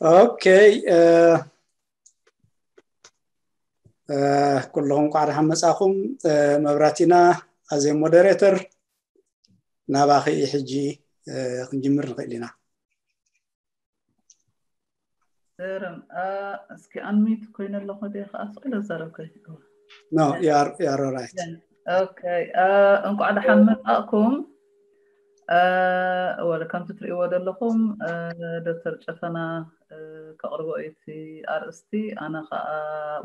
ኦኬ። ኩልኹም እንኳዕ ደሓን መጻኹም። መብራቲና ኣዜ ሞደሬተር፣ ናባኺ ሕጂ ክንጅምር ንኽእል ኢና። ዘረም እስኪ ኣንሚት ኮይነ ኣለኹ ደ ከዓ ስቕ ኢለ ዛረብ ከ No, you are, you are all right. ኦኬ። እንኳዕ ደሓን መጻእኩም። ወለ ከምቲ ትርእይዎ ዘለኹም ዶክተር ጨፈና ከቕርቦ እዩ እቲ ኣርእስቲ፣ ኣነ ከዓ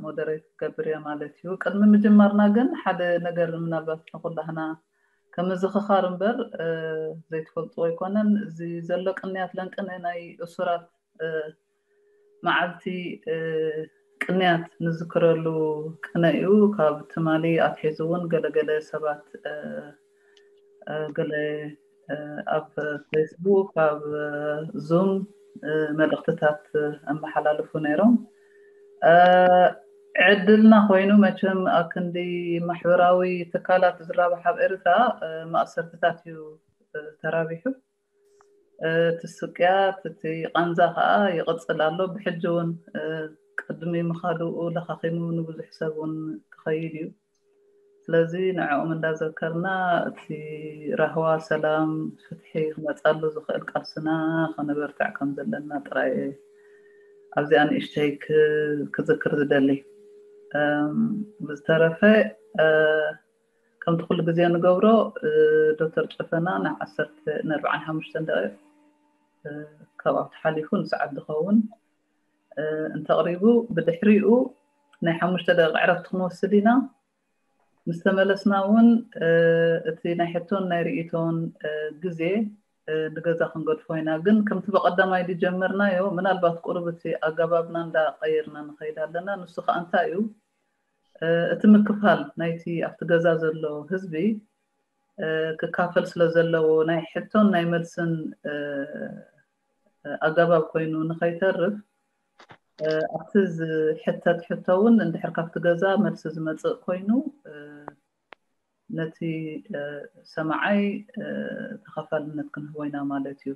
ሞደሬት ክገብር እየ ማለት እዩ። ቅድሚ ምጅማርና ግን ሓደ ነገር ምናልባት ንኩላህና ከም ምዝኽኻር እምበር ዘይትፈልጥዎ ኣይኮነን። እዚ ዘሎ ቅንያት ለንቅነ ናይ እሱራት መዓልቲ ቅንያት ንዝክረሉ ቅነ እዩ። ካብ ትማሊ ኣትሒዙ እውን ገለገለ ሰባት ገለ ኣብ ፌስቡክ፣ ኣብ ዙም መልእኽትታት ኣመሓላልፉ ነይሮም። ዕድልና ኮይኑ መቸም ኣብ ክንዲ ማሕበራዊ ትካላት ዝራባሕ ኣብ ኤርትራ ማእሰርትታት እዩ ተራቢሑ። እቲ ስቅያት፣ እቲ ቃንዛ ከዓ ይቕጽል ኣሎ። ብሕጂ እውን ቅድሚ ምኻድኡ ለኻኺሙ ንብዙሕ ሰብ እውን ክኸይድ እዩ። ስለዚ ንዕኦም እንዳዘከርና እቲ ራህዋ፣ ሰላም፣ ፍትሒ ክመጻሉ ዝኽእል ቃልስና ከነበርትዕ ከም ዘለና ጥራይ ኣብዚኣ ንእሽተይ ክዝክር ዝደሊ። ብዝተረፈ ከምቲ ኩሉ ግዜ ንገብሮ ዶክተር ጨፈና ናይ ዓሰርተ ንኣርባዓን ሓሙሽተን ደቂቕ ካብኣ ተሓሊፉ ንሰዓት ዝኸውን እንተቕሪቡ፣ ብድሕሪኡ ናይ ሓሙሽተ ደቂቕ ዕረፍቲ ክንወስድ ኢና። ምስ ተመለስና እውን እቲ ናይ ሕቶን ናይ ርእይቶን ግዜ ንገዛ ክንገድፎ ኢና። ግን ከምቲ ብቐዳማይ ዝጀመርናዮ፣ ምናልባት ቁሩብ እቲ ኣገባብና እንዳቐየርና ንኸይድ ኣለና። ንሱ ከዓ እንታይ እዩ? እቲ ምክፋል ናይቲ ኣብቲ ገዛ ዘሎ ህዝቢ ክካፈል ስለ ዘለዎ ናይ ሕቶን ናይ መልስን ኣገባብ ኮይኑ ንኸይተርፍ ኣብቲ ዝሕተት ሕቶ እውን እንድሕር ካብቲ ገዛ መልሲ ዝመፅእ ኮይኑ ነቲ ሰማዓይ ተኸፋልነት ክንህቦ ኢና ማለት እዩ።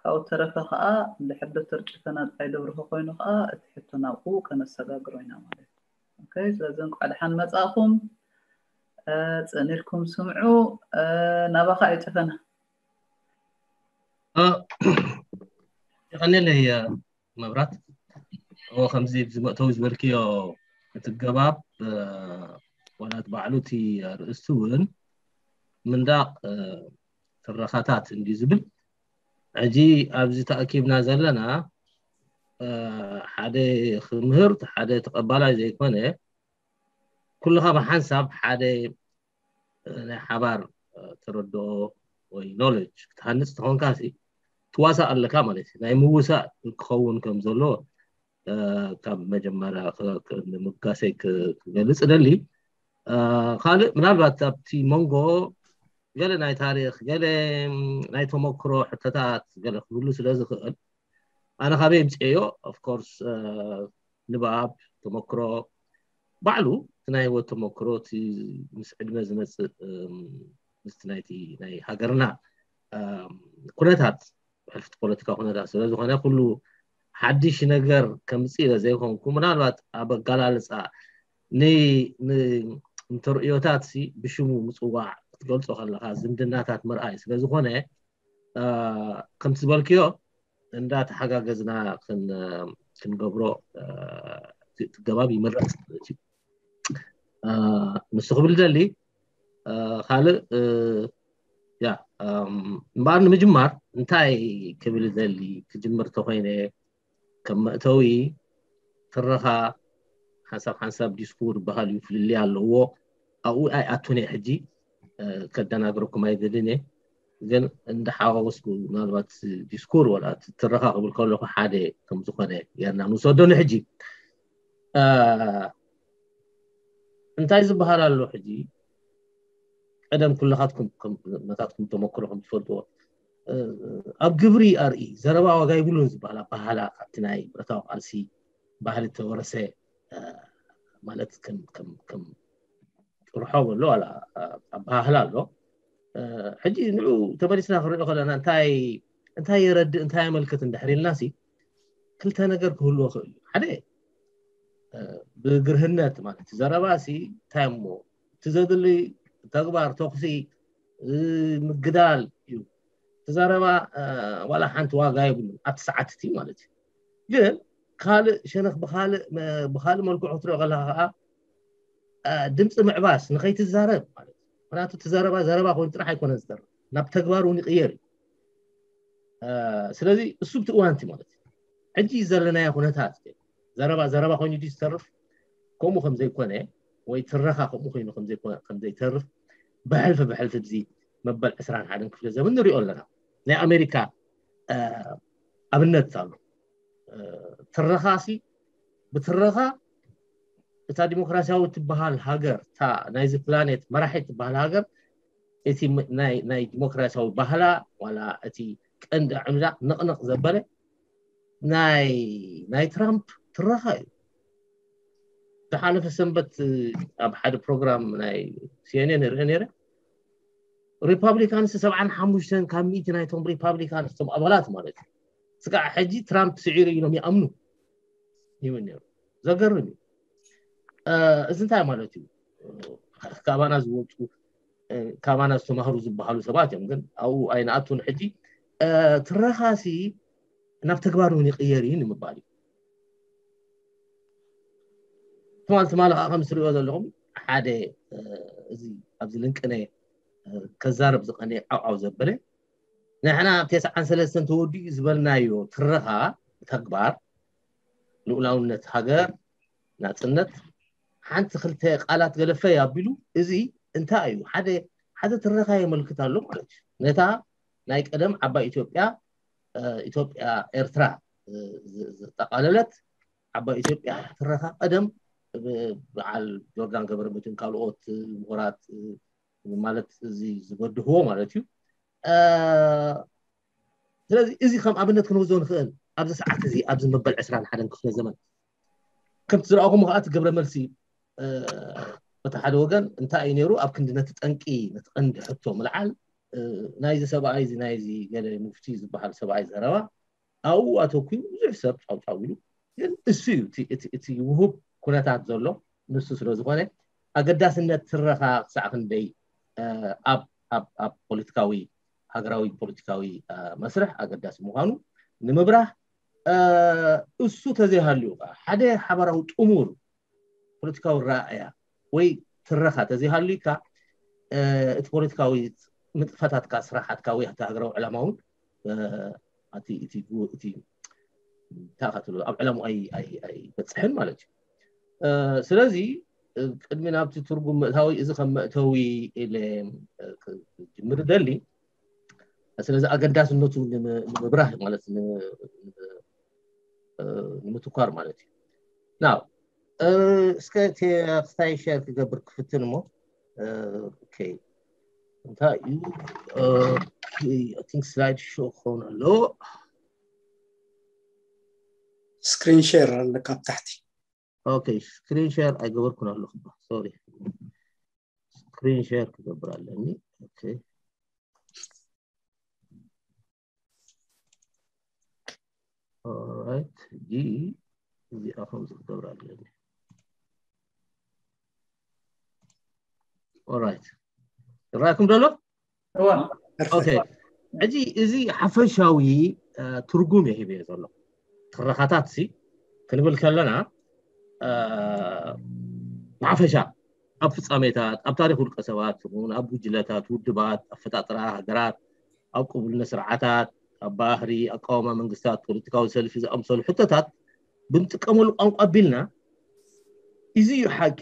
ካብኡ ተረፈ ከዓ እንድሕር ዶክተር ጨፈና ጥራይ ደብርሆ ኮይኑ ከዓ እቲ ሕቶ ናብኡ ከነሰጋግሮ ኢና ማለት እዩ። ኦኬ፣ ስለዚ እንኳዕ ደሓን መጻእኹም። ጸኒልኩም ስምዑ። ናባኻ እዩ ጨፈና። የቐኔለይ መብራት። እዎ፣ ከምዚ ኣብዚ መእተዊ ዝበልክዮ እቲ ገባብ ወላት ባዕሉ እቲ ኣርእስቲ እውን ምንዳቕ ትረኻታት እንዲ ዝብል፣ ሕጂ ኣብዚ ተኣኪብና ዘለና ሓደ ክምህር ሓደ ተቐባላይ ዘይኮነ፣ ኩልኻ ብሓንሳብ ሓደ ናይ ሓባር ተረድኦ ወይ ኖሌጅ ክትሃንፅ ተኾንካ ሲ ትዋሳእ ኣለካ ማለት እዩ። ናይ ምውሳእ ክኸውን ከም ዘሎ ካብ መጀመርያ ንምጋሰይ ክገልፅ እደሊ። ካልእ ምናልባት ኣብቲ መንጎ ገለ ናይ ታሪክ፣ ገለ ናይ ተመክሮ ሕቶታት ገለ ክህሉ ስለ ዝኽእል፣ ኣነ ካበይ የምፅኤዮ? ኦፍኮርስ ንብኣብ ተመክሮ ባዕሉ እቲ ናይ ህይወት ተመክሮ እቲ ምስ ዕድመ ዝመፅእ ምስቲ ናይቲ ናይ ሃገርና ኩነታት ሕልፍቲ ፖለቲካ ኩነታት ስለ ዝኾነ ኩሉ ሓድሽ ነገር ከምፅእ ኢለ ዘይኮንኩ፣ ምናልባት ኣብ ኣገላልፃ ንተርእዮታት ብሽሙ ምፅዋዕ ክትገልፆ ከለካ ዝምድናታት ምርኣይ ስለ ዝኾነ ከምቲ ዝበልክዮ እንዳተሓጋገዝና ክንገብሮ ገባብ ይምረፅ ማለት እዩ። ንሱ ክብል ደሊ ካልእ ያ እምበኣር ንምጅማር እንታይ ክብል ደሊ ክጅምር ተኮይነ ከም መእተዊ ትረኻ ሓንሳብ ሓንሳብ ዲስኩር በሃል እዩ፣ ፍልልይ ኣለዎ። ኣብኡ ኣይኣቱን እየ ሕጂ ከደናግረኩም ኣይደልን እየ። ግን እንዳሓዋወስኩ ምናልባት ዲስኩር ወላ ትረኻ ክብል ከለኹ ሓደ ከም ዝኾነ ጌርና ንውሰዶ ንሕጂ እንታይ ዝበሃል ኣሎ ሕጂ ቀደም ኩልኻትኩም ናታትኩም ተመክሮ ከም ትፈልጥዎ ኣብ ግብሪ ኣርኢ ዘረባ ዋጋ ይብሉን ዝበሃል ኣባሃላ ካብቲ ናይ ብረታዊ ቃልሲ ባህሊ ተወረሰ ማለት ከም ጥርሖ ኣሎ ኣባሃህላ ኣሎ። ሕጂ ንዑ ተመሊስና ክንሪኦ ከለና እንታይ እንታይ የረድእ እንታይ የመልክት እንድሕር ኢልና ሲ ክልተ ነገር ክህልዎ ክእል እዩ። ሓደ ብግርህነት ማለት ዘረባ ሲ እንታይ እሞ እቲ ዘድሊ ተግባር ተኩሲ ምግዳል እዩ። እቲ ዘረባ ዋላ ሓንቲ ዋጋ የብሉን ኣብቲ ሰዓት እቲ ማለት እዩ። ግን ካልእ ሸነኽ ብካልእ መልክዑ ክትሪኦ ከለካ ከዓ ድምፂ ምዕባስ ንኸይትዛረብ ማለት እዩ። ምክንያቱ እቲ ዘረባ ዘረባ ኮይኑ ጥራሕ ኣይኮነን ዝተርፍ፣ ናብ ተግባር እውን ይቅየር እዩ። ስለዚ እሱ ብቲ እዋንቲ ማለት እዩ። ሕጂ ዘለናዮ ኩነታት ዘረባ ዘረባ ኮይኑ ድዩ ዝተርፍ? ከምኡ ከምዘይኮነ ወይ ትረኻ ከምኡ ኮይኑ ከምዘይተርፍ ብሕልፊ ብሕልፊ ብዚ መበል ዕስራን ሓደን ክፍለ ዘመን ንሪኦ ኣለና። ናይ ኣሜሪካ ኣብነት ኣሎ። ትረኻሲ ብትረኻ እታ ዲሞክራሲያዊ ትበሃል ሃገር እታ ናይዚ ፕላኔት መራሒ ትበሃል ሃገር እቲ ናይ ዲሞክራሲያዊ ባህላ ዋላ እቲ ቀንዲ ዕምዳ ንቕንቕ ዘበለ ናይ ናይ ትራምፕ ትረኻ እዩ። ዝሓለፈ ሰንበት ኣብ ሓደ ፕሮግራም ናይ ሲኤንኤን ርአ ነይረ። ሪፓብሊካንስ ሰብዓን ሓሙሽተን ካብ ሚእቲ ናይቶም ሪፓብሊካንስ እቶም ኣባላት ማለት እዩ ስጋዕ ሕጂ ትራምፕ ስዒሩ ኢሎም ይኣምኑ ይብል ነይሩ። ዘገርም እዩ። እዚ እንታይ ማለት እዩ? ካባና ዝወፁ ካባና ዝተማህሩ ዝበሃሉ ሰባት እዮም፣ ግን ኣብኡ ኣይንኣቱን። ሕጂ ትረኻሲ ናብ ተግባር እውን ይቅየር እዩ ንምባል እዩ። ትማል ትማል ከዓ ከም ትሪኦ ዘለኹም ሓደ እዚ ኣብዚ ልንቅነ ከዛረብ ዝቀነ ዓውዓው ዘበለ ንሕና ኣብ ተስዓን ሰለስተን ተወዲኡ ዝበልናዮ ትረኻ ተግባር ልኡላውነት ሃገር ናፅነት ሓንቲ ክልተ ቃላት ገለፈ ኣቢሉ እዚ እንታይ እዩ? ሓደ ሓደ ትረኻ የመልክት ኣሎ ማለት እዩ። ነታ ናይ ቀደም ዓባይ ኢትዮጵያ ኢትዮጵያ ኤርትራ ዘጠቃለለት ዓባይ ኢትዮጵያ ትረኻ ቀደም በዓል ጆርዳን ገብረመድህን ካልኦት ምሁራት ማለት እዚ ዝበድህዎ ማለት እዩ። ስለዚ እዚ ከም ኣብነት ክንወስዶ ንኽእል ኣብዚ ሰዓት እዚ ኣብዚ መበል ዕስራን ሓደን ክፍለ ዘመን ከምቲ ዝረኣኹም ከዓ እቲ ግብረ መልሲ በቲ ሓደ ወገን እንታይ እዩ ነይሩ ኣብ ክንዲ ነቲ ጠንቂ ነቲ ቀንዲ ሕቶ ምልዓል ናይዚ ሰብኣይ እዚ ናይዚ ገለ ሙፍቲ ዝበሃል ሰብኣይ ዘረባ ኣብኡ ኣተኩሩ ብዙሕ ሰብ ጫውጫው ኢሉ። ግን እሱ እዩ እቲ ውሁብ ኩነታት ዘሎ ንሱ ስለ ዝኾነ ኣገዳስነት ትረኻ ክሳዕ ክንደይ ኣብ ፖለቲካዊ ሃገራዊ ፖለቲካዊ መስርሕ ኣገዳሲ ምዃኑ ንምብራህ እሱ ተዘይሃልዩ ከዓ ሓደ ሓበራዊ ጥሙር ፖለቲካዊ ረኣያ ወይ ትረኻ ተዘይሃልዩካ እቲ ፖለቲካዊ ንጥፈታትካ ስራሓትካ ወይ እቲ ሃገራዊ ዕላማ እውን እቲ እንታይ ኢኻ ትብሎ ኣብ ዕላምኡ ኣይበፅሕን ማለት እዩ። ስለዚ ቅድሚ ናብቲ ትርጉም ምእታዊ እዚ ከም መእተዊ ኢለ ክጅምር ደሊ ስለዚ ኣገዳስነቱ ንምብራህ ማለት ንምትኳር ማለት እዩ። ናው እስከ ክስታይ ሸር ክገብር ክፍትን እሞ እንታይ እዩ ቲንክ ስላይድ ሾ ክኸውን ኣለዎ። ስክሪን ሸር ኣለካ ኣብ ታሕቲ። ኦኬ ስክሪን ሸር ኣይገበርኩን ኣለኹ። ሶሪ ስክሪን ሸር ክገብር ኣለኒ። ኦኬ ኦራይት ጂ እዚኣ ከምዚ ክገብር ኣለኒ። ኦራይት ይረኣኩም ደሎ? ኦኬ ሕጂ እዚ ሓፈሻዊ ትርጉም እየ ሂበዮ ዘሎ። ትረኻታት ሲ ክንብል ከለና ብሓፈሻ ኣብ ፍጻሜታት ኣብ ታሪክ ውልቀ ሰባት ይኹን ኣብ ጉጅለታት ውድባት ኣፈጣጥራ ሃገራት ኣብ ቅቡልነት ስርዓታት ኣብ ባህሪ ኣቃወማ መንግስታት ፖለቲካዊ ሰልፊ ዝኣምሰሉ ሕቶታት ብንጥቀመሉ ቋንቋ ኣቢልና እዚ እዩ ሓቂ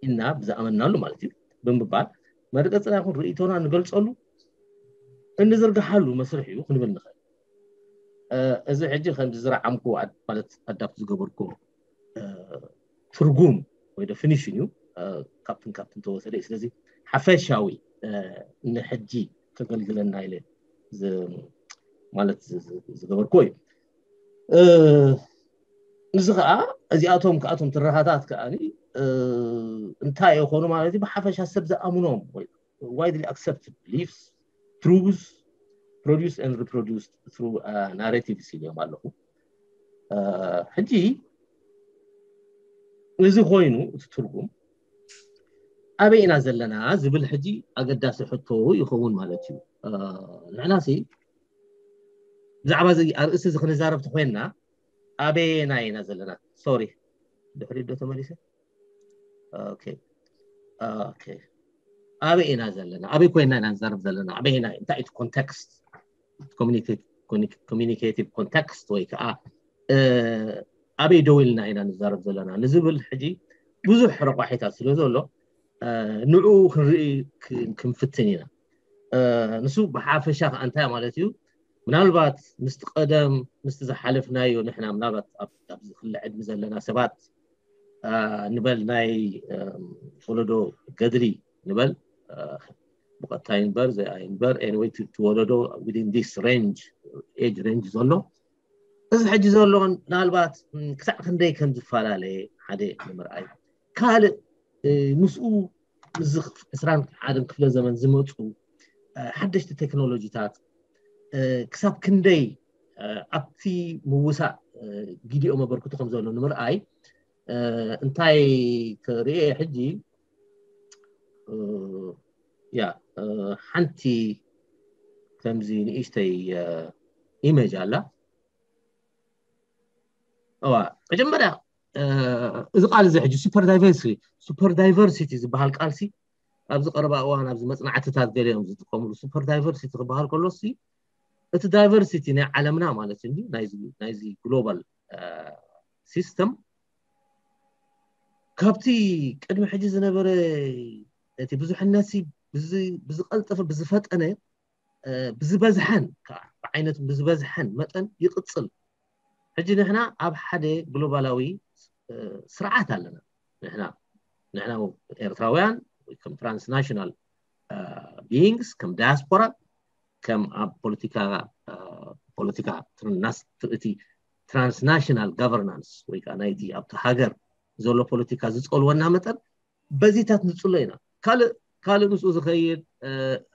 ኢልና ብዝኣመንናሉ ማለት እዩ ብምባል መርገፅና ይኹን ርእይቶና ንገልፀሉ እንዝርግሓሉ መስርሕ እዩ ክንብል ንኽእል። እዚ ሕጂ ከም ዝዝረዓምኩ ማለት ኣዳፕት ዝገበርኩ ትርጉም ወይ ደፊኒሽን እዩ ካብትን ካብትን ተወሰደ። ስለዚ ሓፈሻዊ ንሕጂ ከገልግለና ኢለ ማለት ዝገበርኩ እዩ። እዚ ከዓ እዚኣቶም ከኣቶም ትረኻታት ከዓ እንታይ የኾኑ ማለት እዩ ብሓፈሻ ሰብ ዝኣምኖም ወይ widely accepted beliefs truths produced and reproduced through narratives ኢልዮም ኣለኹ። ሕጂ እዚ ኮይኑ እቲ ትርጉም ኣበይ ኢና ዘለና ዝብል ሕጂ ኣገዳሲ ሕቶ ይኸውን ማለት እዩ። ንሕናሲ ብዛዕባ እዚ ኣርእስቲ እዚ ክንዛረብ ተኮይንና ኣበየና ኢና ዘለና? ሶሪ ድሕሪ ዶ ተመሊሰ? ኦኬ ኦኬ ኣበይ ኢና ዘለና? ኣበይ ኮይና ኢና ንዛረብ ዘለና? ኣበይ ኢና? እንታይ እቲ ኮንቴክስት፣ ኮሚኒኬቲቭ ኮንቴክስት ወይ ከዓ ኣበይ ደው ኢልና ኢና ንዛረብ ዘለና ንዝብል ሕጂ ብዙሕ ረቋሒታት ስለ ዘሎ ንዕኡ ክንርኢ ክንፍትን ኢና። ንሱ ብሓፈሻ ከዓ እንታይ ማለት እዩ? ምናልባት ምስቲ ቀደም ምስቲ ዝሓለፍናዮ ንሕና ምናልባት ኣብዚ ክለ ዕድሚ ዘለና ሰባት ንበል ናይ ወለዶ ገድሊ ንበል ብቐጥታ ይንበር ዘይኣይ ንበር anyway ትወለዶ within this range age range ዘሎ እዚ ሕጂ ዘሎ ምናልባት ክሳዕ ክንደይ ከም ዝፈላለየ ሓደ ንምርኣይ ካልእ ምስኡ እዚ ዕስራን ሓደን ክፍለ ዘመን ዝመፁ ሓደሽቲ ቴክኖሎጂታት ክሳብ ክንደይ ኣብቲ ምውሳእ ግዲኦ መበርክቱ ከም ዘሎ ንምርኣይ እንታይ ክርኢ ሕጂ ያ ሓንቲ ከምዚ ንእሽተይ ኢሜጅ ኣላ። እዋ መጀመርያ እዚ ቃል እዚ ሕጂ super diversity super diversity ዝበሃል ቃልሲ ኣብዚ ቀረባ እዋን ኣብዚ መፅናዕትታት ገሊኦም ዝጥቀምሉ super diversity ክበሃል ከሎሲ እቲ diversity ናይ ዓለምና ማለት እንዲ ናይዚ global system ካብቲ ቅድሚ ሕጂ ዝነበረ እቲ ብዙሕነት ብዝቀልጠፈ ብዝፈጠነ ብዝበዝሐን ብዓይነቱ ብዝበዝሐን መጠን ይቅፅል። ሕጂ ንሕና ኣብ ሓደ ግሎባላዊ ስርዓት ኣለና። ንሕና ንሕና ኤርትራውያን ከም transnational beings ከም ዳያስፖራ ከም ኣብ ፖለቲካ ፖለቲካ እቲ transnational governance ወይ ከዓ ናይቲ ኣብቲ ሃገር ዘሎ ፖለቲካ ዝፀልወና መጠን በዚታት ንፅሎ ኢና። ካልእ ካልእ ምስኡ ዝኸይድ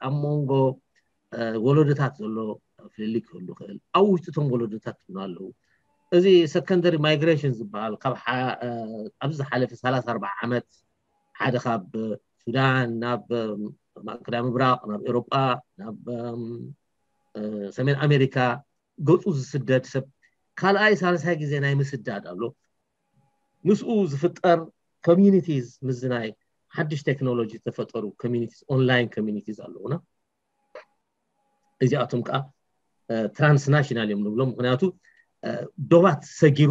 ኣብ መንጎ ወለዶታት ዘሎ ፍልልይ ክህሉ ይኽእል። ኣብ ውሽጢ እቶም ወለዶታት እውን ኣለዉ። እዚ secondary migration ዝበሃል ካብ ኣብዚ ዝሓለፈ ሰላሳ ኣርባዓ ዓመት ሓደ ካብ ሱዳን ናብ ማእከላይ ምብራቕ ናብ ኤውሮጳ ናብ ሰሜን ኣሜሪካ ገፁ ዝስደድ ሰብ ካልኣይ ሳልሳይ ግዜ ናይ ምስዳድ ኣሎ። ምስኡ ዝፍጠር communities ምስዚ ናይ ሓድሽ ቴክኖሎጂ ዝተፈጠሩ communities online communities ኣለዉና። እዚኣቶም ከዓ transnational እዮም ንብሎም። ምክንያቱ ዶባት ሰጊሩ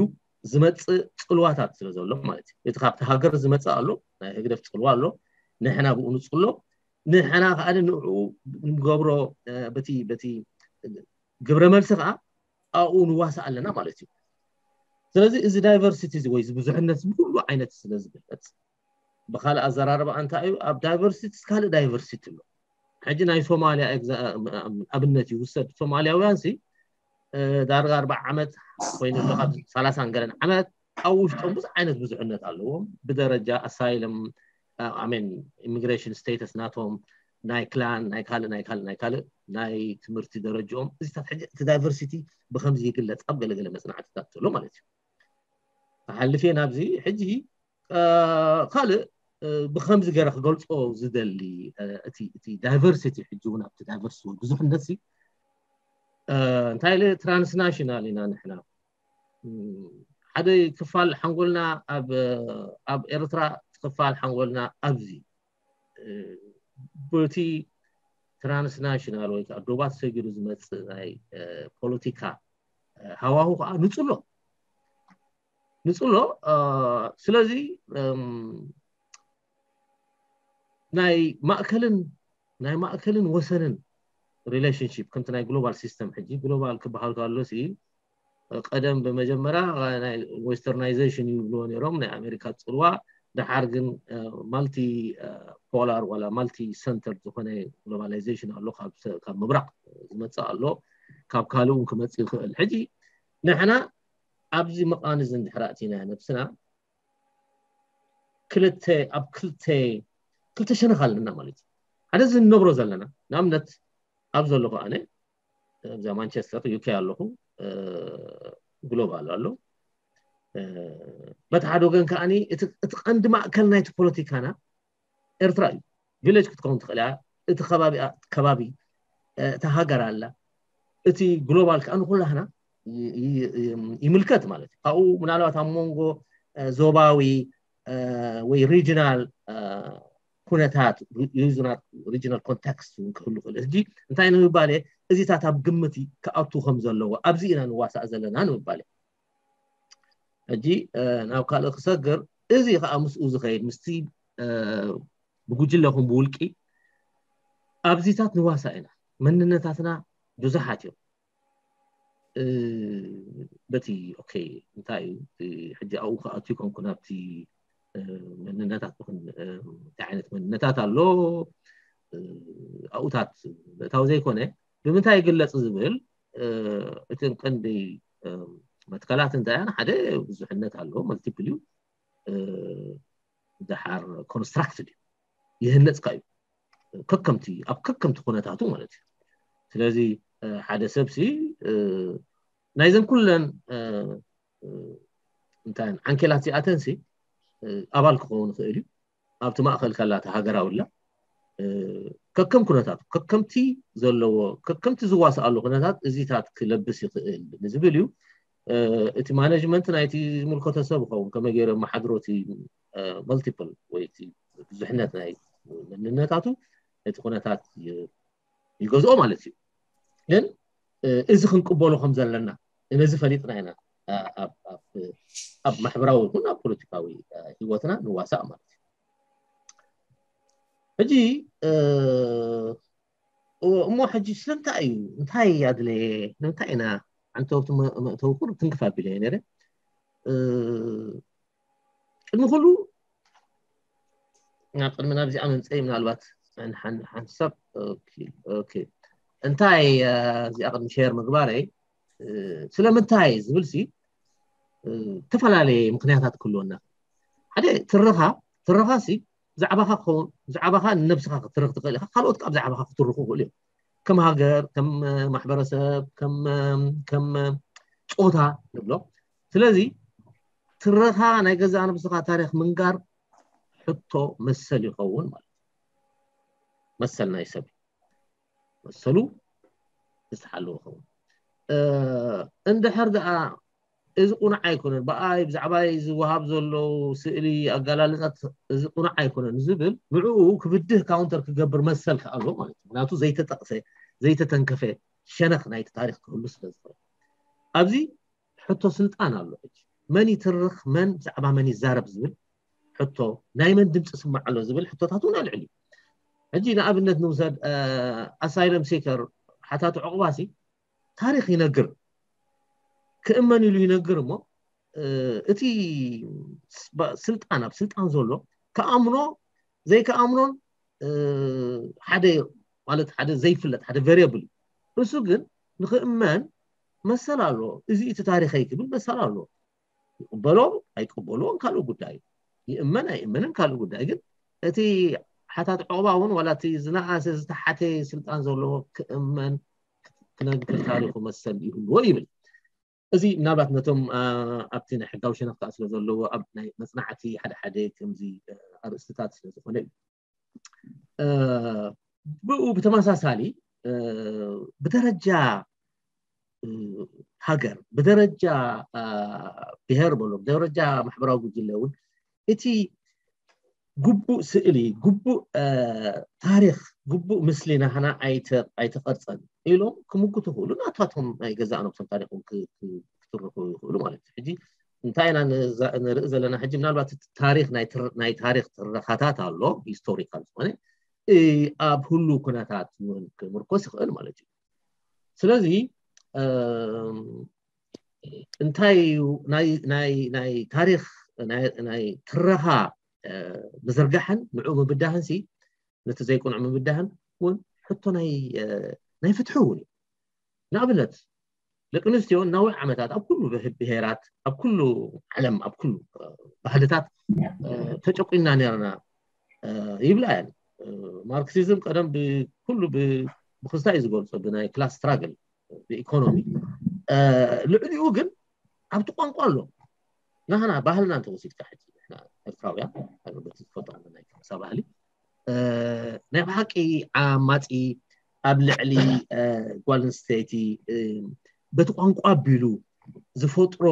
ዝመፅእ ፅልዋታት ስለ ዘሎ ማለት እዩ። እቲ ካብቲ ሃገር ዝመፅእ ኣሎ ናይ ህግደፍ ፅልዋ ኣሎ። ንሕና ብኡ ንፅሎ ንሕና ከዓ ንዕኡ ንገብሮ በቲ በቲ ግብረ መልሲ ከዓ ኣብኡ ንዋሳእ ኣለና ማለት እዩ። ስለዚ እዚ diversity እዚ ወይ እዚ ብዙሕነት እዚ ብኩሉ ዓይነት ስለ ዝግለፅ ብካልእ ኣዘራርባ እንታይ እዩ ኣብ diversity ካልእ diversity ኣሎ። ሕጂ ናይ ሶማልያ ኣብነት ይውሰድ። ሶማልያውያን ሲ ዳርጋ ኣርባዓ ዓመት ኮይኑ ኣሎ ካብ ሰላሳን ገለን ዓመት ኣብ ውሽጦም ብዙሕ ዓይነት ብዙሕነት ኣለዎም ብደረጃ asylum ኣሜን immigration status ናቶም ናይ clan ናይ ካልእ ናይ ካልእ ናይ ካልእ ናይ ትምህርቲ ደረጃኦም እዚታት ሕጂ እቲ diversity ብከምዚ ይግለፅ ኣብ ገለገለ መፅናዕትታት ዘሎ ማለት እዩ። ተሓልፌ ናብዚ ሕጂ ካልእ ብከምዚ ገይረ ክገልፆ ዝደሊ እቲ diversity ሕጂ እውን ኣብቲ diversity ብዙሕነት እንታይ ኢለ transnational ኢና ንሕና ሓደ ክፋል ሓንጎልና ኣብ ኤርትራ ክፋል ሓንጎልና ኣብዚ በቲ transnational ወይ ከዓ ዶባት ሰጊሩ ዝመፅእ ናይ ፖለቲካ ሃዋሁ ከዓ ንፅሎ ንፅሎ ስለዚ ናይ ማእከልን ናይ ማእከልን ወሰንን relationship ከምቲ ናይ global system ሕጂ global ክበሃል ከሎ ሲ ቀደም ብመጀመርያ ናይ westernization ይብልዎ ነይሮም ናይ ኣሜሪካ ፅልዋ። ደሓር ግን multi polar ዋላ multi center ዝኾነ globalization ኣሎ። ካብ ምብራቅ ዝመፅእ ኣሎ፣ ካብ ካልእ እውን ክመፅእ ይኽእል። ሕጂ ንሕና ኣብዚ መቃን እዚ እንድሕር ኣእቲና ነብስና ክልተ ኣብ ክልተ ክልተ ሸነኽ ኣለና ማለት እዩ። ሓደ እዚ እንነብሮ ዘለና ንኣብነት ኣብ ዘለኹ ኣነ ኣብዛ ማንቸስተር ዩኬ ኣለኹ። ግሎባል ኣሎ። በቲ ሓደ ወገን ከዓኒ እቲ ቀንዲ ማእከል ናይቲ ፖለቲካና ኤርትራ እዩ። ቪሌጅ ክትከውን ትኽእል እያ። እቲ ከባቢ ከባቢ እታ ሃገር ኣላ። እቲ ግሎባል ከዓ ንኩላህና ይምልከት ማለት እዩ። ካብኡ ምናልባት ኣብ መንጎ ዞባዊ ወይ ሪጂናል ኩነታት ሪጂናል ኮንቴክስት እውን ክህሉ ክእል። ሕጂ እንታይ ንምባል እየ፣ እዚታት ኣብ ግምት ክኣቱ ከም ዘለዎ ኣብዚ ኢና ንዋሳእ ዘለና ንምባል እየ። ሕጂ ናብ ካልእ ክሰግር፣ እዚ ከዓ ምስኡ ዝኸይድ ምስቲ ብጉጅለ ኹን ብውልቂ ኣብዚታት ንዋሳእ ኢና። መንነታትና ብዙሓት እዮም። በቲ ኦኬ እንታይ እዩ ሕጂ ኣብኡ ክኣቱ ይኮንኩ ናብቲ መንነታት እንታይ ዓይነት መንነታት ኣሎ ኣብኡታት ምእታው ዘይኮነ ብምንታይ ይግለፅ ዝብል እቲ ቀንዲ መትከላት እንታይ ሓደ ብዙሕነት ኣሎ፣ መልቲፕል እዩ። ደሓር ኮንስትራክትድ እዩ፣ ይህነፅካ እዩ ከከምቲ ኣብ ከከምቲ ኩነታቱ ማለት እዩ። ስለዚ ሓደ ሰብሲ ናይዘን ኩለን እንታይ ዓንኬላት እዚኣተንሲ ኣባል ክኸውን ይኽእል እዩ። ኣብቲ ማእኸል ካላቲ ሃገራዊ ላ ከከም ኩነታቱ ከከምቲ ዘለዎ ከከምቲ ዝዋስኣሉ ኩነታት እዚታት ክለብስ ይኽእል ንዝብል እዩ። እቲ ማኔጅመንት ናይቲ ዝምልከቶ ሰብ ይኸውን ከመይ ገይሩ መሓድሮ እቲ መልቲፕል ወይ እቲ ብዙሕነት ናይ መንነታቱ እቲ ኩነታት ይገዝኦ ማለት እዩ። ግን እዚ ክንቅበሎ ከም ዘለና ነዚ ፈሊጥና ኢና ኣብ ማሕበራዊ ይኹን ኣብ ፖለቲካዊ ህይወትና ንዋሳእ ማለት እዩ። ሕጂ እሞ ሕጂ ስለምንታይ እዩ እንታይ ኣድለየ ንምንታይ ኢና ዓንተወብቲ መእተዊ ኩሉ ትንክፍ ኣቢለ እየ ነረ። ቅድሚ ኩሉ ናብ ቅድሚ ናብዚኣ ምምፀይ ምናልባት ሓንሳብ እንታይ እዚኣ ቅድሚ ሸር ምግባረይ ስለምንታይ ዝብል ሲ ዝተፈላለየ ምክንያታት ክህልወና። ሓደ ትረኻ ትረኻ ሲ ብዛዕባኻ ክኸውን ብዛዕባኻ ንነብስኻ ክትርኽ ትኽእል ኢኻ። ካልኦት ካብ ብዛዕባኻ ክትርኹ ይኽእሉ እዮም። ከም ሃገር ከም ማሕበረሰብ ከም ከም ፆታ ንብሎ። ስለዚ ትረኻ ናይ ገዛእ ነብስኻ ታሪክ ምንጋር ሕቶ መሰል ይኸውን ማለት እዩ። መሰል ናይ ሰብ መሰሉ ዝተሓለወ ይኸውን። እንድሕር ደኣ እዚ ቁኑዕ ኣይኮነን ብኣይ ብዛዕባይ ዝወሃብ ዘሎ ስእሊ ኣገላልፃት እዚ ቁኑዕ ኣይኮነን ዝብል ንዕኡ ክብድህ ካውንተር ክገብር መሰል ከኣሎ ማለት እዩ። ምክንያቱ ዘይተጠቕሰ ዘይተተንከፈ ሸነኽ ናይቲ ታሪክ ክህሉ ስለ ዝኽእል ኣብዚ ሕቶ ስልጣን ኣሎ። ሕጂ መን ይትርኽ መን ብዛዕባ መን ይዛረብ ዝብል ሕቶ ናይ መን ድምፂ ስማዕ ኣሎ ዝብል ሕቶታት እውን ኣልዕል እዩ። ሕጂ ንኣብነት ንውሰድ ኣሳይለም ሲከር ሓታቲ ዕቑባሲ ታሪክ ይነግር ክእመን ኢሉ ይነግር እሞ እቲ ስልጣን ኣብ ስልጣን ዘሎ ከኣምኖ ዘይከኣምኖን ሓደ ማለት ሓደ ዘይፍለጥ ሓደ ቨሪየብል እዩ። እሱ ግን ንክእመን መሰል ኣሎ። እዚ እቲ ታሪኸይ ክብል መሰል ኣሎ። ይቅበሎ ኣይቅበልዎን ካልእ ጉዳይ፣ ይእመን ኣይእመንን ካልእ ጉዳይ። ግን እቲ ሓታት ዕቑባ እውን ዋላ እቲ ዝነኣሰ ዝተሓተ ስልጣን ዘለዎ ክእመን ክነግር ታሪኹ መሰል ይህልዎ ይብል። እዚ ምናልባት ነቶም ኣብቲ ናይ ሕጋዊ ሸነኽ ከዓ ስለ ዘለዎ ኣብ ናይ መፅናዕቲ ሓደ ሓደ ከምዚ ኣርእስትታት ስለ ዝኾነ እዩ። ብኡ ብተመሳሳሊ ብደረጃ ሃገር ብደረጃ ብሄር በሎ ብደረጃ ማሕበራዊ ጉጅለ እውን እቲ ግቡእ ስእሊ ግቡእ ታሪክ ግቡእ ምስሊ ናህና ኣይተቐርፀን ኢሎም ክምጉቱ ይኽእሉ። ናታቶም ናይ ገዛእ ነብሶም ታሪክ ክትርኩ ይኽእሉ ማለት እዩ። ሕጂ እንታይ ኢና ንርኢ ዘለና ሕጂ ምናልባት ታሪክ ናይ ታሪክ ትረካታት ኣሎ ሂስቶሪካል ዝኾነ ኣብ ህሉ ኩነታት እውን ክምርኮስ ይኽእል ማለት እዩ። ስለዚ እንታይ እዩ ናይ ታሪክ ናይ ትረኻ ምዝርጋሕን ንዑ ምብዳህን ሲ ነቲ ዘይቅኑዕ ምብዳህን እውን ሕቶ ናይ ፍትሒ እውን እዩ። ንኣብነት ደቂ ኣንስትዮ ናዊሕ ዓመታት ኣብ ኩሉ ብሄራት ኣብ ኩሉ ዓለም ኣብ ኩሉ ባህልታት ተጨቁና ነርና ይብላ እየን። ማርክሲዝም ቀደም ብኩሉ ብክስታ እዩ ዝገልፆ ብናይ ክላስ ስትራግል ብኢኮኖሚ። ልዕሊኡ ግን ኣብቲ ቋንቋ ኣሎ። ናህና ባህልና እንተወሲድካ ሕጂ ንሕና ኤርትራውያን በቲ ዝፈጠሩ ናይ ከሳ ባህሊ ናይ ብሓቂ ዓማፂ ኣብ ልዕሊ ጓል ኣንስተይቲ በቲ ቋንቋ ኣቢሉ ዝፈጥሮ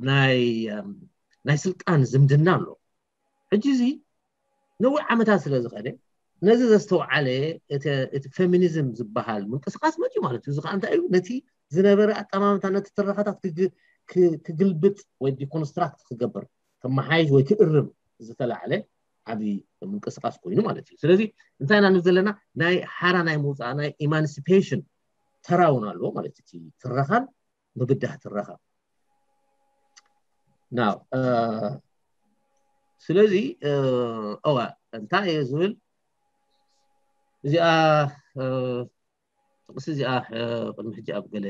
ናይ ናይ ስልጣን ዝምድና ኣሎ። ሕጂ እዚ ነዊሕ ዓመታት ስለ ዝኸደ ነዚ ዘስተውዓለ እቲ ፌሚኒዝም ዝበሃል ምንቅስቃስ መፅዩ ማለት እዩ። እዚ ከዓ እንታይ እዩ? ነቲ ዝነበረ ኣጠማምታ ነቲ ትረኻታት ክግልብጥ ወይ ዲኮንስትራክት ክገብር ከመሓይሽ ወይ ክእርም ዝተላዕለ ዓብዪ ምንቅስቃስ ኮይኑ ማለት እዩ። ስለዚ እንታይ ኢና ንብል ዘለና? ናይ ሓራ ናይ ምውፃእ ናይ ኢማንሲፔሽን ተራ እውን ኣለዎ ማለት እዩ። ትረኻን ምብዳህ ትረኻ ናው ስለዚ እዋ እንታይ እየ ዝብል እዚኣ ጥቕሲ እዚኣ ቅድሚ ሕጂ ኣብ ገለ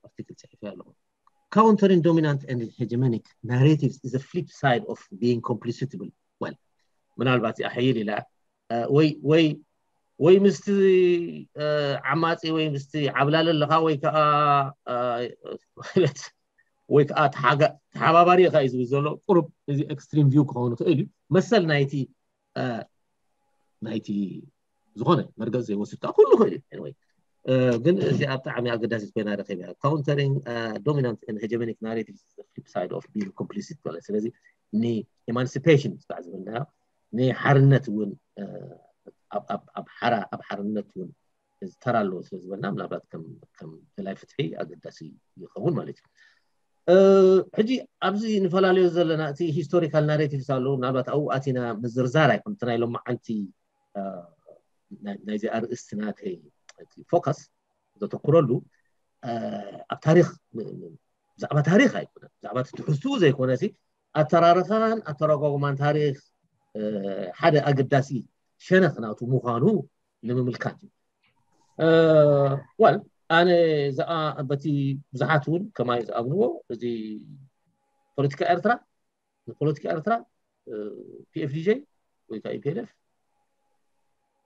ኣርቲክል ፅሒፈ ኣለኹ። Countering dominant and hegemonic narratives is the flip side of being complicit ትብል። Well ምናልባት እዚኣ ሕይል ኢላ ወይ ወይ ወይ ምስቲ ዓማፂ ወይ ምስቲ ዓብላሊ ኣለካ ወይ ከዓ ማለት ወይ ከዓ ተሓባባሪ ኢኻ እዩ ዝብል ዘሎ። ቁሩብ እዚ ኤክስትሪም ቪው ክኸውን ይኽእል እዩ። መሰል ናይቲ ናይቲ ዝኾነ መርገፂ ዘይወስድ ከዓ ኩሉ ይኽእል እዩ። ግን እዚኣ ብጣዕሚ ኣገዳሲት ኮይና ረኺበያ። Countering dominant and hegemonic narratives is the flip side of being complicit ማለት ስለዚ ንኢማንሲፔሽን ስታዕ ዝብልናዮ ንሓርነት እውን ኣብ ሓራ ኣብ ሓርነት እውን ዝተራ ኣለዎ ስለ ዝበልና ምናልባት ከም ደላይ ፍትሒ ኣገዳሲ ይኸውን ማለት እዩ። ሕጂ ኣብዚ ንፈላለዮ ዘለና እቲ ሂስቶሪካል ናሬቲቭስ ኣለዉ ምናልባት ኣብኡ ኣቲና ምዝርዛር ኣይኮን እቲ ናይ ሎማዓንቲ ናይዚ ኣርእስቲ ናተይ ፎካስ ዘተኩረሉ ኣብ ታሪክ ብዛዕባ ታሪክ ኣይኮነ ብዛዕባ ትሕዝትኡ ዘይኮነ ኣተራርኻን ኣተረጓጉማን ታሪክ ሓደ ኣገዳሲ ሸነኽ ናቱ ምዃኑ ንምምልካት እዩ። ዋል ኣነ በቲ ብዙሓት እውን ከማይ ዝኣምንዎ እዚ ፖለቲካ ኤርትራ ንፖለቲካ ኤርትራ ፒኤፍዲጄ ወይ ከዓ ኢፒኤልኤፍ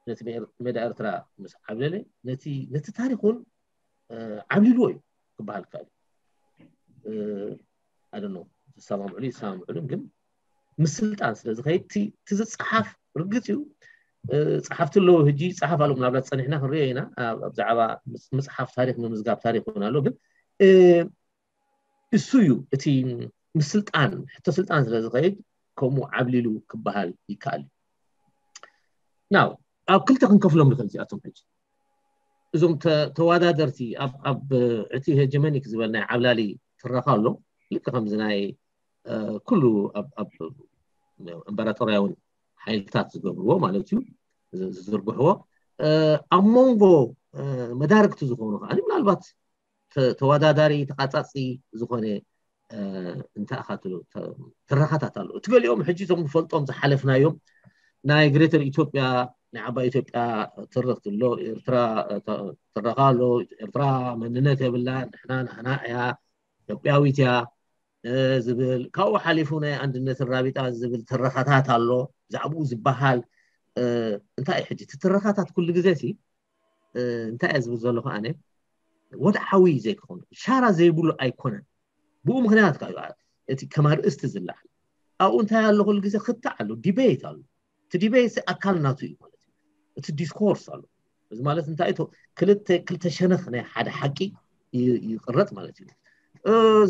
ነቲ ሜዳ ኤርትራ ምስ ዓብለለ ነቲ ታሪክ እውን ዓብሊልዎ እዩ ክበሃል ይከኣል እዩ። ኣደኖ ዝሰማምዕሉ ይሰማምዕሉን ግን ምስ ስልጣን ስለ ዝኸይድ እቲ ዝፀሓፍ ርግፅ እዩ። ፀሓፍቲ ኣለዉ ሕጂ ይፀሓፍ ኣሎ ምናልባት ፀኒሕና ክንሪኦ ኢና ብዛዕባ ምፅሓፍ ታሪክ ምምዝጋብ ታሪክ እውን ኣሎ ግን እሱ እዩ እቲ ምስ ስልጣን ሕቶ ስልጣን ስለ ዝኸይድ ከምኡ ዓብሊሉ ክበሃል ይከኣል እዩ። ናው ኣብ ክልተ ክንከፍሎም ንኽእል እዚኣቶም ሕጂ እዞም ተወዳደርቲ ኣብ እቲ ሄጀመኒክ ዝበል ናይ ዓብላሊ ትረኻ ኣሎ ልክ ከምዚ ናይ ኩሉ ኣብ እምበራቶርያውን ሓይልታት ዝገብርዎ ማለት እዩ ዝዝርግሕዎ ኣብ መንጎ መዳርግቲ ዝኾኑ ከዓ ምናልባት ተወዳዳሪ ተቃፃፂ ዝኾነ እንታይ ኢኻ ትረኻታት ኣሎ እቲ ገሊኦም ሕጂ እቶም ንፈልጦም ዝሓለፍናዮም ናይ ግሬተር ኢትዮጵያ ናይ ዓባይ ኢትዮጵያ ትርኽቲ ኣሎ ኤርትራ ትረኻ ኣሎ ኤርትራ መንነት የብላ ንሕና ናህና እያ ኢትዮጵያዊት እያ ዝብል ካብኡ ሓሊፉ ናይ ኣንድነትን ራቢጣ ዝብል ትረኻታት ኣሎ ብዛዕባኡ ዝበሃል እንታይ ሕጂ እቲ ትረኻታት ኩሉ ግዜ ሲ እንታይ እየ ዝብል ዘለኹ ኣነ ወድዓዊ ዘይክኾኑ ሻራ ዘይብሉ ኣይኮነን ብኡ ምክንያት ካብ እቲ ከም ኣርእስቲ ዝለዓል ኣብኡ እንታይ ኣሎ ኩሉ ግዜ ክታዕ ኣሎ ዲቤት ኣሎ እቲ ዲቤት ኣካል ናቱ እዩ ማለት እዩ እቲ ዲስኮርስ ኣሎ እዚ ማለት እንታይ ክልተ ክልተ ሸነኽ ናይ ሓደ ሓቂ ይቅረፅ ማለት እዩ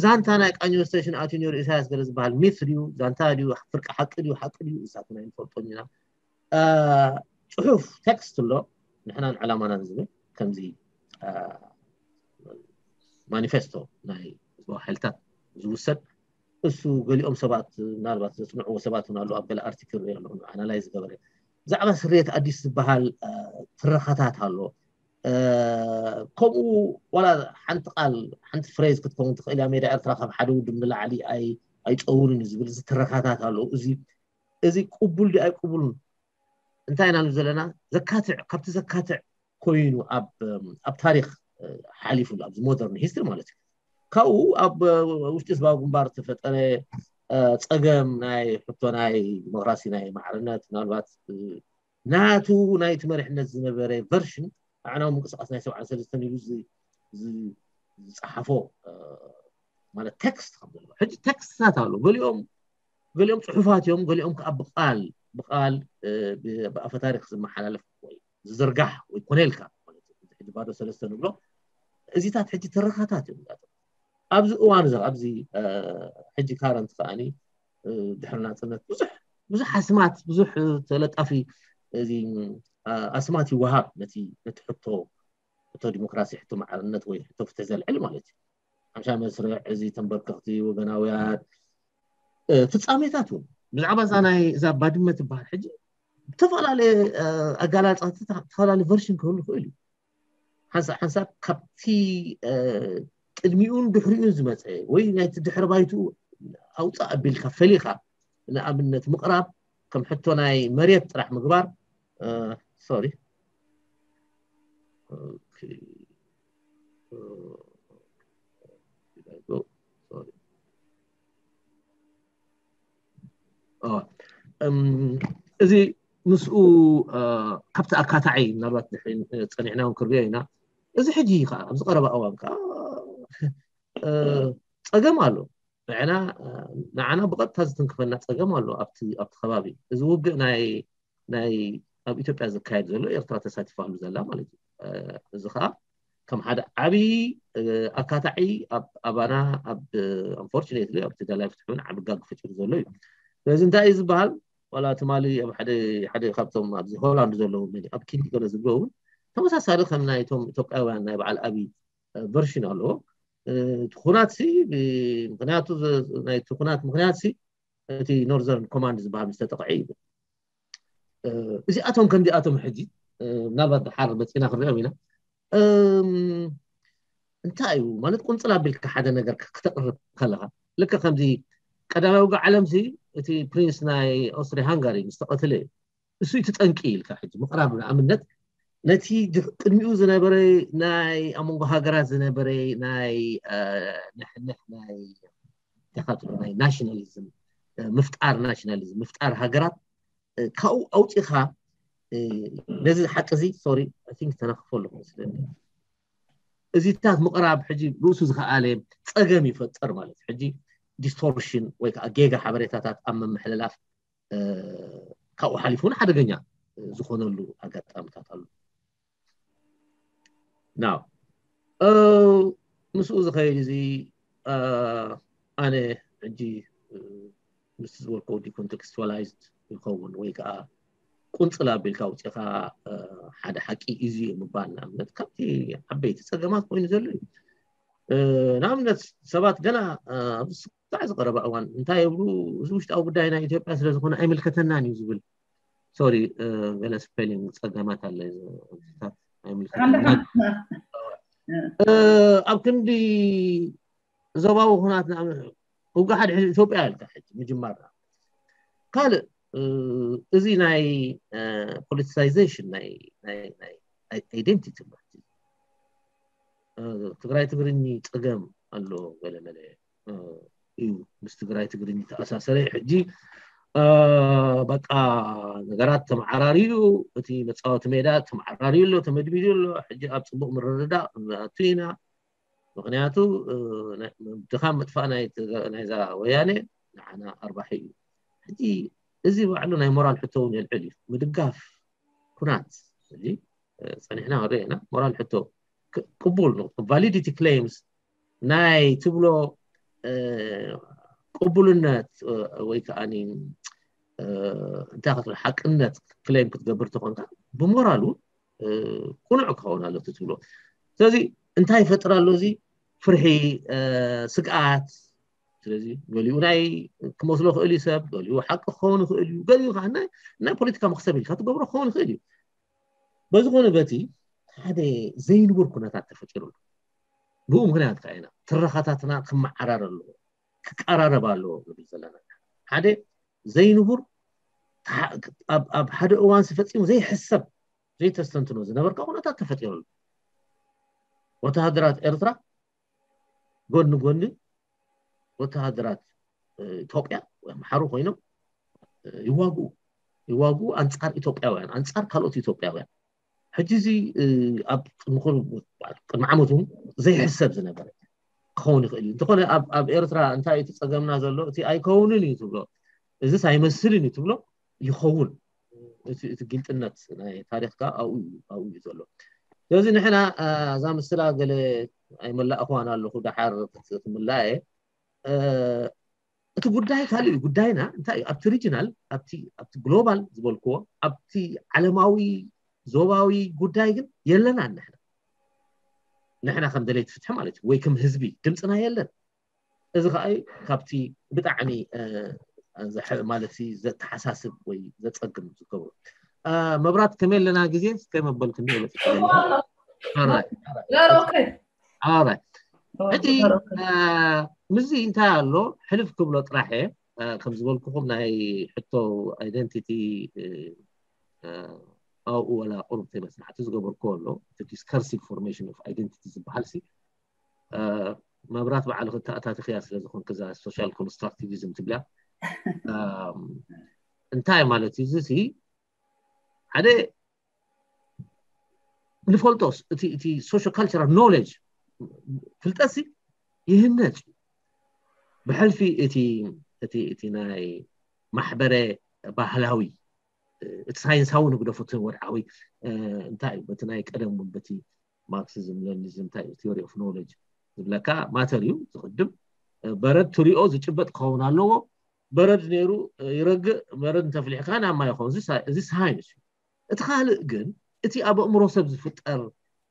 ዛንታ ናይ ቃኞ ስቴሽን ኣትዩ ነሩ ኢሳያስ ገለ ዝበሃል ሚት ድዩ ዛንታ ድዩ ፍርቂ ሓቂ ድዩ ሓቂ ድዩ እሳትና ይንፈልጦን ኢና ፅሑፍ ቴክስት ኣሎ ንሕናን ዕላማናን ዝብል ከምዚ ማኒፌስቶ ናይ ህዝባዊ ሓይልታት ዝውሰድ እሱ ገሊኦም ሰባት ምናልባት ዘፅንዕዎ ሰባት እውን ኣለዉ ኣብ ገለ ኣርቲክል ሪኦ ኣለኹ ኣናላይዝ ዝገበረ ብዛዕባ ስርየት ኣዲስ ዝበሃል ትረኻታት ኣሎ ከምኡ ዋላ ሓንቲ ቃል ሓንቲ ፍሬዝ ክትከውን ትኽእል እያ ሜዳ ኤርትራ ካብ ሓደ ውድብ ንላዕሊ ኣይፀውርን እዩ ዝብል እዚ ትረኻታት ኣለዉ እዚ እዚ ቅቡል ድዩ ኣይቅቡልን እንታይ ኢና ንብል ዘለና ዘካትዕ ካብቲ ዘካትዕ ኮይኑ ኣብ ታሪክ ሓሊፉ ኣብዚ ሞደርን ሂስትሪ ማለት እዩ ካብኡ ኣብ ውሽጢ ህዝባዊ ግንባር ዝተፈጠረ ፀገም ናይ ሕቶ ናይ ዲሞክራሲ ናይ ማዕርነት ምናልባት ናቱ ናይቲ መሪሕነት ዝነበረ ቨርሽን ኣዕናዊ ምንቅስቃስ ናይ ሰብዓ ሰለስተን ኢሉ ዝፀሓፎ ማለት ቴክስት ከም ዘለዎ ሕጂ ቴክስትታት ኣሎ። ገሊኦም ገሊኦም ፅሑፋት እዮም፣ ገሊኦም ከዓ ብቃል ብቃል ብኣፈ ታሪክ ዝመሓላለፍ ወይ ዝዝርጋሕ ወይ ኮነ ኢልካ ማለት እዩ። ሕጂ ባዶ ሰለስተ ንብሎ እዚታት ሕጂ ትረኻታት እዮም። ኣብዚ እዋን እዚ ኣብዚ ሕጂ ካረንት ከዓኒ ድሕሪ ናፅነት ብዙሕ ብዙሕ ኣስማት ብዙሕ ተለጣፊ እዚ ኣስማት ይወሃብ ነቲ ነቲ ሕቶ ሕቶ ዲሞክራሲ ሕቶ ማዕርነት ወይ ሕቶ ፍትሒ ዘልዕል ማለት እዩ። ሓምሻ መስርዕ እዚ ተንበርከኽቲ ወገናውያን ፍፃሜታት እውን ብዛዕባ እዛ ናይ እዛ ባድመ ትበሃል ሕጂ ዝተፈላለየ ኣጋላፃ ዝተፈላለየ ቨርሽን ክህሉ ይኽእል እዩ። ሓንሳብ ሓንሳብ ካብቲ ቅድሚኡን ድሕሪኡን ዝመፀ ወይ ናይቲ ድሕሪ ባይትኡ ኣውፃእ ኣቢልካ ፈሊኻ ንኣብነት ምቕራብ ከም ሕቶ ናይ መሬት ጥራሕ ምግባር ሶሪ እዚ ምስኡ ካብቲ ኣካታዒ ምናልባት ድሕሪ ፀኒሕና እውን ክርዮ ኢና። እዚ ሕጂ ከዓ ኣብዚ ቀረባ እዋን ከዓ ፀገም ኣሎ። ንዓና ንዓና ብቐጥታ ዝትንክፈና ፀገም ኣሎ ኣብቲ ኣብቲ ከባቢ እዚ ውግእ ናይ ናይ ኣብ ኢትዮጵያ ዝካየድ ዘሎ ኤርትራ ተሳቲፋሉ ዘላ ማለት እዩ። እዚ ከዓ ከም ሓደ ዓብዪ ኣካታዒ ኣባና ኣብ unfortunately ኣብቲ ደላይ ፍትሒ እውን ዓቢ ጋግ ፈጢሩ ዘሎ እዩ። ስለዚ እንታይ እዩ ዝበሃል ዋላ ትማሊ ኣብ ሓደ ሓደ ካብቶም ኣብዚ ሆላንድ ዘለዉ ኣብ ኪንዲ ገለ ዝብሎ እውን ተመሳሳሊ ከም ናይቶም ኢትዮጵያውያን ናይ በዓል ኣብይ ቨርሽን ኣለዎ። እቲ ኩናት ሲ ምክንያቱ ናይቲ ኩናት ምክንያት ሲ እቲ ኖርዘርን ኮማንድ ዝበሃል ዝተጠቕዐ እዩ። እዚኣቶም ከምዚኣቶም ሕጂ ምናልባት ድሓር መፂና ክንሪኦም ኢና። እንታይ እዩ ማለት ቁንፅል ኣቢልካ ሓደ ነገር ክተቕርብ ከለካ ልክ ከምዚ ቀዳማዊ ውግእ ዓለም ሲ እቲ ፕሪንስ ናይ ኦስትሪ ሃንጋሪ ምስ ተቐትለ እዩ። እሱ እቲ ጠንቂ ኢልካ ሕጂ ምቕራብ ንኣብነት ነቲ ቅድሚኡ ዝነበረ ናይ ኣብ መንጎ ሃገራት ዝነበረ ናይ ንሕንሕ ናይ ተኻትሎ ናይ ናሽናሊዝም ምፍጣር ናሽናሊዝም ምፍጣር ሃገራት ካብኡ ኣውፂኻ ነዚ ሓቂ እዚ ሶሪ ቲንክ ተነክፎ ኣለኩ መስለኒ እዚታት ምቕራብ ሕጂ ርእሱ ዝኸኣለ ፀገም ይፈጥር ማለት ሕጂ ዲስቶርሽን ወይ ከዓ ጌጋ ሓበሬታታት ኣብ ምምሕልላፍ ካብኡ ሓሊፉ እውን ሓደገኛ ዝኾነሉ ኣጋጣምታት ኣሎ። ናው ምስኡ ዝኸይድ እዚ ኣነ ሕጂ ምስ ዝበልኮ ዲኮንቴክስቹዋላይዝድ ይኸውን ወይ ከዓ ቁንፅል ኣቢልካ ውፅኢኻ ሓደ ሓቂ እዚ እዩ ምባል ንኣብነት ካብቲ ዓበይቲ ፀገማት ኮይኑ ዘሎ እዩ። ንኣብነት ሰባት ገና ኣብዚ ስጋዕ ዝቀረበ እዋን እንታይ ይብሉ እዚ ውሽጣዊ ጉዳይ ናይ ኢትዮጵያ ስለዝኾነ ኣይምልከተናን እዩ ዝብል ሶሪ ገለ ስፔሊንግ ፀገማት ኣለ ኣይምልከተናን ኣብ ክንዲ ዞባዊ ኩናት ውጋ ሓደ ኢትዮጵያ ኢልካ ሕጂ ምጅማር ካልእ እዚ ናይ ፖለቲሳይዜሽን ናይ ኣይደንቲቲ ትግራይ ትግርኝ ፀገም ኣሎ ገለመለ እዩ ምስ ትግራይ ትግርኝ ተኣሳሰረ ሕጂ በቃ ነገራት ተመዓራርዩ እቲ መፃወቲ ሜዳ ተመዓራርዩ ኣሎ ተመድሚዱ ኣሎ ሕጂ ኣብ ፅቡቅ ምርርዳእ ክንኣቱ ኢና ምክንያቱ ድኻም ምጥፋእ ናይዛ ወያነ ንዓና ኣርባሒ እዩ ሕጂ እዚ ባዕሉ ናይ ሞራል ሕቶ እውን የልዕል እዩ ምድጋፍ ኩናት እዚ ፀኒሕና ክንሪኦ ኢና ሞራል ሕቶ ቅቡል ቫሊዲቲ ክሌምስ ናይ ትብሎ ቅቡልነት ወይ ከዓ እንታይ ክትብል ሓቅነት ክሌም ክትገብር ተኾንካ ብሞራል እውን ቁኑዕ ክኸውን ኣሎ ትብሎ ስለዚ እንታይ ይፈጥር ኣሎ እዚ ፍርሒ ስግኣት ስለዚ ገሊኡ ናይ ክመስሎ ክእል እዩ ሰብ ገሊኡ ሓቂ ክኸውን ይኽእል እዩ ገሊኡ ከዓ ናይ ፖለቲካ መክሰብ ኢልካ ትገብሮ ክኸውን ይኽእል እዩ በዝኾነ በቲ ሓደ ዘይንቡር ኩነታት ተፈጢሩ ኣሎ ብኡ ምክንያት ከዓ ኢና ትረኻታትና ክመዓራር ኣለዎ ክቀራረብ ኣለዎ ንብል ዘለና ሓደ ዘይንቡር ኣብ ሓደ እዋን ፈፂሙ ዘይሕሰብ ዘይተስተንትኖ ዝነበርካ ኩነታት ተፈጢሩ ኣሎ ወተሃደራት ኤርትራ ጎኒ ጎኒ ወተሃደራት ኢትዮጵያ ወይ ኣምሓሩ ኮይኖም ይዋግኡ ይዋግኡ ኣንፃር ኢትዮጵያውያን ኣንፃር ካልኦት ኢትዮጵያውያን ሕጂ እዚ ኣብ ቅድሚ ዓመት እውን ዘይሕሰብ ዝነበረ ክኸውን ይኽእል እዩ። እንተኾነ ኣብ ኤርትራ እንታይ እቲ ጸገምና ዘሎ? እቲ ኣይከውንን እዩ ትብሎ፣ እዚስ ኣይመስልን እዩ ትብሎ፣ ይኸውን። እቲ ግልጥነት ናይ ታሪኽካ ኣብኡ እዩ ዘሎ። ስለዚ ንሕና እዛ ምስላ ገለ ኣይመላእኽዋን ኣለኹ፣ ደሓር ክትምላእ እየ። እቲ ጉዳይ ካልእ እዩ። ጉዳይና እንታይ እዩ? ኣብቲ ሪጅናል፣ ኣብቲ ግሎባል ዝበልክዎ፣ ኣብቲ ዓለማዊ ዞባዊ ጉዳይ ግን የለናን። ንሕና ንሕና ከም ደለይቲ ፍትሒ ማለት እዩ፣ ወይ ከም ህዝቢ ድምፅና የለን። እዚ ከዓ ካብቲ ብጣዕሚ ማለት ዘተሓሳስብ ወይ ዘፀግም ዝገብሩ። መብራት ከመይ ኣለና ግዜ ከመበልክኒ ሕጂ ምስዚ እንታይ ኣሎ ሕልፍ ክብሎ ጥራሕ እየ። ከም ዝበልኩኹም ናይ ሕቶ ኣይደንቲቲ ኣብኡ ወላ ቁሩብ ተይ መጽናዕቲ ዝገበርኩዎ ኣሎ። እቲ ዲስከርሲቭ ፎርሜሽን ኦፍ ኣይደንቲቲ ዝበሃል ሲ መብራት ባዕልኺ ተኣታቲኽያ ስለ ዝኾንክ እዛ ሶሻል ኮንስትራክቲቪዝም ትብላ እንታይ ማለት እዩ? እዚ ሓደ ንፈልጦስ እቲ ሶሾ ካልቸራል ኖሌጅ ፍልጠት ይህነፅ ብሕልፊ እቲ ናይ ማሕበረ ባህላዊ እቲ ሳይንሳዊ ንግደፎ እቲ ወድዓዊ እንታይ እዩ በቲ ናይ ቀደም እውን በቲ ማርክሲዝም ሌኒኒዝም እንታይ እዩ ቲዮሪ ኦፍ ኖሌጅ ዝብለካ ማተር እዩ ዝቕድም በረድ ትሪኦ ዝጭበጥ ክኸውን ኣለዎ። በረድ ነይሩ ይረግእ፣ በረድ እንተፍሊሕካ ናብ ማይ ይኸውን። እዚ ሳይንስ እዩ። እቲ ካልእ ግን እቲ ኣብ ኣእምሮ ሰብ ዝፍጠር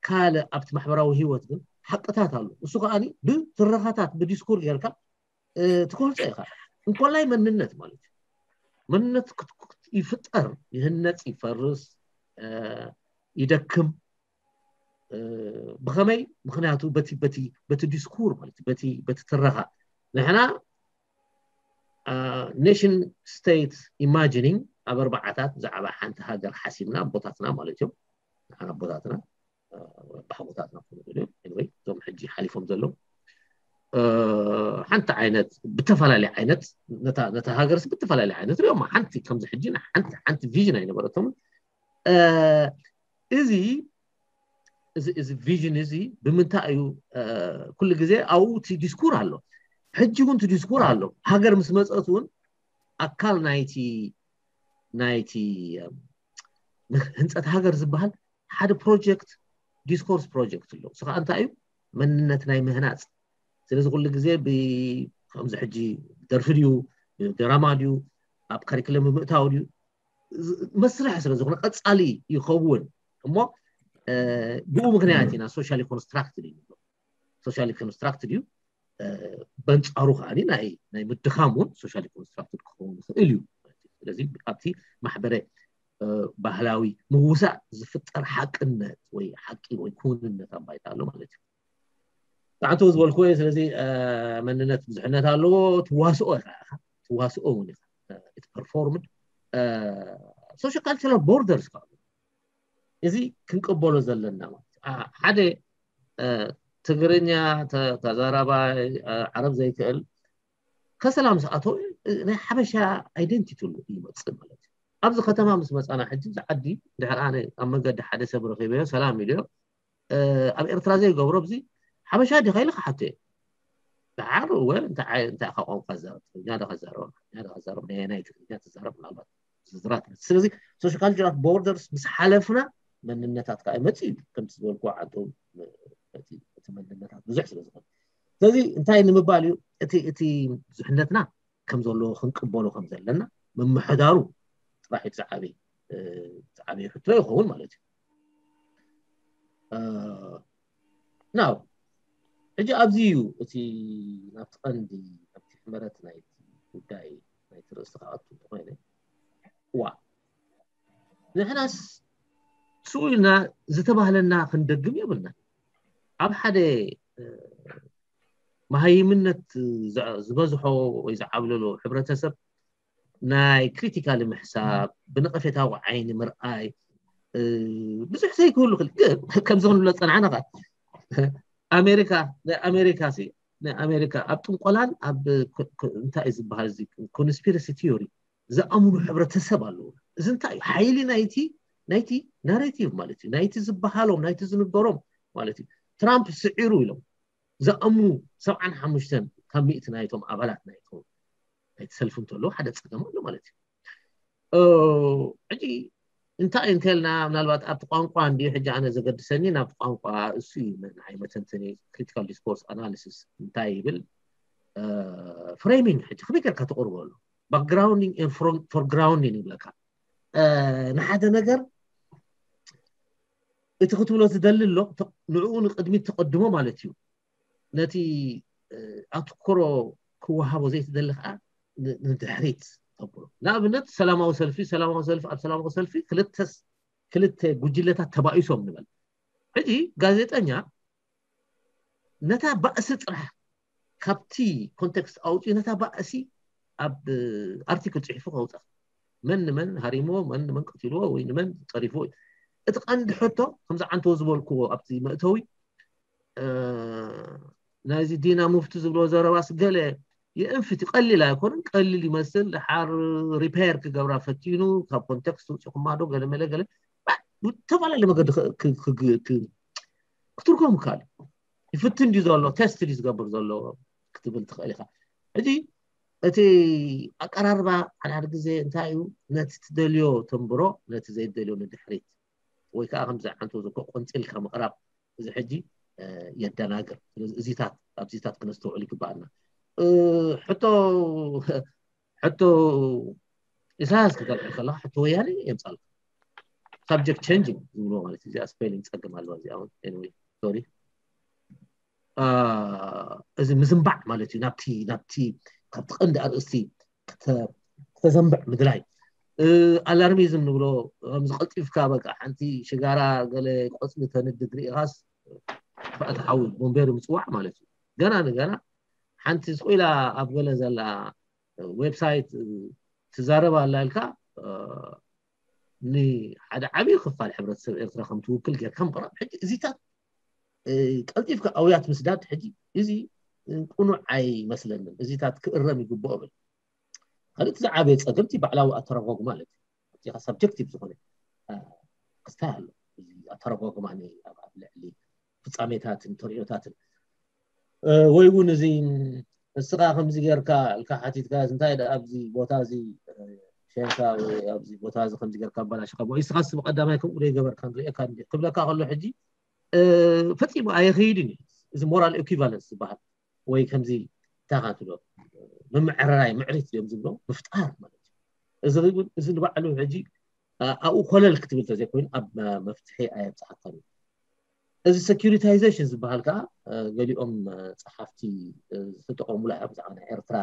ካልእ ኣብቲ ማሕበራዊ ህይወት ግን ሓቅታት ኣሎ። እሱ ከዓ ብትረኻታት ብዲስኩር ጌርካ ትገልፆ ኢኻ። እንኮላይ መንነት ማለት እዩ። መንነት ይፍጠር፣ ይህነፅ፣ ይፈርስ፣ ይደክም። ብኸመይ? ምክንያቱ በቲ ዲስኩር ማለት በቲ ትረኻ ንሕና ኔሽን ስቴት ኢማጂኒንግ ኣብ ኣርባዓታት ብዛዕባ ሓንቲ ሃገር ሓሲብና ኣቦታትና ማለት እዮም። ንሓና ኣቦታትና ኣቦታትና ክኾኑ ይኽእሉ እዮም። Anyway እዞም ሕጂ ሓሊፎም ዘለዉ ሓንቲ ዓይነት ብተፈላለየ ዓይነት ነታ ሃገርስ ብተፈላለየ ዓይነት ሪኦም ሓንቲ ከምዚ ሕጂ ሓንቲ ሓንቲ ቪዥን ኣይነበረቶምን። እዚ እዚ ቪዥን እዚ ብምንታይ እዩ? ኩሉ ግዜ ኣብኡ እቲ ዲስኩር ኣሎ። ሕጂ እውን እቲ ዲስኩር ኣሎ። ሃገር ምስ መፀት እውን ኣካል ናይቲ ናይቲ ህንፀት ሃገር ዝበሃል ሓደ ፕሮጀክት ዲስኮርስ ፕሮጀክት ኣሎ። እሱ ከዓ እንታይ እዩ? መንነት ናይ ምህናፅ። ስለዚ ኩሉ ግዜ ከምዚ ሕጂ ደርፊ ድዩ ድራማ ድዩ ኣብ ካሪክለም ብምእታው ድዩ መስርሕ ስለ ዝኾነ ቀፃሊ ይኸውን እሞ ብኡ ምክንያት ኢና ሶሻሊ ኮንስትራክትድ እዩ። ሶሻሊ ኮንስትራክትድ እዩ። በንፃሩ ከዓ ናይ ምድኻም እውን ሶሻሊ ኮንስትራክትድ ክኸውን ይኽእል እዩ። ስለዚ ኣብቲ ማሕበረ ባህላዊ ምውሳእ ዝፍጠር ሓቅነት ወይ ሓቂ ወይ ክውንነት ኣብ ባይታ ኣሎ ማለት እዩ። ብዓንተው ዝበልክዎ እዩ። ስለዚ መንነት ብዙሕነት ኣለዎ። ትዋስኦ ኢኻ ኢኻ ትዋስኦ እውን ኢኻ እቲ ፐርፎርምድ ሶሾ ካልቸራል ቦርደርስ ከዓ እዚ ክንቅበሎ ዘለና ማለት ሓደ ትግርኛ ተዛራባይ ዓረብ ዘይክእል ከሰላም ዝኣተው ናይ ሓበሻ ኣይደንቲቲ ሉ ይመፅእ ማለት እዩ። ኣብዚ ከተማ ምስ መፃና ሕጂ እዚ ዓዲ ድሕር ኣነ ኣብ መንገዲ ሓደ ሰብ ረኺበዮ ሰላም ኢልዮ ኣብ ኤርትራ ዘይገብሮ ኣብዚ ሓበሻ ዲኻ ኢለ ክሓቶ እየ። ደሓር እወ እንታይ ኢኻ ቋንቋ ትዛረብ? ትግርኛ ዶ ከዛረብ ኣምሓርኛ ዶ ከዛረብ ናይ ኣየናይ ትግርኛ ትዛረብ ምናልባት ዝርዝራት ስለዚ ሶሾ ካልቸራል ቦርደርስ ምስ ሓለፍና መንነታት ከዓ ይመፅእ እዩ። ከምቲ ዝበልኩ ዓንተው እቲ መንነታት ብዙሕ ስለ ዝኾነ ስለዚ እንታይ ንምባል እዩ እቲ እቲ ብዙሕነትና ከም ዘለዎ ክንቅበሎ ከም ዘለና ምምሕዳሩ ጥራሕ እዩ ዝዓበየ ዝዓበየ ሕቶ ይኸውን ማለት እዩ። ናው ሕጂ ኣብዚ እዩ እቲ ናብቲ ቀንዲ ናብቲ ሕመረት ናይቲ ጉዳይ ናይቲ ርእሲ ክኣቱ እንተኮይነ ዋ ንሕናስ ስኡ ኢልና ዝተባህለና ክንደግም የብልና። ኣብ ሓደ መሃይምነት ዝበዝሖ ወይ ዝዓብለሎ ሕብረተሰብ ናይ ክሪቲካል ምሕሳብ ብነቐፌታዊ ዓይኒ ምርኣይ ብዙሕ ዘይክህሉ ክል ግን ከምዚ ክንብሎ ዝፀናዕና ከዓ ኣሜሪካ ናይ ኣሜሪካ ሲ ናይ ኣሜሪካ ኣብ ጥንቆላን ኣብ እንታይ እዩ ዝበሃል እዚ ኮንስፒረሲ ቲዮሪ ዝኣምኑ ሕብረተሰብ ኣለዉ። እዚ እንታይ እዩ ሓይሊ ናይቲ ናይቲ ናሬቲቭ ማለት እዩ። ናይቲ ዝበሃሎም፣ ናይቲ ዝንገሮም ማለት እዩ። ትራምፕ ስዒሩ ኢሎም ዝኣምኑ ሰብዓን ሓሙሽተን ካብ ሚእቲ ናይቶም ኣባላት ናይቶም ናይቲ ሰልፊ እንተለዉ ሓደ ፀገም ኣሎ ማለት እዩ። ሕጂ እንታይ እንተልና ምናልባት ኣብቲ ቋንቋ እንዲ ሕጂ ኣነ ዘገድሰኒ ናብቲ ቋንቋ እሱ እዩ። ናይ መተንተኒ ክሪቲካል ዲስኮርስ ኣናሊሲስ እንታይ ይብል? ፍሬሚንግ ሕጂ ከመይ ጌርካ ተቕርቦ ኣሎ? ባክግራውንዲንግ ፎርግራውንዲንግ ይብለካ። ንሓደ ነገር እቲ ክትብሎ ዝደሊ ኣሎ ንዕኡ ንቅድሚት ተቀድሞ ማለት እዩ። ነቲ ኣትኮሮ ክወሃቦ ዘይትደሊ ከዓ ንድሕሪት ተብሎ። ንኣብነት ሰላማዊ ሰልፊ ሰላማዊ ሰልፊ ኣብ ሰላማዊ ሰልፊ ክልተ ጉጅለታት ተባኢሶም ንበል። ሕጂ ጋዜጠኛ ነታ ባእሲ ጥራሕ ካብቲ ኮንቴክስት ኣውፅኡ ነታ ባእሲ ኣብ ኣርቲክል ፅሒፉ ከውፅኣ፣ መን ንመን ሃሪሞ፣ መን ንመን ቀቲልዎ ወይ ንመን ፀሪፍዎ እዩ። እቲ ቀንዲ ሕቶ ከምዚ ዓንተው ዝበልክዎ ኣብቲ መእተዊ ናይዚ ዲና ሙፍቲ ዝብሎ ዘረባስ ገለ የእንፍት ቀሊል ኣይኮነን። ቀሊል ይመስል። ድሓር ሪፔር ክገብራ ፈቲኑ ካብ ኮንቴክስት ውፅኹማ ዶ ገለ መለ ገለ ብተፈላለየ መገዲ ክትርጎም ይከኣል። ይፍትን ድዩ ዘሎ፣ ቴስት ድዩ ዝገብር ዘሎ ክትብል ትኽእል ኢኻ። ሕጂ እቲ ኣቀራርባ ሓድሓደ ግዜ እንታይ እዩ፣ ነቲ ትደልዮ ተንብሮ፣ ነቲ ዘይትደልዮ ንድሕሪት፣ ወይ ከዓ ከምዚ ዓንቶ ዝኮ ቆንፂልካ ምቕራብ፣ እዚ ሕጂ የደናግር። ስለዚ እዚታት ኣብዚታት ክነስተውዕል ይግባኣና። ሕቶ ሕቶ ኢሳያስ ክተልዕል ከለካ ሕቶ ወያነ የምፃልካ። ሳብጀክት ቸንጂንግ ዝብልዎ ማለት እዩ። እዚኣ ስፔሊንግ ፀገም ኣለዋ እዚኣ እውን። ኤኒወይ ሶሪ። እዚ ምዝንባዕ ማለት እዩ። ናብቲ ናብቲ ካብቲ ቀንዲ ኣርእስቲ ክተ- ክተዘንብዕ ምድላይ። ኣላርሚዝም ንብሎ ከምዚ ቀልጢፍካ በቃ ሓንቲ ሽጋራ ገለ ቆፅሊ ተንድድ ርኢኻስ ክፍኣት ሓዊ ቦምቤር ምፅዋዕ ማለት እዩ። ገና ንገና ሓንቲ ስቑኢላ ኣብ ገለ ዘላ ዌብሳይት ትዛረብ ኣላ ኢልካ ንሓደ ዓብዪ ክፋል ሕብረተሰብ ኤርትራ ከም ትውክል ጌርካ ምቕራብ። ሕጂ እዚታት ቀልጢፍካ ኣውያት ምስዳድ ሕጂ እዚ ቅኑዕ ኣይመስለንን። እዚታት ክእረም ይግብኦ ብል። ካልእ እቲ ዝዓበየ ፀገም እቲ ባዕላዊ ኣተረጓጉማ ማለት እዩ። ኣብዚኻ ሳብጀክቲቭ ዝኾነ ክስታይ ኣሎ። እዚ ኣተረጓጉማ ኣብ ልዕሊ ፍፃሜታትን ተርእዮታትን ወይ እውን እዚ ንስኻ ከምዚ ጌርካ ኢልካ ሓቲትካ እንታይ ደኣ ኣብዚ ቦታ እዚ ሸንካ ወይ ኣብዚ ቦታ እዚ ከምዚ ጌርካ ኣባላሽኻ ወይ ንስኻስ ብቀዳማይ ከምኡ ዘይገበርካ ንርእየካ እንዲ ክብለካ ከሎ ሕጂ ፈፂሙ ኣየኸይድን እዩ። እዚ ሞራል ኢኩቫለንስ ዝበሃል ወይ ከምዚ እንታይ ትብሎ ምምዕርራይ ምዕሪት እዮም ዝብሎ ምፍጣር ማለት እዩ። እዚ እውን እዚ ንባዕሉ ሕጂ ኣብኡ ኮለል ክትብል ተዘይኮይኑ ኣብ መፍትሒ ኣየብፅሓካን እዩ። እዚ ሴኪሪታይዜሽን ዝበሃል ከዓ ገሊኦም ፀሓፍቲ ዝተጠቀሙሉ እዮም። ብዛዕባ ናይ ኤርትራ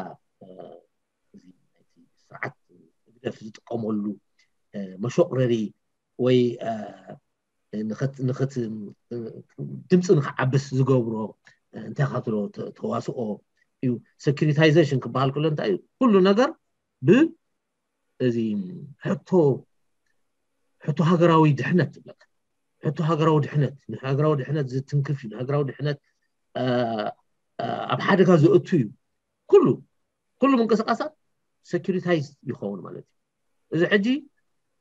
እዚ ናይቲ ስርዓት ህግደፍ ዝጥቀመሉ መሾቅረሪ ወይ ንኽት- ንኽት- ድምፂ ንክዓብስ ዝገብሮ እንታይ ካትሎ ተዋስኦ እዩ። ሴኪሪታይዜሽን ክበሃል ከሎ እንታይ እዩ? ኩሉ ነገር ብ እዚ ሕቶ ሕቶ ሃገራዊ ድሕነት ዝብለካ ሕቶ ሃገራዊ ድሕነት ንሃገራዊ ድሕነት ዝትንክፍ እዩ። ንሃገራዊ ድሕነት ኣብ ሓደጋ ዘእቱ እዩ። ኩሉ ኩሉ ምንቅስቃሳት ሴኪሪታይዝ ይኸውን ማለት እዩ። እዚ ሕጂ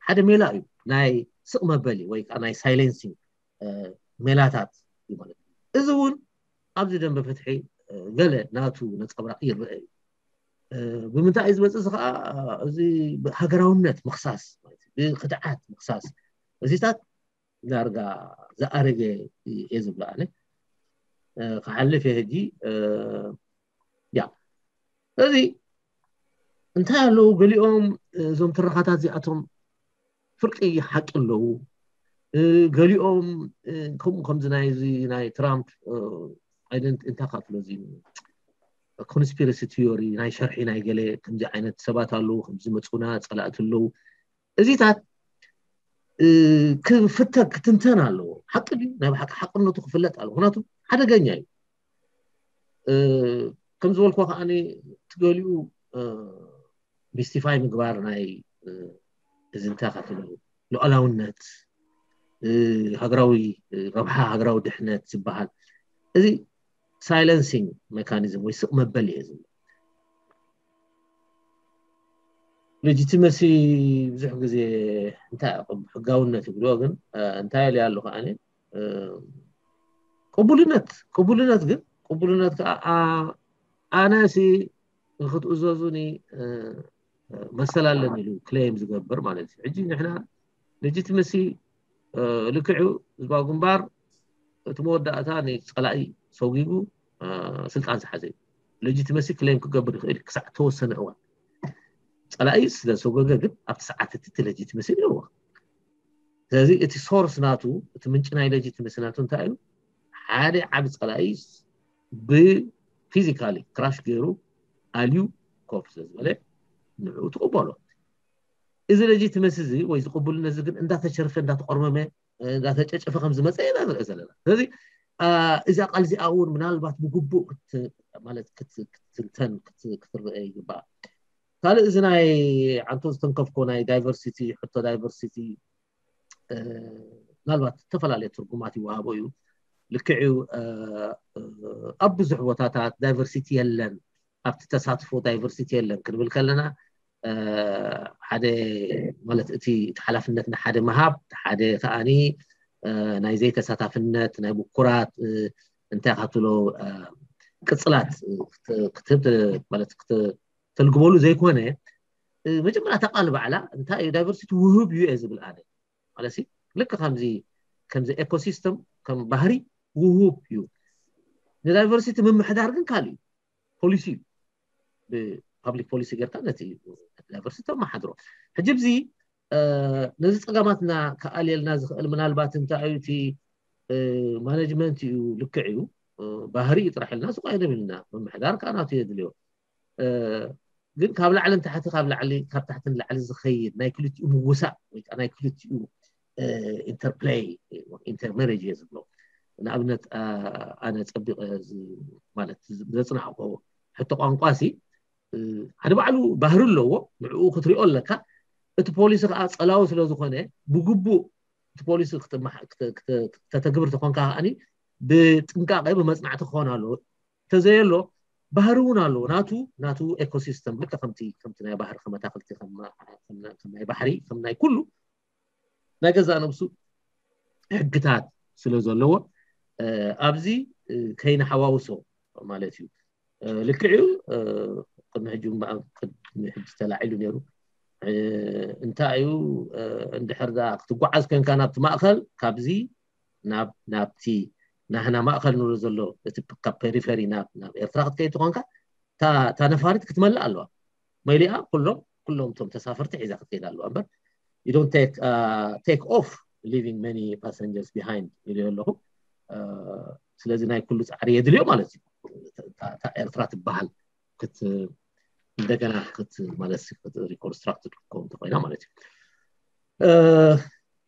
ሓደ ሜላ እዩ ናይ ስቕ መበሊ ወይ ከዓ ናይ ሳይለንሲንግ ሜላታት እዩ ማለት እዩ። እዚ እውን ኣብዚ ደንበ ፍትሒ ገለ ናቱ ነፀብራቕ ይረአ እዩ። ብምንታይ እዩ ዝመፅእ እዚ ከዓ እዚ ሃገራውነት ምክሳስ ማለት እዩ። ብክድዓት ምክሳስ እዚታት ዳርጋ ዝኣረገ እየ ዝብሎ ኣነ። ክሓልፍ እየ ሕጂ ያ እዚ እንታይ ኣለዉ ገሊኦም እዞም ትረኻታት እዚኣቶም ፍርቂ ሓቂ ኣለዉ። ገሊኦም ከምኡ ከምዚ ናይዚ ናይ ትራምፕ ኣይደንት እንታይ ካትሎ እዚ ኮንስፒረሲ ቲዮሪ ናይ ሸርሒ ናይ ገለ ከምዚ ዓይነት ሰባት ኣለዉ ከምዚ መፁና ፀላእቲ ኣለዉ እዚታት ክፍተ ክትንተን ኣለዎ። ሓቂ ድዩ ናይ ብሓቂ ሓቅነቱ ክፍለጥ ኣለዎ። ምክንያቱ ሓደገኛ እዩ። ከም ዝበልኩ ከዓ ትገሊኡ ሚስቲፋይ ምግባር ናይ እዚ እንታይ ካትሎ ሉዓላውነት ሃገራዊ ረብሓ ሃገራዊ ድሕነት ዝበሃል እዚ ሳይለንሲንግ ሜካኒዝም ወይ ስቕ መበል እየ ዝብል። legitimacy ብዙሕ ግዜ እንታይ ሕጋውነት ይብልዎ ግን እንታይ ኢለ ኣለኹ ኣነ ቅቡልነት ቅቡልነት ግን ቅቡልነት ከዓ ኣነ ሲ ንክትእዘዙኒ መሰል ኣለኒ ኢሉ claim ዝገብር ማለት እዩ። ሕጂ ንሕና legitimacy ልክዑ ህዝባዊ ግንባር እቲ መወዳእታ ንፀላኢ ሰጒጉ ስልጣን ዝሓዘ እዩ። Legitimacy claim ክገብር ይኽእል ክሳዕ ተወሰነ እዋን። ፀላኢ ስለ ሰጎገ ግን ኣብቲ ሰዓት እቲ legitimacy ኣለዎ። ስለዚ እቲ source ናቱ እቲ ምንጭ ናይ legitimacy ናቱ እንታይ እዩ? ሓደ ዓቢ ፀላኢ ብ physically crush ገይሩ ኣልዩ ኮፍ ስለ ዝበለ ንዕኡ ትቕበሎ። እዚ legitimacy እዚ ወይ ዝቕቡልነት እዚ ግን እንዳተሸርፈ እንዳተቆርመመ እንዳተጨጨፈ ከም ዝመፀ ኢና ንርኢ ዘለና። ስለዚ እዚኣ ቃል እዚኣ እውን ምናልባት ብግቡእ ማለት ክትንተን ክትረአ ይግባእ። ካልእ እዚ ናይ ዓንቶ ዝተንከፍኮ ናይ diversity ሕቶ diversity ምናልባት ዝተፈላለየ ትርጉማት ይወሃቦ እዩ። ልክዕ እዩ ኣብ ብዙሕ ቦታታት diversity የለን ኣብቲ ተሳትፎ diversity የለን ክንብል ከለና ሓደ ማለት እቲ ሓላፍነት ንሓደ ምሃብ ሓደ ከዓኒ ናይ ዘይተሳታፍነት ናይ ብኩራት እንታይ ካትሎ ቅፅላት ክትህብ ማለት ተልግበሉ ዘይኮነ መጀመርያ እታ ቃል ባዕላ እንታይ እዩ diversity ውህብ እዩ እየ ዝብል ኣነ ማለት ልክ ከምዚ ከምዚ ecosystem ከም ባህሪ ውሁብ እዩ። ን diversity ምምሕዳር ግን ካልእ እዩ። ፖሊሲ እዩ። ብ public policy ጌርካ ነቲ diversity ተመሓድሮ። ሕጂ ብዚ ነዚ ፀገማትና ክኣልየልና ዝኽእል ምናልባት እንታይ እዩ እቲ management እዩ ልክዕ እዩ ባህሪ እዩ ጥራሕ ኢልና ስቕ ኣይንብል ኢና። ምምሕዳር ከዓ ናቱ የድልዮ። ግን ካብ ላዕሊ ንታሕቲ ካብ ላዕሊ ካብ ታሕቲ ንላዕሊ ዝኸይድ ናይ ክልቲኡ ምውሳእ ወይ ከዓ ናይ ክልቲኡ interplay intermarriage እየ ዝብሎ። ንኣብነት ኣነ ፀቢቐ ማለት ዘፅናዕኮ ሕቶ ቋንቋ ሲ ሓደ ባዕሉ ባህሪ ኣለዎ። ንዕኡ ክትሪኦ ኣለካ። እቲ ፖሊሲ ከዓ ፀላዊ ስለ ዝኾነ ብግቡእ እቲ ፖሊሲ ከተተግብር ተኾንካ ከዓኒ ብጥንቃቄ ብመፅናዕቲ ክኾን ኣለዎ። ተዘየሎ ባህሪ እውን ኣለዎ ናቱ ናቱ ecosystem ልክ ከምቲ ከምቲ ናይ ባህሪ ከም ኣታክልቲ ከም ናይ ባሕሪ ከም ናይ ኩሉ ናይ ገዛእ ነብሱ ሕግታት ስለ ዘለዎ ኣብዚ ከይንሓዋውሶ ማለት እዩ። ልክዕ እዩ። ቅድሚ ሕጂ ቅድሚ ሕጂ ተላዒሉ ነይሩ። እንታይ እዩ እንድሕር ክትጓዓዝ ኮንካ ናብቲ ማእኸል ካብዚ ናብ ናብቲ ናህና ማእኸል ንብሎ ዘሎ እቲ ካብ ፔሪፈሪ ናብ ናብ ኤርትራ ክትከይድ ትኾንካ እታ ነፋሪት ክትመልእ ኣለዋ። መሊኣ ኩሎም ኩሎም እቶም ተሳፈርቲ ሒዛ ክትከይድ ኣለዋ እምበር you don't take uh, take off leaving many passengers behind ኢሉ ኣለኹ። ስለዚ ናይ ኩሉ ፃዕሪ የድልዮ ማለት እዩ። እታ ኤርትራ ትበሃል ክት እንደገና ክት ማለት reconstructed ክትከውን ተኮይና ማለት እዩ።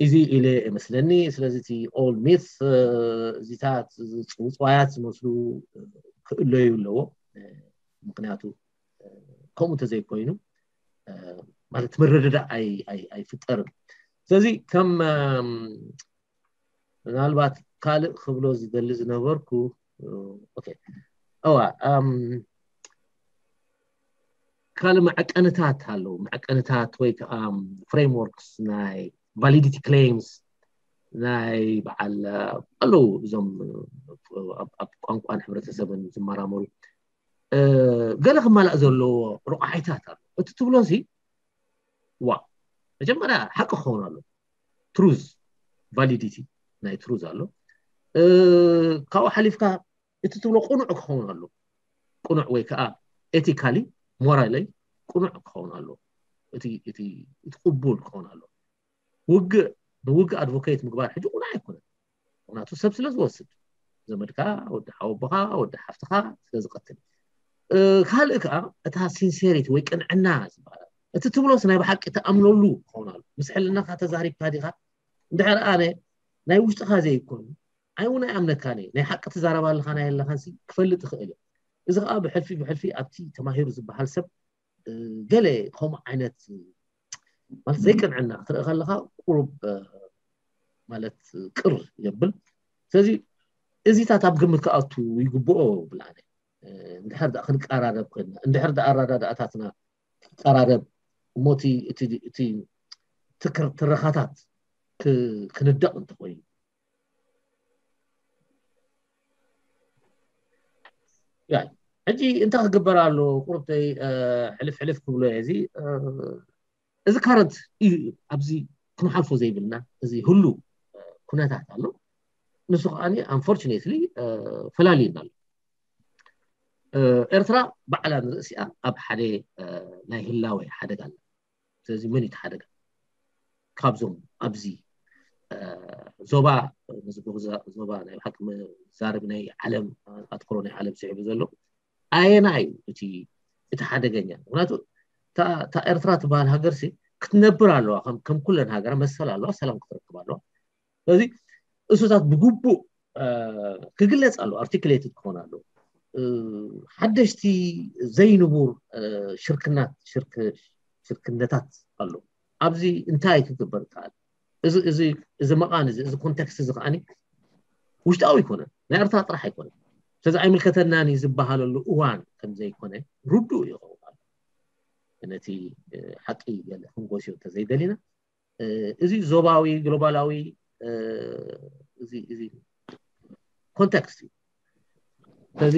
እዚ ኢለ መስለኒ። ስለዚ እቲ all myth እዚታት ውፅዋያት ዝመስሉ ክእለዩ ኣለዎ። ምክንያቱ ከምኡ እንተዘይኮይኑ ማለት ምርድዳእ ኣይፍጠርን። ስለዚ ከም ምናልባት ካልእ ክብሎ ዝደሊ ዝነበርኩ እዋ ካልእ መዐቀንታት ኣለዉ። መዐቀንታት ወይ ከዓ frameworks ናይ validity claims ናይ በዓል ኣለዉ። እዞም ኣብ ቋንቋን ሕብረተሰብን ዝመራመሩ ገለ ክማላእ ዘለዎ ረቋሒታት ኣሎ። እቲ ትብሎ ሲ ዋ መጀመርያ ሓቂ ክኸውን ኣሎ። Truth validity ናይ truth ኣሎ። ካብኡ ሓሊፍካ እቲ ትብሎ ቅኑዕ ክኸውን ኣሎ። ቅኑዕ ወይ ከዓ ethically morally ቅኑዕ ክኸውን ኣሎ። እቲ ቅቡል ክኸውን ኣሎ። ውግእ ንውግእ advocate ምግባር ሕጂ ቁኑዕ ኣይኮነን። ምክንያቱ ሰብ ስለ ዝወስድ ዘመድካ ወዲ ሓወቦኻ ወዲ ሓፍትኻ ስለ ዝቀትል ካልእ ከዓ እታ sincerity ወይ ቅንዕና ዝበሃል እቲ ትብሎስ ናይ ብሓቂ ተኣምነሉ ክኸውን ኣሎ። ምስ ሕልናኻ ተዛሪብካ ዲኻ? እንድሕር ኣነ ናይ ውሽጥኻ ዘይኮኑ ኣይ እውን ኣይኣምነካን እየ። ናይ ሓቂ ትዛረብ ኣለኻ ናይ ኣለኻን ክፈልጥ ይኽእል እየ። እዚ ከዓ ብሕልፊ ብሕልፊ ኣብቲ ተማሂሩ ዝበሃል ሰብ ገለ ከምኡ ዓይነት ማለት ዘይቅንዕና ክትርኢ ከለካ ቁሩብ ማለት ቅር የብል። ስለዚ እዚታት ኣብ ግምት ክኣቱ ይግብኦ ብላዕለ እንድሕር ዳ ክንቀራረብ ኮይና እንድሕር ዳ ኣረዳድኣታትና ክቀራረብ እሞ እቲ እቲ እቲ ትክር ትረኻታት ክ- ክንደቕ እንተኾይኑ ያ ሕጂ እንታይ ክግበር ኣሎ? ቁርብተይ ሕልፍ ሕልፍ ክብሎ እየ። እዚ እዚ ካረንት እዩ። ኣብዚ ክንሓልፎ ዘይብልና እዚ ህሉ ኩነታት ኣሎ። ንሱ ከዓ ኣንፎርቹኔትሊ ፈላልዩና ኣሎ። ኤርትራ ባዕላ ንርእሲኣ ኣብ ሓደ ናይ ህላወ ሓደጋ ኣላ። ስለዚ መን እዩ እቲ ሓደጋ? ካብዞም ኣብዚ ዞባ ዞባ ናይ ሓቂ መዛረቢ ናይ ዓለም ኣትኩሮ ናይ ዓለም ስዒቡ ዘሎ ኣየና እዩ እቲ እቲ ሓደገኛ? ምክንያቱ እታ ኤርትራ ትበሃል ሃገር ሲ ክትነብር ኣለዋ፣ ከም ኩለን ሃገራ መሰል ኣለዋ፣ ሰላም ክትረክብ ኣለዋ። ስለዚ እሱታት ብግቡእ ክግለጽ ኣሎ፣ ኣርቲክሌትድ ክኾን ኣሎ። ሓደሽቲ ዘይንቡር ሽርክናት ሽርክነታት ኣሎ። ኣብዚ እንታይ ክግበር ይከኣል? እዚ መቓን እዚ እዚ ኮንቴክስት እዚ ከዓኒ ውሽጣዊ ኣይኮነን፣ ናይ ኤርትራ ጥራሕ ኣይኮነን። ስለዚ ኣይምልከተናን እዩ ዝበሃለሉ እዋን ከም ዘይኮነ ርዱእ ይኸውን ኣሎ። ነቲ ሓቂ ገለ ክንጎስዮ እንተዘይደሊና እዚ ዞባዊ ግሎባላዊ እዚ እዚ ኮንቴክስት እዩ። ስለዚ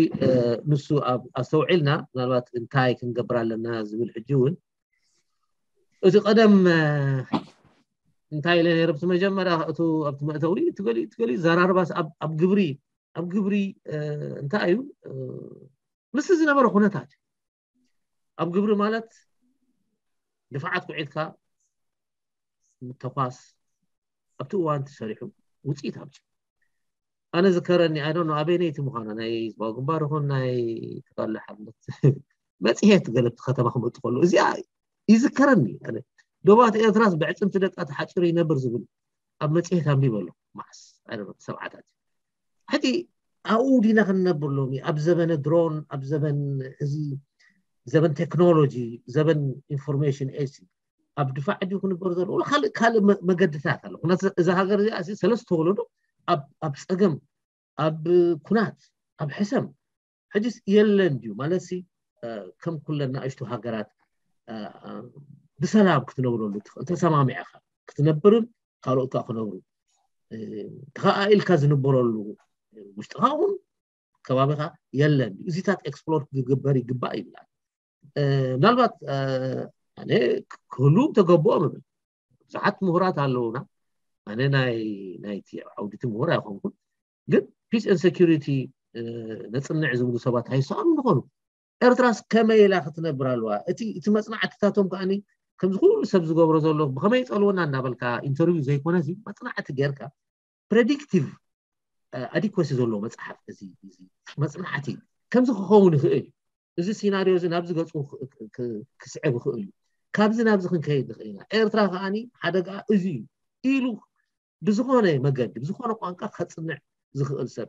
ንሱ ኣብ ኣስተውዒልና ምናልባት እንታይ ክንገብር ኣለና ዝብል ሕጂ እውን እቲ ቀደም እንታይ ኢለ ነይረ ብቲ መጀመርያ እቱ ኣብቲ መእተዊ ትገሊ ትገሊ ዘራርባስ ኣብ ግብሪ ኣብ ግብሪ እንታይ እዩ ምስቲ ዝነበረ ኩነታት ኣብ ግብሪ ማለት ድፋዓት ኩዒትካ ምተኳስ ኣብቲ እዋን ተሰሪሑ ውፅኢት ኣብፂ ኣነ ዝከረኒ ኣይ ዶንት ኖ ኣበይነይቲ ምዃና ናይ ህዝባዊ ግንባር ይኹን ናይ ተጋድሎ ሓርነት መፅሄት ገለ ኣብቲ ከተማ ክመጡ ከሉ እዚኣ ይዝከረኒ ኣነ ዶባት ኤርትራስ ብዕፅምቲ ደቃ ተሓፂሩ ይነብር ዝብል ኣብ መፅሄት ኣንቢበ ኣለኹ መዓስ ኣይ ዶንት ኖ ሰብዓታት ሕጂ ኣብኡ ዲና ክንነብር ሎሚ ኣብ ዘበነ ድሮን ኣብ ዘበን እዚ ዘበን ቴክኖሎጂ ዘበን ኢንፎርሜሽን ኤጅ ኣብ ድፋዕ ድዩ ክንበር ዘሎ ካልእ ካልእ መገድታት ኣሎ። ምክንያቱ እዛ ሃገር እዚኣ ሰለስተ ወለዶ ኣብ ፀገም ኣብ ኩናት ኣብ ሕሰም ሕጅስ የለን ድዩ ማለት ሲ ከም ኩለን ንኣሽቱ ሃገራት ብሰላም ክትነብረሉ እንተሰማሚዕካ ክትነብርን ካልኦት ከዓ ክነብሩ ተኸኣኢልካ ዝንበረሉ ውሽጥኻ እውን ከባቢኻ የለን። እዚታት ኤክስፕሎር ክግበር ይግባእ ይብላል። ምናልባት ኣነ ክህሉ ተገብኦ ምብል ብዙሓት ምሁራት ኣለውና። ኣነ ናይ ናይቲ ዓውዲቲ ምሁር ኣይኮንኩን፣ ግን ፒስ ን ሴኪሪቲ ነፅንዕ ዝብሉ ሰባት ኣይሰኣኑ ዝኾኑ። ኤርትራስ ከመይ ኢላ ክትነብር ኣለዋ? እቲ እቲ መፅናዕትታቶም ከዓኒ ከምዚ ኩሉ ሰብ ዝገብሮ ዘሎ ብኸመይ ይፀልወና እንዳበልካ ኢንተርቪው ዘይኮነሲ መፅናዕቲ ጌርካ ፕሬዲክቲቭ ኣዲኮሲ ዘለዎ መፅሓፍ እዚ መፅናዕቲ ከምዚ ክኸውን ይኽእል እዩ። እዚ ሲናሪዮ እዚ ናብዚ ገፁ ክስዕብ ይኽእል እዩ። ካብዚ ናብዚ ክንከይድ ንኽእል ኢና። ኤርትራ ከዓኒ ሓደጋ እዚ እዩ ኢሉ ብዝኾነ መገዲ ብዝኾነ ቋንቋ ከፅንዕ ዝኽእል ሰብ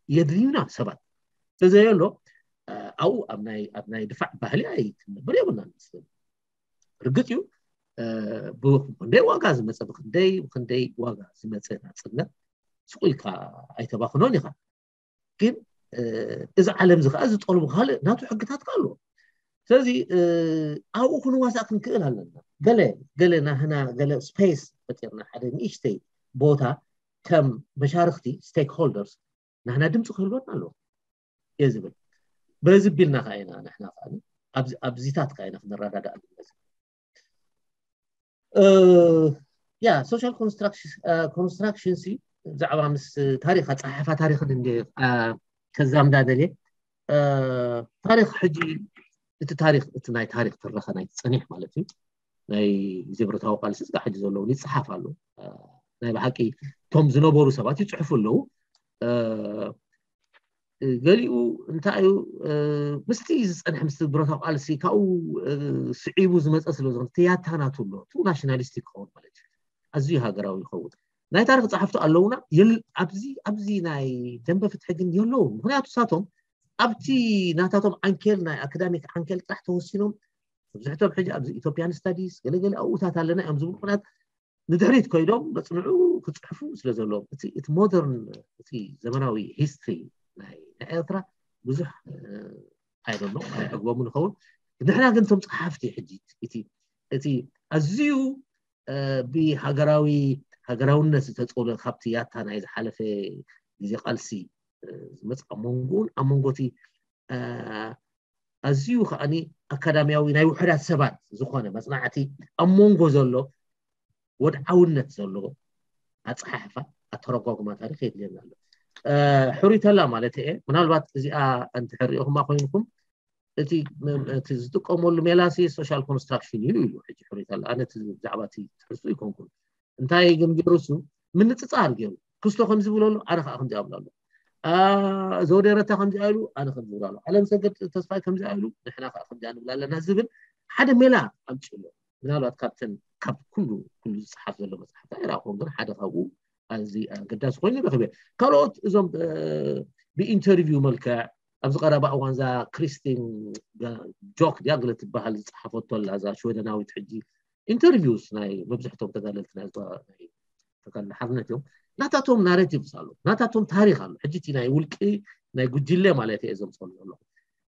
የድልዩና ሰባት ተዘየሎ ኣብኡ ኣብ ናይ ድፋዕ ባህሊ ኣይክንነብር የብልና ንመስለኒ። ርግፅ እዩ ብክንደይ ዋጋ ዝመፀ ብክንደይ ብክንደይ ዋጋ ዝመፀ ናፅነት ስቁ ኢልካ ኣይተባክኖን ኢኻ። ግን እዚ ዓለም እዚ ከዓ ዝጠልቡ ካልእ ናቱ ሕግታት ከዓ ኣለዎ። ስለዚ ኣብኡ ክንዋሳእ ክንክእል ኣለና። ገለ ገለ ናህና ገለ ስፔስ ፈጢርና ሓደ ንእሽተይ ቦታ ከም መሻርክቲ ስቴክሆልደርስ ናህና ድምፂ ክህልወና ኣለዎ እየ ዝብል። በዚ ቢልና ከዓ ኢና ንሕና ከዓ ኣብዚታት ከዓ ኢና ክንረዳዳእ ንመፅእ። ያ ሶሻል ኮንስትራክሽን ሲ ብዛዕባ ምስ ታሪክ ኣፀሓሕፋ ታሪክን እንደ ከዛምዳ ደልየ ታሪክ ሕጂ እቲ ታሪክ እቲ ናይ ታሪክ ትረኸ ናይ ፀኒሕ ማለት እዩ ናይ ግዜ ብረታዊ ቃልሲ ስጋ ሕጂ ዘለውን ይፀሓፍ ኣሎ። ናይ ብሓቂ እቶም ዝነበሩ ሰባት ይፅሕፉ ኣለዉ። ገሊኡ እንታይ እዩ ምስቲ ዝፀንሐ ምስ ብረታዊ ቃልሲ ካብኡ ስዒቡ ዝመፀ ስለ ዝኾነ ትያታ ናቱ ኣሎ ቱ ናሽናሊስቲክ ክኸውን ማለት እዩ። ኣዝዩ ሃገራዊ ይኸውን። ናይ ታሪክ ፀሓፍቲ ኣለውና ኣብዚ ኣብዚ ናይ ደንበ ፍትሒ ግን የለውን። ምክንያቱ ሳቶም ኣብቲ ናታቶም ዓንኬል ናይ ኣካዳሚክ ዓንኬል ጥራሕ ተወሲኖም መብዝሕቶም ሕጂ ኣብዚ ኢትዮጵያን ስታዲስ ገለገለ ኣብኡታት ኣለና እዮም ዝብሉ ምክንያት ንድሕሪት ኮይዶም መፅንዑ ክፅሕፉ ስለ ዘለዎም እቲ ሞደርን እቲ ዘመናዊ ሂስትሪ ናይ ኤርትራ ብዙሕ ኣይደሎ ኣይጠግቦም ንኸውን። ንሕና ግን እቶም ፀሓፍቲ ሕጂ እቲ እቲ ኣዝዩ ብሃገራዊ ሃገራውነት ዝተፀለ ካብቲ ያታ ናይ ዝሓለፈ ግዜ ቃልሲ ዝመፅእ ኣብ መንጎን ኣብ መንጎቲ ኣዝዩ ከዓኒ ኣካዳሚያዊ ናይ ውሕዳት ሰባት ዝኾነ መፅናዕቲ ኣብ መንጎ ዘሎ ወድዓውነት ዘለዎ ኣፀሓሕፋ ኣተረጓጉማ ታሪክ የድልየና ኣሎ። ሕሩይ ተላ ማለት እየ። ምናልባት እዚኣ እንተሕሪኦኹማ ኮይንኩም እቲ ዝጥቀመሉ ሜላሲ social construction እዩ ኢሉ ሕጂ ሕሩይ ተላ። ኣነ ብዛዕባ እቲ ትሕዝቱ ይኮንኩን እንታይ ግን ገይሩ እሱ ምንፅፃር ገይሩ ክስቶ ከምዚ ብሎ ኣሎ ኣነ ከዓ ከምዚ ኣብሎ ኣሎ ዘውደረታ ከምዚ ኢሉ ኣነ ከምዚ ብሎ ኣሎ ዓለም ሰገድ ተስፋይ ከምዚ ኢሉ ንሕና ከዓ ከምዚ ንብል ኣለና ዝብል ሓደ ሜላ ኣምፅኡ ኣሎ። ምናልባት ካብተን ካብ ኩሉ ኩሉ ዝፅሓፍ ዘሎ መፅሓፍታ ይረኣኹም ግን ሓደ ካብኡ ኣዚ ኣገዳሲ ኮይኑ ረክበ። ካልኦት እዞም ብኢንተርቪው መልክዕ ኣብዚ ቀረባ እዋን እዛ ክሪስቲን ጆክ ድያ ገለ ትበሃል ዝፀሓፈቶ ኣላ እዛ ሽወደናዊት ሕጂ ኢንተርቪውስ ናይ መብዝሕቶም ተጋደልቲ ናይ ተጋድሎ ሓርነት እዮም። ናታቶም ናሬቲቭስ ኣሎ፣ ናታቶም ታሪክ ኣሎ። ሕጂ እቲ ናይ ውልቂ ናይ ጉጅለ ማለት እየ ዘምፀሉ ዘሎ።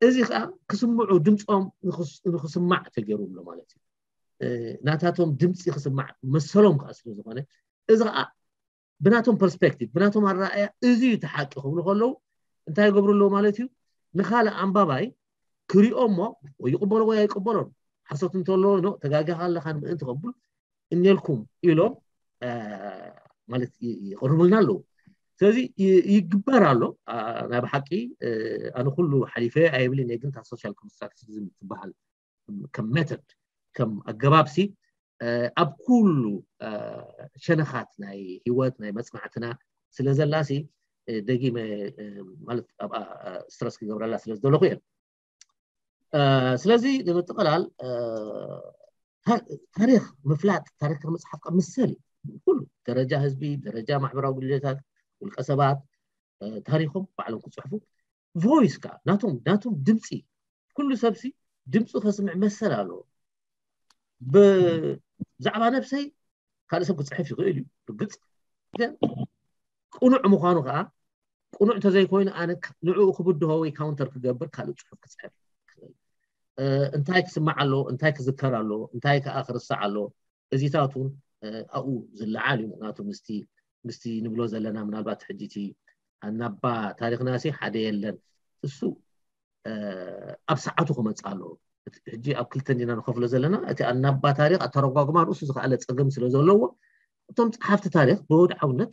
እዚ ከዓ ክስምዑ ድምፆም ንክስማዕ ተገይሩ ኣሎ ማለት እዩ። ናታቶም ድምፂ ክስማዕ መሰሎም ከዓ ስለዝኮነ እዚ ከዓ ብናቶም ፐርስፔክቲቭ ብናቶም ኣረኣእያ እዚ እዩ እቲ ሓቂ ክብሉ ከለዉ እንታይ ይገብሩ ኣለዉ ማለት እዩ። ንካልእ ኣንባባይ ክሪኦ እሞ ወይ ይቅበሎ ወይ ኣይቅበሎን ሓሶት እንተሎ ተጋጊኻ ኣለካ ንምእንቲ ከብሉ እኔልኩም ኢሎም ማለት ይቅርቡልና ኣለዉ። ስለዚ ይግበር ኣሎ። ናይ ብሓቂ ኣነ ኩሉ ሓሊፈ ኣይብልን እየ ግን እታ ሶሻል ኮንስትራክቲቪዝም ትበሃል ከም ሜተድ ከም ኣገባብሲ ኣብ ኩሉ ሸነኻት ናይ ህይወት ናይ መፅናዕትና ስለ ዘላሲ ደጊመ ማለት ኣብኣ ስትረስ ክገብረላ ስለ ዝደለኹ እየ። ስለዚ ንምጥቕላል ታሪክ ምፍላጥ ታሪክ መፅሓፍ ካብ ምሰል ኩሉ ደረጃ ህዝቢ ደረጃ ማሕበራዊ ጉድለታት ውልቀ ሰባት ታሪኮም ባዕሎም ክፅሕፉ ቮይስ ካ ናቶም ናቶም ድምፂ ኩሉ ሰብሲ ድምፁ ከስምዕ መሰል ኣለዎ። ብዛዕባ ነብሰይ ካልእ ሰብ ክፅሕፍ ይኽእል እዩ ርግፅ ግን ቅኑዕ ምዃኑ ከዓ ቅኑዕ እንተዘይኮይኑ ኣነ ንዕኡ ክብድሆ ወይ ካውንተር ክገብር ካልእ ፅሑፍ ክፅሕፍ እንታይ ክስማዕ ኣሎ እንታይ ክዝከር ኣሎ እንታይ ከዓ ክርስዕ ኣሎ እዚታት እውን ኣብኡ ዝለዓል እዩ። ምክንያቱ ምስቲ ምስቲ ንብሎ ዘለና ምናልባት ሕጂ እቲ ኣናባ ታሪክና ሲ ሓደ የለን እሱ ኣብ ሰዓቱ ክመፅእ ኣለዎ። ሕጂ ኣብ ክልተ እንዲና ንከፍሎ ዘለና እቲ ኣናባ ታሪክ ኣተረጓጉማ ንእሱ ዝከኣለ ፀገም ስለ ዘለዎ እቶም ፀሓፍቲ ታሪክ ብወድዓውነት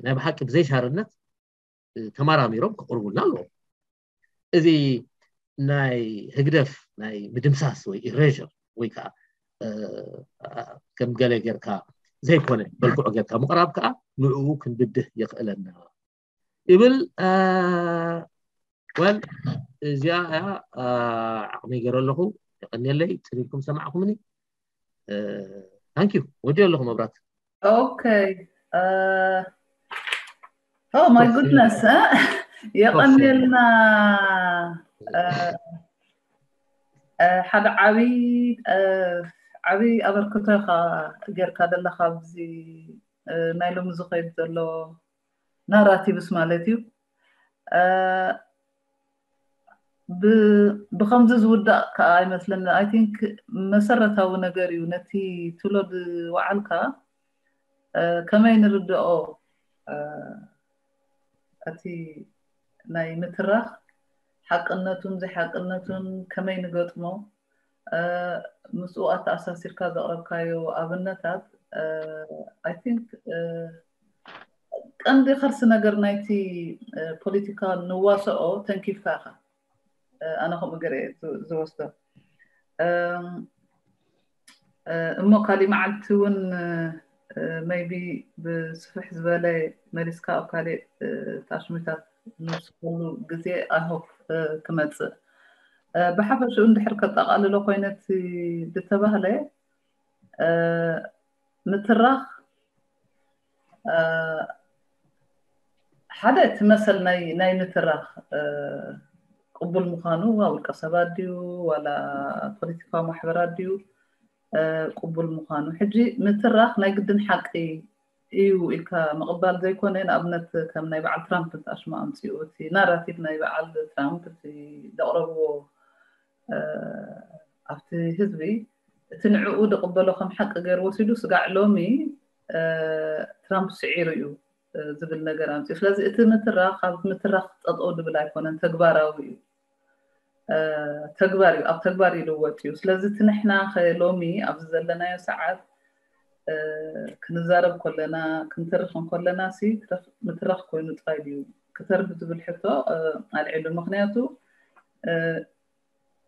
ናይ ብሓቂ ብዘይሻርነት ተመራሚሮም ክቅርቡልና ኣለዎም። እዚ ናይ ህግደፍ ናይ ምድምሳስ ወይ ኢሬር ወይ ከዓ ከም ገለ ጌርካ ዘይኮነ መልክዑ ጌርካ ምቅራብ ከዓ ንዕኡ ክንብድህ የኽእለና ይብል። ወል እዚኣ እያ ዓቕመይ ገይረ ኣለኹ። የቐንየለይ ፅን ኢልኩም ሰማዕኹምኒ። ታንኪዩ ወዲኦ ኣለኹ መብራት። Okay. Uh, oh my goodness. የቐንየልና ሓደ ዓብይ ዓብይ ኣበርክቶ ኢኻ ጌርካ ዘለካ ኣብዚ ናይ ሎሚ ዝኸይድ ዘሎ ናራቲቭስ ማለት እዩ። ብከምዚ ዝውዳእ ከዓ ኣይመስለኒ። I think መሰረታዊ ነገር እዩ ነቲ ትብሎ ዝወዓልካ ከመይ ንርድኦ እቲ ናይ ምትራኽ ሓቅነቱን ዘይሓቅነቱን ከመይ ንገጥሞ ምስኡ ኣተኣሳሲርካ ዘቕረብካዮ ኣብነታት I think ቀንዲ ከርሲ ነገር ናይቲ ፖለቲካ ንዋስኦ ተንኪፍካ ኢኻ። ኣነ ከምኡ ገይረ ዝወስዶ እሞ ካሊእ መዓልቲ እውን maybe ብስፍሕ ዝበለ መሊስካ ኣብ ካሊእ ታሽሚታት ንውስከሉ ግዜ I hope ክመፅእ ብሓፈሽኡ እንድሕር ከጠቓልሎ ኮይነ እቲ ዝተባህለ ምትራኽ ሓደ እቲ መሰል ናይ ምትራኽ ቅቡል ምዃኑ ውልቀ ሰባት ድዩ ዋላ ፖለቲካዊ ማሕበራት ድዩ ቅቡል ምዃኑ ሕጂ ምትራኽ ናይ ግድን ሓቂ እዩ ኢልካ ምቕባል ዘይኮነ ንኣብነት ከም ናይ በዓል ትራምፕ እንተኣሽሙ ኣምፅኡ እቲ ናራቲቭ ናይ በዓል ትራምፕ እቲ ዘቕረብዎ ኣብቲ ህዝቢ እቲ ንዕኡ ዝቕበሎ ከም ሓቂ ገይሩ ወሲዱ ስጋዕ ሎሚ ትራምፕ ስዒሩ እዩ ዝብል ነገር ኣምፅኡ። ስለዚ እቲ ምትራኽ ካብ ምትራኽ ጠጠው ዝብል ኣይኮነን፣ ተግባራዊ እዩ። ተግባር እዩ፣ ኣብ ተግባር ይልወጥ እዩ። ስለዚ እቲ ንሕና ሎሚ ኣብዚ ዘለናዮ ሰዓት ክንዛረብ ከለና፣ ክንተርኽ ከለና ሲ ምትራኽ ኮይኑ ጥራይ ድዩ? ክተርፍ ዝብል ሕቶ ኣልዒሉ። ምክንያቱ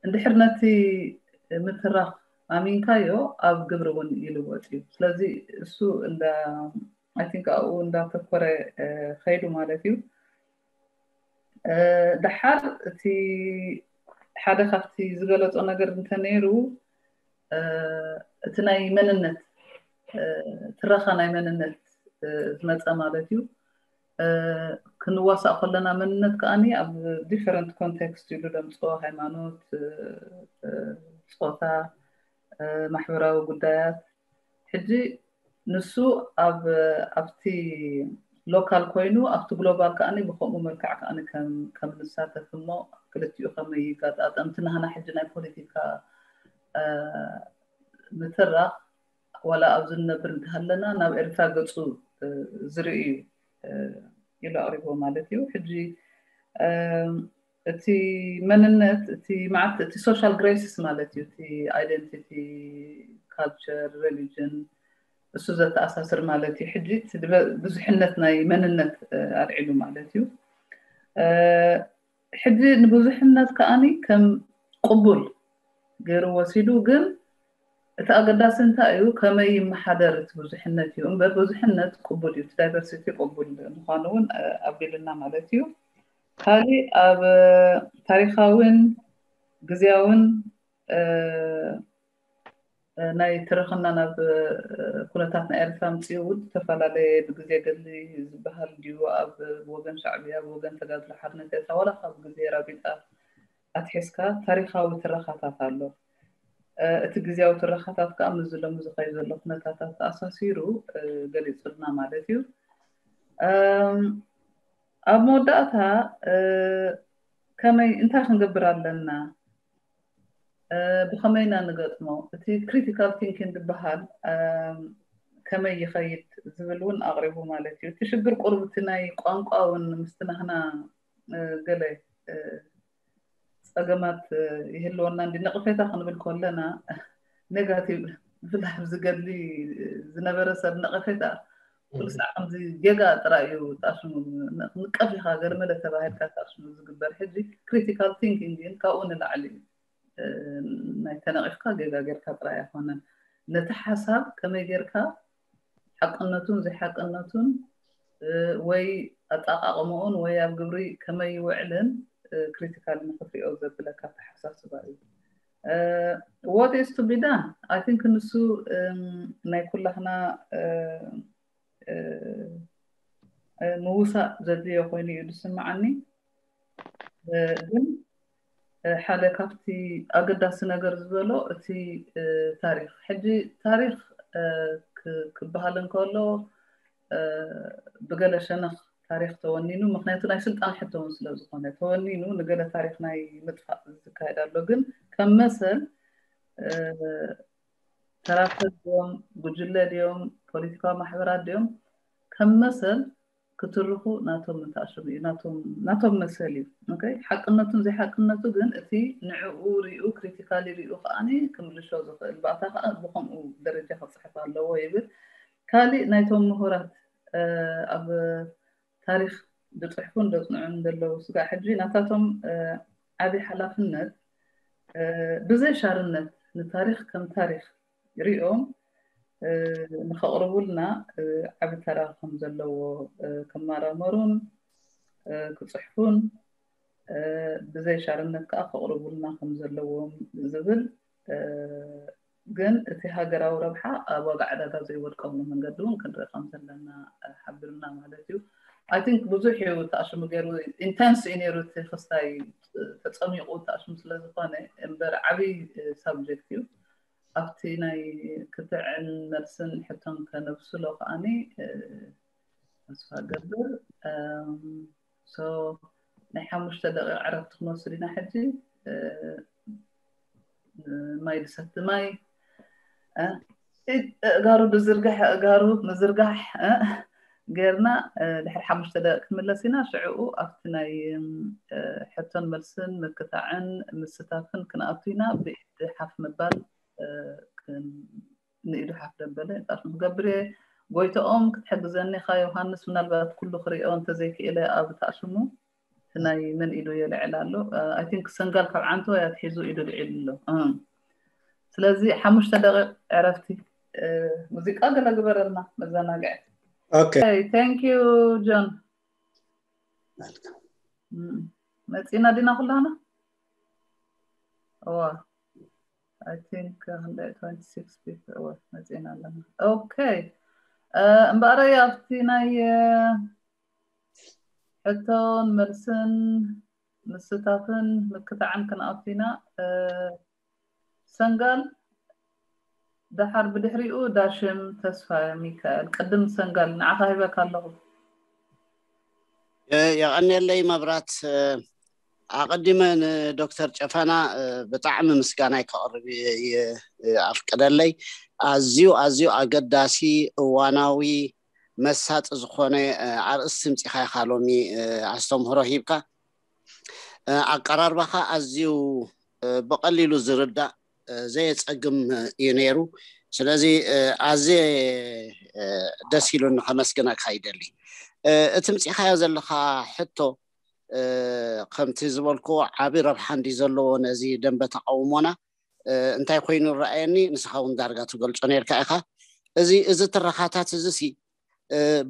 እንድሕር ነቲ ምትራኽ ኣሚንካዮ ኣብ ግብሪ እውን ይልወጥ እዩ። ስለዚ እሱ እንዳ I think ኣብኡ እንዳተኮረ ከይዱ ማለት እዩ። ደሓር እቲ ሓደ ካብቲ ዝገለጾ ነገር እንተነይሩ እቲ ናይ መንነት ትረኻ ናይ መንነት ዝመፀ ማለት እዩ። ክንዋሳእ ከለና መንነት ከኣኒ ኣብ different context ኢሉ ደምፅኦ፣ ሃይማኖት፣ ፆታ፣ ማሕበራዊ ጉዳያት። ሕጂ ንሱ ኣብ ኣብቲ ሎካል ኮይኑ ኣብቲ ግሎባል ከኣኒ ብከምኡ መልክዕ ከኣኒ ከም ንሳተፍ እሞ ክልቲኡ ከመይ ይጋጣጠም? እቲ ናህና ሕጂ ናይ ፖለቲካ ምትራኽ ዋላ ኣብዚ ንነብር እንተሃለና ናብ ኤርትራ ገፁ ዝርኢ እዩ ኢሉ ኣቕሪቦ ማለት እዩ። ሕጂ እቲ መንነት እቲ መዓት እቲ social graces ማለት እዩ፣ እቲ identity፣ culture፣ religion እሱ ዘተኣሳስር ማለት እዩ። ሕጂ ብዙሕነት ናይ መንነት ኣልዒሉ ማለት እዩ። ሕጂ ንብዙሕነት ከኣኒ ከም ቅቡል ገይሩ ወሲዱ፣ ግን እቲ ኣገዳሲ እንታይ እዩ? ከመይ ይመሓደር እቲ ብዙሕነት እዩ እምበር፣ ብዙሕነት ቅቡል እዩ፣ እቲ ዳይቨርሲቲ ቅቡል ምዃኑ እውን ኣቢልና ማለት እዩ። ካሊእ ኣብ ታሪኻዊን ግዜያውን ናይ ትረኽና ናብ ኩነታት ናይ ኤርትራ ምፅኡ እውን ዝተፈላለየ፣ ብግዜ ገድሊ ዝበሃል ድዩ ኣብ ወገን ሻዕብያ፣ ብወገን ተጋድሎ ሓርነት ኤርትራ፣ ዋላ ካብ ግዜ ራቢጣ ኣትሒዝካ ታሪኻዊ ትረኻታት ኣሎ። እቲ ግዜያዊ ትረኻታት ከዓ ምስዚ ሎሚ ዝኸይድ ዘሎ ኩነታታት ተኣሳሲሩ ገሊፁልና ማለት እዩ። ኣብ መወዳእታ ከመይ እንታይ ክንገብር ኣለና? ብኸመይ ኢና ንገጥሞ? እቲ critical thinking ዝበሃል ከመይ ይኸይድ ዝብል እውን ኣቕሪቡ ማለት እዩ። እቲ ሽግር ቁሩብ እቲ ናይ ቋንቋ እውን ምስቲ ናህና ገለ ፀገማት ይህልወና እንዲ ነቕፌታ ክንብል ከለና ኔጋቲቭ ብፍላይ ኣብዚ ገድሊ ዝነበረ ሰብ ነቐፌታ ኩሉ ሳዕ ከምዚ ጌጋ ጥራይ እዩ ተኣሽሙ ንቀፍ ኢኻ ገለመለ ተባሂልካ ተኣሽሙ ዝግበር። ሕጂ critical thinking ግን ካብኡ ንላዕሊ እዩ። ናይ ተነቒፍካ ጌጋ ጌርካ ጥራይ ኣይኮነን፣ ነቲ ሓሳብ ከመይ ጌርካ ሓቅነቱን ዘይሓቅነቱን ወይ ኣጠቓቕምኡን ወይ ኣብ ግብሪ ከመይ ይውዕልን ክሪቲካሊ ንክትሪኦ ዘብለካ ኣተሓሳስባ እዩ። What is to be done? I think ንሱ ናይ ኩላህና ምውሳእ ዘድልዮ ኮይኑ እዩ ዝስምዓኒ። ግን ሓደ ካብቲ ኣገዳሲ ነገር ዝበሎ እቲ ታሪኽ፣ ሕጂ ታሪኽ ክበሃል እንከሎ ብገለ ሸነኽ ታሪኽ ተወኒኑ፣ ምክንያቱ ናይ ስልጣን ሕቶ እውን ስለ ዝኾነ ተወኒኑ ንገለ ታሪኽ ናይ ምጥፋእ ዝካየድ ኣሎ። ግን ከም መሰል ተራ ሰብ ድዮም፣ ጉጅለ ድዮም፣ ፖለቲካዊ ማሕበራት ድዮም፣ ከም መሰል ክትርኹ ናቶም ምትኣሽሙ እዩ፣ ናቶም መሰል እዩ። ሓቅነቱን ዘይሓቅነቱ ግን እቲ ንዕኡ ሪኡ ክሪቲካሊ ሪኡ ከዓኒ ክምልሾ ዝኽእል ባእታ ከዓ ብኸምኡ ደረጃ ክፅሕፍ ኣለዎ ይብል። ካሊእ ናይቶም ምሁራት ኣብ ታሪኽ ዝፅሕፉን ዘፅንዑን ዘለዉ ስጋዕ ሕጂ ናታቶም ዓብዪ ሓላፍነት ብዘይ ሻርነት ንታሪኽ ከም ታሪኽ ሪኦም ንኸቕርቡልና ዓቢ ተራ ከም ዘለዎ ክመራመሩን ክፅሕፉን ብዘይ ሻርነት ከዓ ከቕርቡልና ከም ዘለዎም ዝብል ግን እቲ ሃገራዊ ረብሓ ኣብ ዋጋ ዕዳጋ ዘይወድቀሉ መንገዲ እውን ክንርኢ ከም ዘለና ሓቢርና ማለት እዩ። I think ብዙሕ እዩ ተኣሽሙ ገይሩ፣ ኢንተንስ እዩ ነይሩ እቲ ክስታይ ተፀሚቑ ተኣሽሙ ስለ ዝኾነ እምበር ዓብዪ ሳብጀክት እዩ። ኣብቲ ናይ ክትዕን መልስን ሕቶን ከነብስሎ ከዓኒ ተስፋ ገብር። ሶ ናይ ሓሙሽተ ደቂቕ ዕረፍቲ ክንወስድ ኢና ሕጂ። ማይ ዝሰቲ ማይ እ፣ ኣእጋሩ ዝርግሕ ኣእጋሩ ምዝርጋሕ እ፣ ጌርና እ፣ ድሕሪ ሓሙሽተ ደቂቕ ክንምለስ ኢና። ሽዕኡ ኣብቲ ናይ እ፣ ሕቶን መልስን ምክታዕን ምስታፍን ክንኣቱ ኢና። ብኢድ ሓፍ ምባል እ፣ ክን- ንኢዱ ሓፍ ደበለ ንጣፍ ክገብር እየ። ጎይተኦም ክትሕግዘኒ ኢኻ ዮሃንስ፣ ምናልባት ኩሉ ክሪኦ እንተዘይክእለ ኣብ ታሽሙ እቲ ናይ መን ኢዱ የልዕል ኣሎ። ኣይ ቲንክ ሰንጋል ካብ ዓንቶ ኣትሒዙ ኢዱ ልዒሉ ኣሎ። እም። ስለዚ ሓሙሽተ ደቂቕ ዕረፍቲ እ፣ ሙዚቃ ገለ ግበረልና መዘናግዒ። Okay. Thank you John። መፂና ዲና ኩላና? እዋ I think one hundred twenty-six people እዋ መፂና ኣለና። Okay እምበኣረይ ኣብቲ ናይ እ፣ ሕቶን መልስን ምስታፍን ምክታዕን ክንኣቱ ኢና። እ፣ ሰንጋል ደሓር ብድሕሪኡ ዳሽም ተስፋ ሚካኤል። ቅድም ሰንጋል ንዓኻ ሂበካ ኣለኹ። የቐንየለይ መብራት። ኣቐዲመ ንዶክተር ጨፈና ብጣዕሚ ምስጋናይ ከቕርብ ኣፍቅደለይ። ኣዝዩ ኣዝዩ ኣገዳሲ እዋናዊ መሳጢ ዝኾነ ኣርእስቲ ምፂኻ ኢኻ ሎሚ ኣስተምህሮ ሂብካ። ኣቀራርባኻ ኣዝዩ ብቐሊሉ ዝርዳእ ዘየፀግም እዩ ነይሩ። ስለዚ ኣዝየ ደስ ኢሉኒ ከመስግነካ ይደሊ። እቲ ምፂኻዮ ዘለኻ ሕቶ ከምቲ ዝበልክዎ ዓቢ ረብሓ እንዲ ዘለዎ ነዚ ደንበ ተቃውሞና እንታይ ኮይኑ ይረኣየኒ፣ ንስኻ እውን ዳርጋ ትገልጾ ነርካ ኢኻ። እዚ እዚ ትረኻታት እዚ ሲ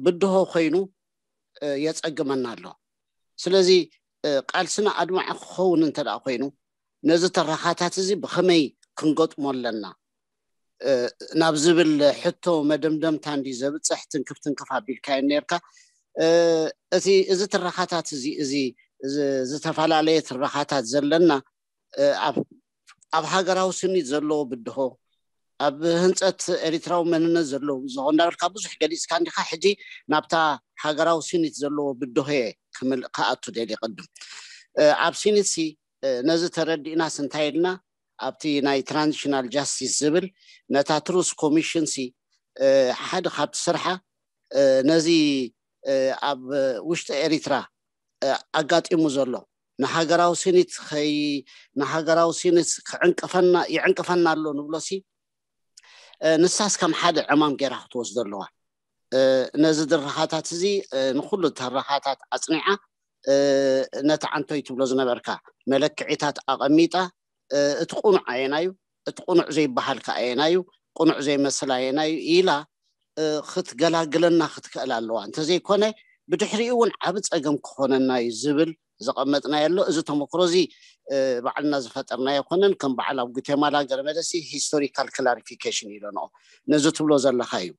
ብድሆ ኮይኑ የጸግመና ኣሎ። ስለዚ ቃልስና ኣድማዒ ክኸውን እንተ ደኣ ኮይኑ ነዚ ትረኻታት እዚ ብኸመይ ክንገጥሞ ኣለና ናብ ዝብል ሕቶ መደምደምታ እንዲ ዘብጽሕ ትንክፍ ትንክፍ ኣቢልካዮ ነርካ። እቲ እዚ ትረኻታት እዚ እዚ ዝተፈላለየ ትረኻታት ዘለና ኣብ ሃገራዊ ስኒት ዘለዎ ብድሆ፣ ኣብ ህንፀት ኤሪትራዊ መንነት ዘለዎ ብዝኾ እንዳበልካ ብዙሕ ገሊፅካ እንዲኻ። ሕጂ ናብታ ሃገራዊ ስኒት ዘለዎ ብድሆ እየ ክኣቱ ደልየ። ቅድም ኣብ ስኒትሲ ነዚ ተረዲእናስ እንታይ ኢልና ኣብቲ ናይ ትራንዚሽናል ጃስቲስ ዝብል ነታ ትሩስ ኮሚሽን ሲ ሓደ ካብቲ ስርሓ ነዚ ኣብ ውሽጢ ኤሪትራ ኣጋጢሙ ዘሎ ንሃገራዊ ስኒት ከይ ንሃገራዊ ስኒት ክዕንቅፈና ይዕንቅፈና ኣሎ ንብሎ ሲ ንሳስ ከም ሓደ ዕማም ገይራ ክትወስዶ ኣለዋ። ነዚ ድርኻታት እዚ ንኩሉ ተረኻታት ኣፅኒዓ ነቲ ዓንቶይ ትብሎ ዝነበርካ መለክዒታት ኣቐሚጣ እቲ ቁኑዕ ኣየናዩ እቲ ቁኑዕ ዘይበሃል ከ ኣየናዩ ቁኑዕ ዘይመስል ኣየናዩ ኢላ ክትገላግለና ክትክእል ኣለዋ። እንተዘይኮነ ብድሕሪኡ እውን ዓቢ ጸገም ክኾነና እዩ ዝብል ዘቐመጥናዮ ኣሎ። እዚ ተመክሮ እዚ ባዕልና ዝፈጠርናዮ ኣይኮነን። ከም በዓል ኣብ ጉቴማላ ገረመለሲ ሂስቶሪካል ክላሪፊኬሽን ኢለንኦ ነዚ ትብሎ ዘለኻ እዩ።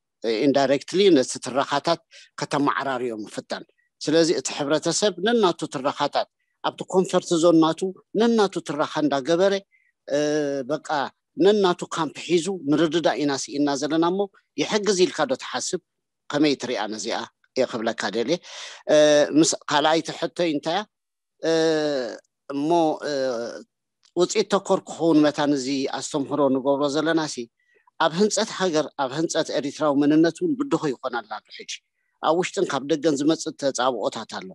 ኢንዳይሬክትሊ ነቲ ትረኻታት ከተመዓራርዮ ምፍታን። ስለዚ እቲ ሕብረተሰብ ነናቱ ትረኻታት ኣብቲ ኮንፈርት ዞን ናቱ ነናቱ ትረኻ እንዳገበረ በቃ ነናቱ ካምፕ ሒዙ ምርድዳእ ኢና ስኢና ዘለና እሞ ይሕግዝ ኢልካ ዶ ትሓስብ? ከመይ ትሪኣ ነዚኣ እየ ክብለካ ደልየ። ምስ ካልኣይቲ ሕቶይ እንታያ እሞ ውፅኢት ተኮር ክኸውን መታን እዚ ኣስተምህሮ ንገብሮ ዘለና ሲ ኣብ ህንፀት ሃገር ኣብ ህንፀት ኤሪትራዊ መንነት እውን ብድሆ ይኾነልና ኣሎ። ሕጂ ኣብ ውሽጥን ካብ ደገን ዝመፅእ ተፃብኦታት ኣሎ።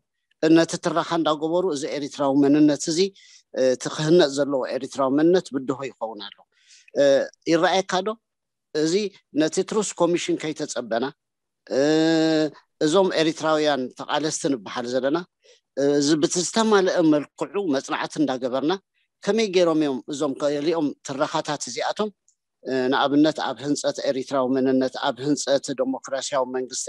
ነቲ ትረኻ እንዳገበሩ እዚ ኤሪትራዊ መንነት እዚ እቲ ክህነፅ ዘለዎ ኤሪትራዊ መንነት ብድሆ ይኸውን ኣሎ። ይረኣየካ ዶ? እዚ ነቲ ትሩስ ኮሚሽን ከይተፀበና እዞም ኤሪትራውያን ተቓለስቲ ንበሃል ዘለና እዚ ብዝተማልአ መልክዑ መፅናዕቲ እንዳገበርና ከመይ ገይሮም እዮም እዞም ገሊኦም ትረኻታት እዚኣቶም ንኣብነት ኣብ ህንፀት ኤሪትራዊ መንነት ኣብ ህንፀት ዴሞክራሲያዊ መንግስቲ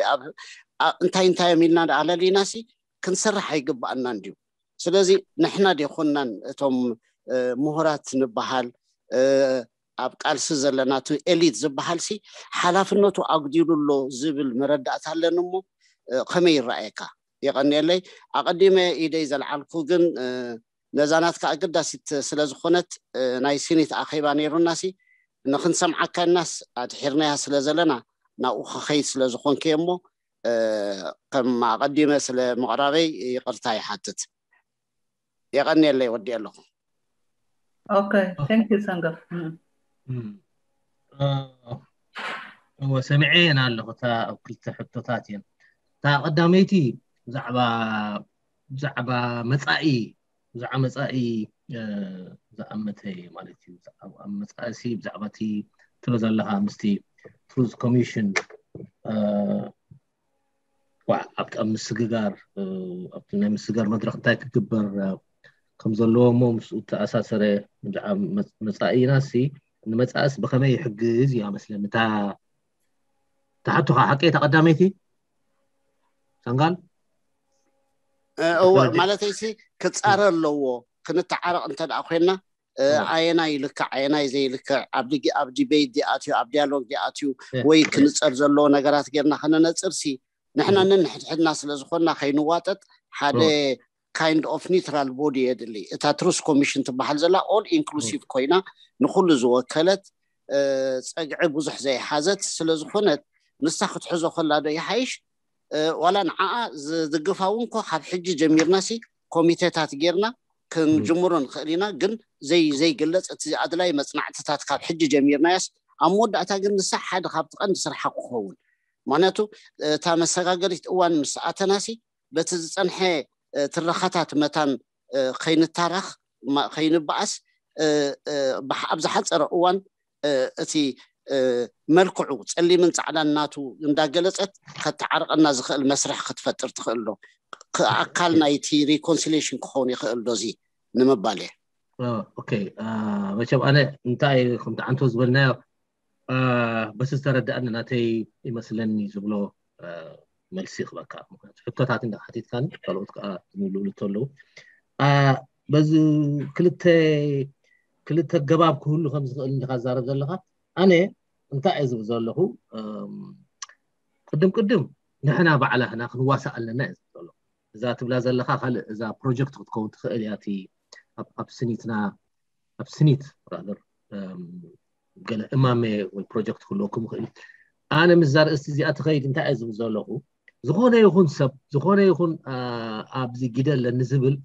እንታይ እንታይ እዮም ኢልና ኣለሊና ሲ ክንሰርሕ ኣይግባኣና እንድዩ። ስለዚ ንሕና ዴኮናን እቶም ምሁራት ንበሃል ኣብ ቃልሲ ዘለና እቲ ኤሊት ዝበሃል ሲ ሓላፍነቱ ኣጉዲሉ ኣሎ ዝብል መረዳእታ ኣለኒ እሞ ከመይ ይረኣየካ? የቐንየለይ። ኣቐዲመ ኢደይ ዘልዓልኩ ግን ነዛ ናትካ ኣገዳሲት ስለ ዝኾነት ናይ ሲኒት ኣኼባ ነይሩና ሲ ንክንሰምዓካ ኢልናስ ኣድሒርናያ ስለ ዘለና ናብኡ ክኸይድ ስለ ዝኾንኩ እየ እሞ ከም ኣቐዲመ ስለ ምቕራበይ ይቕርታ ይሓትት። የቐንየለይ ወዲኤ ኣለኹ። Okay thank you ሰንገር። እወ፣ ሰሚዐየን ኣለኹ። እታ ኣብ ክልተ ሕቶታት እየን። እታ ቀዳመይቲ ብዛዕባ ብዛዕባ መጻኢ ብዛዕባ መጻኢ ዝኣመተ ማለት እዩ። ኣብ መጻእሲ ብዛዕባ እቲ ትብሎ ዘለኻ ምስቲ ትሩዝ ኮሚሽን ኣብቲ ኣብ ምስግጋር ኣብቲ ናይ ምስግጋር መድረክ እንታይ ክግበር ከም ዘለዎ እሞ ምስኡ ተኣሳሰረ። ብዛዕባ መጻኢና ሲ ንመጻእስ ብኸመይ ይሕግዝ እያ መስለኒ እታ እታ ሕቶኻ ሓቂ እታ ቀዳመይቲ ሰንጋል እወ ማለተይሲ ክፃረ ኣለዎ። ክንተዓረቕ እንተ ደኣ ኮይና ኣየናይ ይልክዕ ኣየናይ ዘይልክዕ ኣብ ዲቤት ዲኣትዩ ኣብ ዲያሎግ ዲኣትዩ ወይ ክንፀር ዘለዎ ነገራት ጌርና ከነነፅር ሲ ንሕና ነንሕድሕድና ስለ ዝኾንና ከይንዋጠጥ ሓደ kind of neutral body የድሊ። እታ ትሩዝ ኮሚሽን ትበሃል ዘላ all inclusive ኮይና ንኩሉ ዝወከለት ፀግዒ ብዙሕ ዘይሓዘት ስለ ዝኾነት ንሳ ክትሕዞ ከላ ዶ ይሓይሽ ዋላ ንዓኣ ዝድግፋ እውን ኮ ካብ ሕጂ ጀሚርና ሲ ኮሚቴታት ጌርና ክንጅምሮ ንኽእል ኢና። ግን ዘይ ዘይግለፅ እቲ ኣድላይ መፅናዕትታት ካብ ሕጂ ጀሚርናያስ ኣብ መወዳእታ ግን ንሳ ሓደ ካብቲ ቀንዲ ስርሓ ክኸውን ምክንያቱ እታ መሰጋገሪት እዋን ምስ ኣተናሲ በቲ ዝፀንሐ ትረኻታት መታን ከይንታረኽ ከይንበኣስ ኣብ ዝሓፀረ እዋን እቲ መልክዑ ፀሊምን ፃዕዳን ናቱ እንዳገለፀት ከተዓርቐና ዝኽእል መስርሕ ክትፈጥር ትኽእል ዶ? ኣካል ናይቲ ሪኮንሲሌሽን ክኸውን ይኽእል ዶ? እዚ ንምባል እየ። ኦኬ፣ መቸም ኣነ እንታይ ከምቲ ዓንቶ ዝበልናዮ በቲ ዝተረዳእኒ ናተይ ይመስለኒ ዝብሎ መልሲ ክበካ። ምክንያቱ ሕቶታት እንዳ ሓቲትካን ካልኦት ከዓ ዝምልእሉ እንተለዉ በዚ ክልተ ክልተ ገባብ ክህሉ ከም ዝኽእል እንዲኻ ዝዛረብ ዘለኻ። ኣነ እንታይ እየ ዝብል ዘለኹ? ቅድም ቅድም ንሕና ባዕላህና ክንዋሳእ ኣለና እየ ዝብል ዘለኹ። እዛ ትብላ ዘለኻ ካልእ እዛ ፕሮጀክት ክትከውን ትኽእል እያ። እቲ ኣብ ስኒትና ኣብ ስኒት ራዘር ገለ እማመ ወይ ፕሮጀክት ክህልወኩም ይኽእል። ኣነ ምስዛ ርእስቲ እዚኣ ትኸይድ እንታይ እየ ዝብል ዘለኹ? ዝኾነ ይኹን ሰብ ዝኾነ ይኹን ኣብዚ ጊደ ኣለኒ ዝብል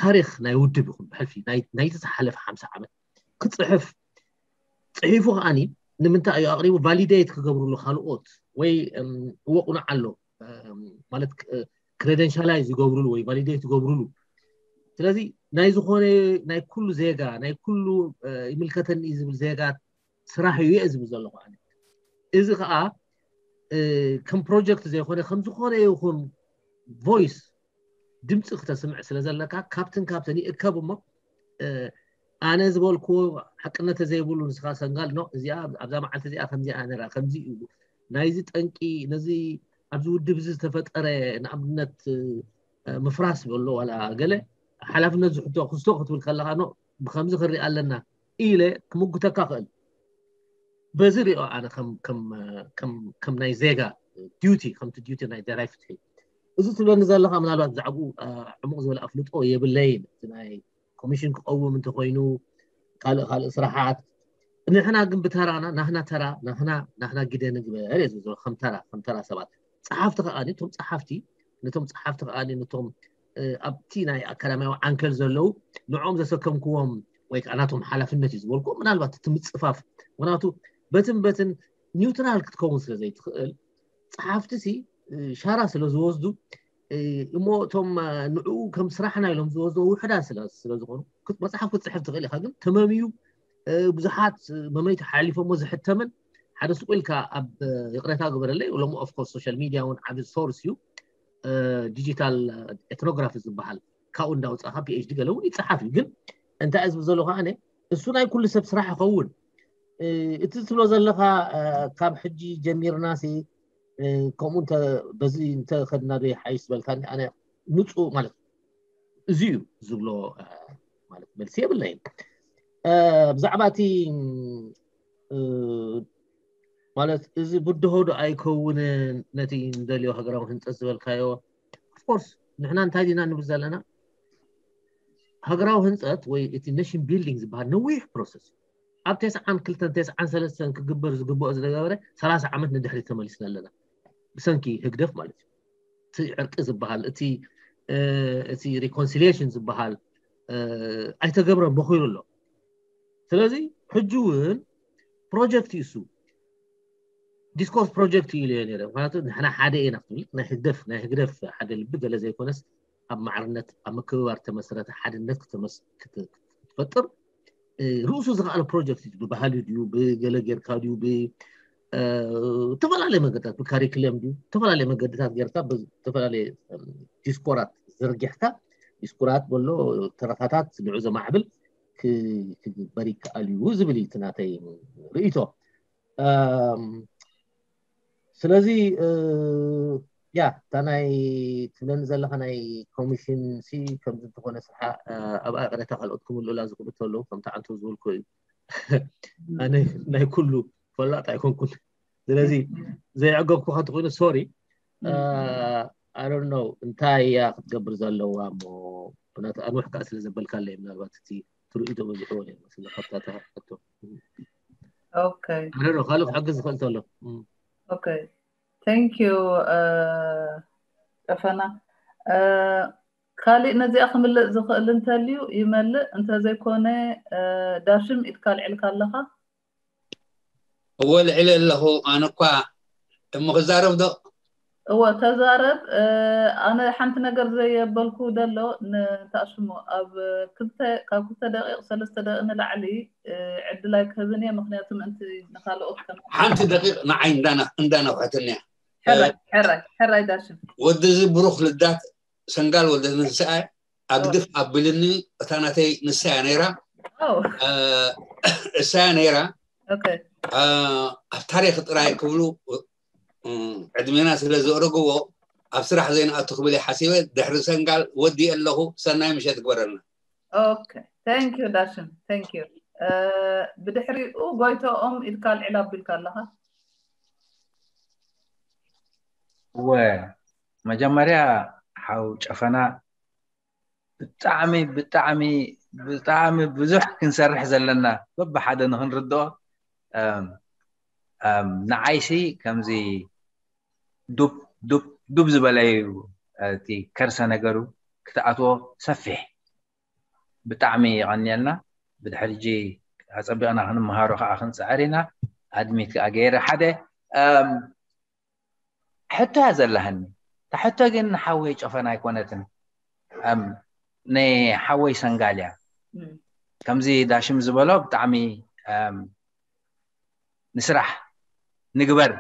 ታሪክ ናይ ውድብ ይኹን ብሕልፊ ናይቲ ዝሓለፈ ሓምሳ ዓመት ክፅሕፍ ፅሒፉ ከዓኒ ንምንታይ እዩ ኣቅሪቡ ቫሊዴት ክገብርሉ ካልኦት ወይ እወ ቁኑዕ ኣሎ ማለት ክሬደንሻላይዝ ይገብርሉ ወይ ቫሊዴት ይገብርሉ። ስለዚ ናይ ዝኾነ ናይ ኩሉ ዜጋ ናይ ኩሉ ይምልከተኒ ዝብል ዜጋ ስራሕ እዩ እየ ዝብል ዘለኹ። እዚ ከዓ ከም ፕሮጀክት ዘይኮነ ከም ዝኾነ ይኹን ቮይስ ድምፂ ክተስምዕ ስለ ዘለካ ካብትን ካብተን ይእከብ እሞ ኣነ ዝበልክዎ ሓቅነት ዘይብሉ ንስኻ ሰንጋል ኖ እዚኣ ኣብዛ መዓልቲ እዚኣ ከምዚኣ ነራ ከምዚ እዩ ናይዚ ጠንቂ ነዚ ኣብዚ ውድብ እዚ ዝተፈጠረ ንኣብነት ምፍራስ በሎ ዋላ ገለ ሓላፍነት ዝሕቶ ክስቶ ክትብል ከለኻ ኖ ብከምዚ ክርኢ ኣለና ኢለ ክምጉተካ ክእል። በዚ ሪኦ ኣነ ከም ናይ ዜጋ ዲቲ ከምቲ ዲቲ ናይ ደራይ ፍትሒ እዚ ትብለኒ ዘለካ ምናልባት ብዛዕባኡ ዕሙቕ ዝበለ ኣፍልጦ የብለይን። እቲ ናይ ኮሚሽን ክቀውም እንተኮይኑ ካልእ ካልእ ስራሓት ንሕና ግን ብተራና ናህና ተራ ናህና ናህና ግደ ንግበር እየ ዝብሎ ከም ተራ ከም ተራ ሰባት ጸሓፍቲ ከኣ እቶም ጸሓፍቲ ነቶም ጸሓፍቲ ከኣ ነቶም ኣብቲ ናይ ኣካዳሚያዊ ዓንከል ዘለዉ ንዕኦም ዘሰከምክዎም ወይ ከዓ ናቶም ሓላፍነት እዩ ዝበልኩ ምናልባት እቲ ምፅፋፍ ምክንያቱ በትን በትን ኒውትራል ክትከውን ስለ ዘይትኽእል ጸሓፍቲ ሲ ሻራ ስለ ዝወስዱ እሞ እቶም ንዕኡ ከም ስራሕና ኢሎም ዝወስዶ ውሕዳት ስለ ዝኾኑ መፅሓፍ ክትፅሕፍ ትኽእል ኢኻ ግን ተመምዩ ብዙሓት መመይቲ ሓሊፎሞ ዝሕተምን ሓደ ስቁ ኢልካ ኣብ ይቕረታ ግበረለይ ሎሚ ኦፍኮርስ ሶሻል ሚድያ እውን ዓብ ሶርስ እዩ ዲጂታል ኤትኖግራፊ ዝበሃል ካብኡ እንዳውፃእካ ፒኤችዲ ገለ እውን ይፀሓፍ እዩ ግን እንታይ ዝብ ዘሎ ከዓ እሱ ናይ ኩሉ ሰብ ስራሕ ይኸውን እቲ ትብሎ ዘለካ ካብ ሕጂ ጀሚርና ሲ ከምኡ በዚ እንተኸድና ዶ ይሓይሽ ዝበልካኒ ኣነ ምፁ ማለት እዚ እዩ ዝብሎ ማለት መልሲ የብለይን ብዛዕባ እቲ ማለት እዚ ብድሆ ዶ ኣይከውንን ነቲ ንደልዮ ሃገራዊ ህንፀት ዝበልካዮ ኦፍኮርስ ንሕና እንታይ ዲና ንብል ዘለና ሃገራዊ ህንፀት ወይ እቲ ኔሽን ቢልዲንግ ዝበሃል ነዊሕ ፕሮሰስ ኣብ ተስዓን ክልተን ተስዓን ሰለስተን ክግበር ዝግብኦ ዝነበረ ሰላሳ ዓመት ንድሕሪት ተመሊስና ኣለና ብሰንኪ ህግደፍ ማለት እዩ እቲ ዕርቂ ዝበሃል እቲ እቲ ሪኮንሲሊሽን ዝበሃል ኣይተገብረን በኪሩ ኣሎ ስለዚ ሕጂ እውን ፕሮጀክት እዩ እሱ። ዲስኮርስ ፕሮጀክት እዩ ኢለ ነይረ። ምክንያቱ ንሕና ሓደ ኢና ክትብል፣ ናይ ህግደፍ፣ ናይ ህግደፍ ሓደ ልቢ ገለ ዘይኮነስ፣ ኣብ ማዕርነት፣ ኣብ ምክብባር ተመሰረተ ሓድነት ክተመስ-፣ ክት-፣ ክትፈጥር፣ እ፣ ርእሱ ዝኸኣለ ፕሮጀክት እዩ። ብባህሊ ድዩ፣ ብገለ ጌርካ ድዩ፣ ብ-፣ እ፣ ዝተፈላለየ መገድታት፣ ብካሪክለም ድዩ፣ ዝተፈላለየ መገድታት ጌርካ፣ ብዝተፈላለየ፣ እም፣ ዲስኮራት ዘርጊሕካ፣ ዲስኮራት በሎ፣ ተረኻታት ንዑ ዘማዕብል ክ-፣ ክግበር ይከኣል እዩ ዝብል እዩ እቲ ናተይ ርእይቶ። እም፣ ስለዚ፣ እ፣ ያ፣ እታ ናይ ትብለኒ ዘለኻ ናይ ኮሚሽን ሲ ከምዚ እንተኾነ ስርሓ፣ እ፣ ኣብኣ ቅሬታ ካልኦት ክምልኡላ ዝኽእሉ እንተለዉ፣ ከምቲ ዓንቶ ዝበልኩ እዩ። ኣነ ናይ ኩሉ ፈላጥ ኣይኮንኩን። ስለዚ ዘይዕገብኩኻ እንተኾይኑ፣ ሶሪ። እ፣ I don't know እንታይ እያ ክትገብር ዘለዋ እሞ፣ ምክንያቱ ኣንውሕ ከኣ ስለ ዘበልካለይ፣ ምናልባት እቲ ትርእይቶ በዚሕዎ ነይሩ መስለኒ፣ ካብታ እታ ሕቶ። ኦኬ። I don't know፣ ካልእ ክሕግዝ ዝኽእል እንተሎ። እም። ኦኬ። Thank you፣ እ፣ ጨፈና። እ፣ ካሊእ ነዚኣ ክምልእ ዝኽእል እንተልዩ ይመልእ፣ እንተዘይኮነ፣ እ፣ ዳሽም ኢድካ ኣልዒልካ ኣለኻ? እወ፣ ልዕሊ ኣለኹ። ኣነ እኳ እሞ ክዛረብ ዶ? እወ፣ ተዛረብ። እ፣ ኣነ ሓንቲ ነገር ዘየበልኩ ደሎ፣ ን-፣ እንታይ ሽሙ፣ ኣብ ክልተ፣ ካብ ክልተ ደቂቕ፣ ሰለስተ ደቂቕ ንላዕሊ፣ እ፣ ዕድል ኣይክህብን እየ፣ ምክንያቱ ምእንቲ ንኻልኦት ከም ሓንቲ ደቂቕ ንዓይ እንዳና-፣ እንዳነውሐትኒ እያ። ሕራይ፣ ሕራይ፣ ሕራይ ዳሽም። ወዲ እዚ ብሩኽ ልዳት ሰንጋል ወልደ ትንሳኤ ኣግድፍ ኣቢልኒ፣ እታ ናተይ ንሳ እያ ነይራ። ኦ፣ እ፣ እሳ እያ ነይራ። ኦኬ። እ፣ ኣብ ታሪኽ ጥራይ ክብሉ፣ እ፣ ዕድሜና ስለ ዘእረግዎ ኣብ ስራሕ ዘይንኣቱ ክብል እየ ሓሲበ። ድሕሪ ሰንጋል ወዲኤ ኣለኹ። ሰናይ ምሸት ግበረልና። ኦኬ። Thank you ዳሽም። Thank you። እ፣ ብድሕሪኡ ጎይቶኦም ኢድካ ኣልዒል ኣቢልካ ኣለኻ። እወ፣ መጀመርያ ሓው ጨፈና ብጣዕሚ፣ ብጣዕሚ፣ ብጣዕሚ ብዙሕ ክንሰርሕ ዘለና በብሓደ ንኽንርድኦ፣ እም፣ እም፣ ንዓይሲ ከምዚ ዱብ፣ ዱብ፣ ዱብ ዝበለ እዩ እቲ ከርሰ ነገሩ ክትኣትዎ ሰፊሕ። ብጣዕሚ የቐንየልና። ብድሕሪ ሕጂ ኣጸቢቕና ክንመሃሮ ከኣ ክንጽዕር ኢና። ኣድሚት ከኣ ገይረ ሓደ፣ እም፣ ሕቶ እያ ዘለሃኒ። እታ ሕቶ ግን ንሓወይ ጨፈና ኣይኮነትን። እም፣ ንሓወይ ሰንጋል እያ። እም። ከምዚ ዳሽም ዝበሎ ብጣዕሚ፣ እም፣ ንስራሕ ንግበር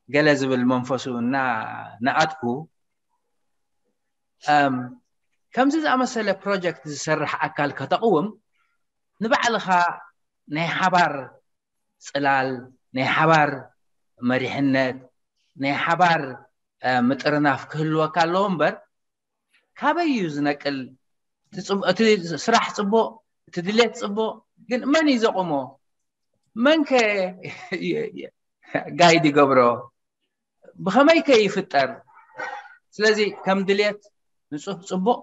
ገለ ዝብል መንፈሱ እና ንኣትኩ፣ እም፣ ከምዚ ዝኣመሰለ ፕሮጀክት ዝሰርሕ ኣካል ከተቕውም ንባዕልኻ ናይ ሓባር ጽላል፣ ናይ ሓባር መሪሕነት፣ ናይ ሓባር፣ እ፣ ምጥርናፍ ክህልወካ ኣለዎ እምበር፣ ካበይ እዩ ዝነቅል? እቲ ጽቡ-፣ እቲ ስራሕ ጽቡቕ፣ እቲ ድሌት ጽቡቕ፣ ግን መን እዩ ዘቑሞ? መን ከ ጋይድ ይገብሮ? ብኸመይ ከ ይፍጠር? ስለዚ ከም ድሌት ንጹህ ጽቡቕ፣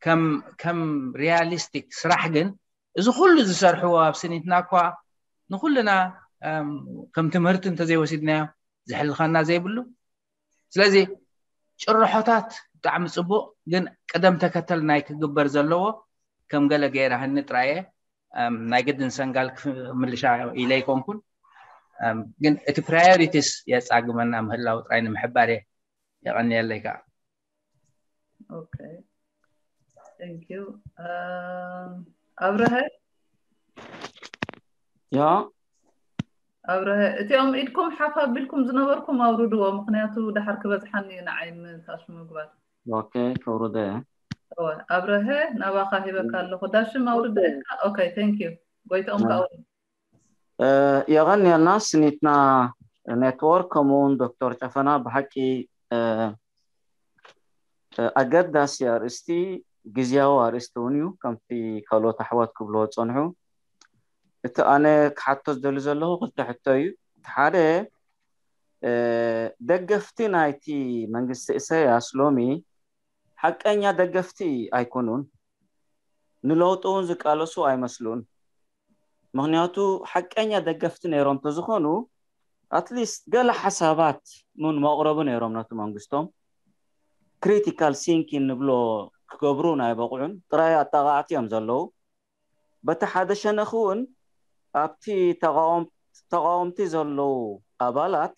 ከም፣ ከም ሪያሊስቲክ ስራሕ ግን እዚ ኩሉ ዝሰርሕዎ ኣብ ስኒትና እኳ ንኩልና፣ እም፣ ከም ትምህርቲ እንተዘይወሲድናዮ ዝሕልኸና ዘይብሉ። ስለዚ ጭርሖታት ብጣዕሚ ጽቡቕ፣ ግን ቅደም ተከተል ናይ ክግበር ዘለዎ ከም ገለ ገይራህኒ ጥራየ፣ እም፣ ናይ ግድን ሰንጋል ክምልሻ ኢለ ኣይኮንኩን። እም፣ ግን እቲ ፕራዮሪቲስ የጻግመና ምህላው ጥራይ ንምሕባር እየ። የቐንየለይ ከኣ። ኦኬ። Thank you። እም፣ ኣብርሀ? ያ፣ ኣብርሀ፣ እቲኦም ኢድኩም ሓፍ ኣቢልኩም ዝነበርኩም ኣውርድዎ፣ ምኽንያቱ ደሓር ክበዝሓኒ እዩ ንዓይ ምታሽ ምግባር። ኦኬ፣ ከውርደ እየ። እወ፣ ኣብርሀ፣ ናባኻ ሂበካ ኣለኹ። ዳሽም ኣውርደ ኢልካ? ኦኬ፣ thank you። ጎይትኦም ከኣ ኣውርድ። እ፣ የቐንየልና ስኒትና ኔትወርክ፣ ከምኡ እውን ዶክተር ጨፈና ብሓቂ፣ እ፣ እ፣ ኣገዳሲ ኣርእስቲ፣ ግዝያዊ ኣርእስቲ እውን እዩ፣ ከምቲ ካልኦት ኣሕዋት ክብልዎ ዝጸንሑ። እቲ ኣነ ክሓቶ ዝደሊ ዘለኹ ክልተ ሕቶ እዩ። እቲ ሓደ፣ እ፣ ደገፍቲ ናይቲ መንግስቲ ኢሳያስ ሎሚ ሓቀኛ ደገፍቲ ኣይኮኑን። ንለውጢ እውን ዝቃለሱ ኣይመስሉን። ምኽንያቱ ሓቀኛ ደገፍቲ ነይሮም እንተዝኾኑ፣ ኣትሊስት ገለ ሓሳባት እውን መቕረቡ ነይሮም ነቲ መንግስቶም። ክሪቲካል ሲንኪን ንብሎ ክገብሩ ናይ በቕዑን ጥራይ ኣጣቓዕቲ እዮም ዘለዉ። በቲ ሓደ ሸነኽ እውን ኣብቲ ተቓወም-፣ ተቃወምቲ ዘለዉ ኣባላት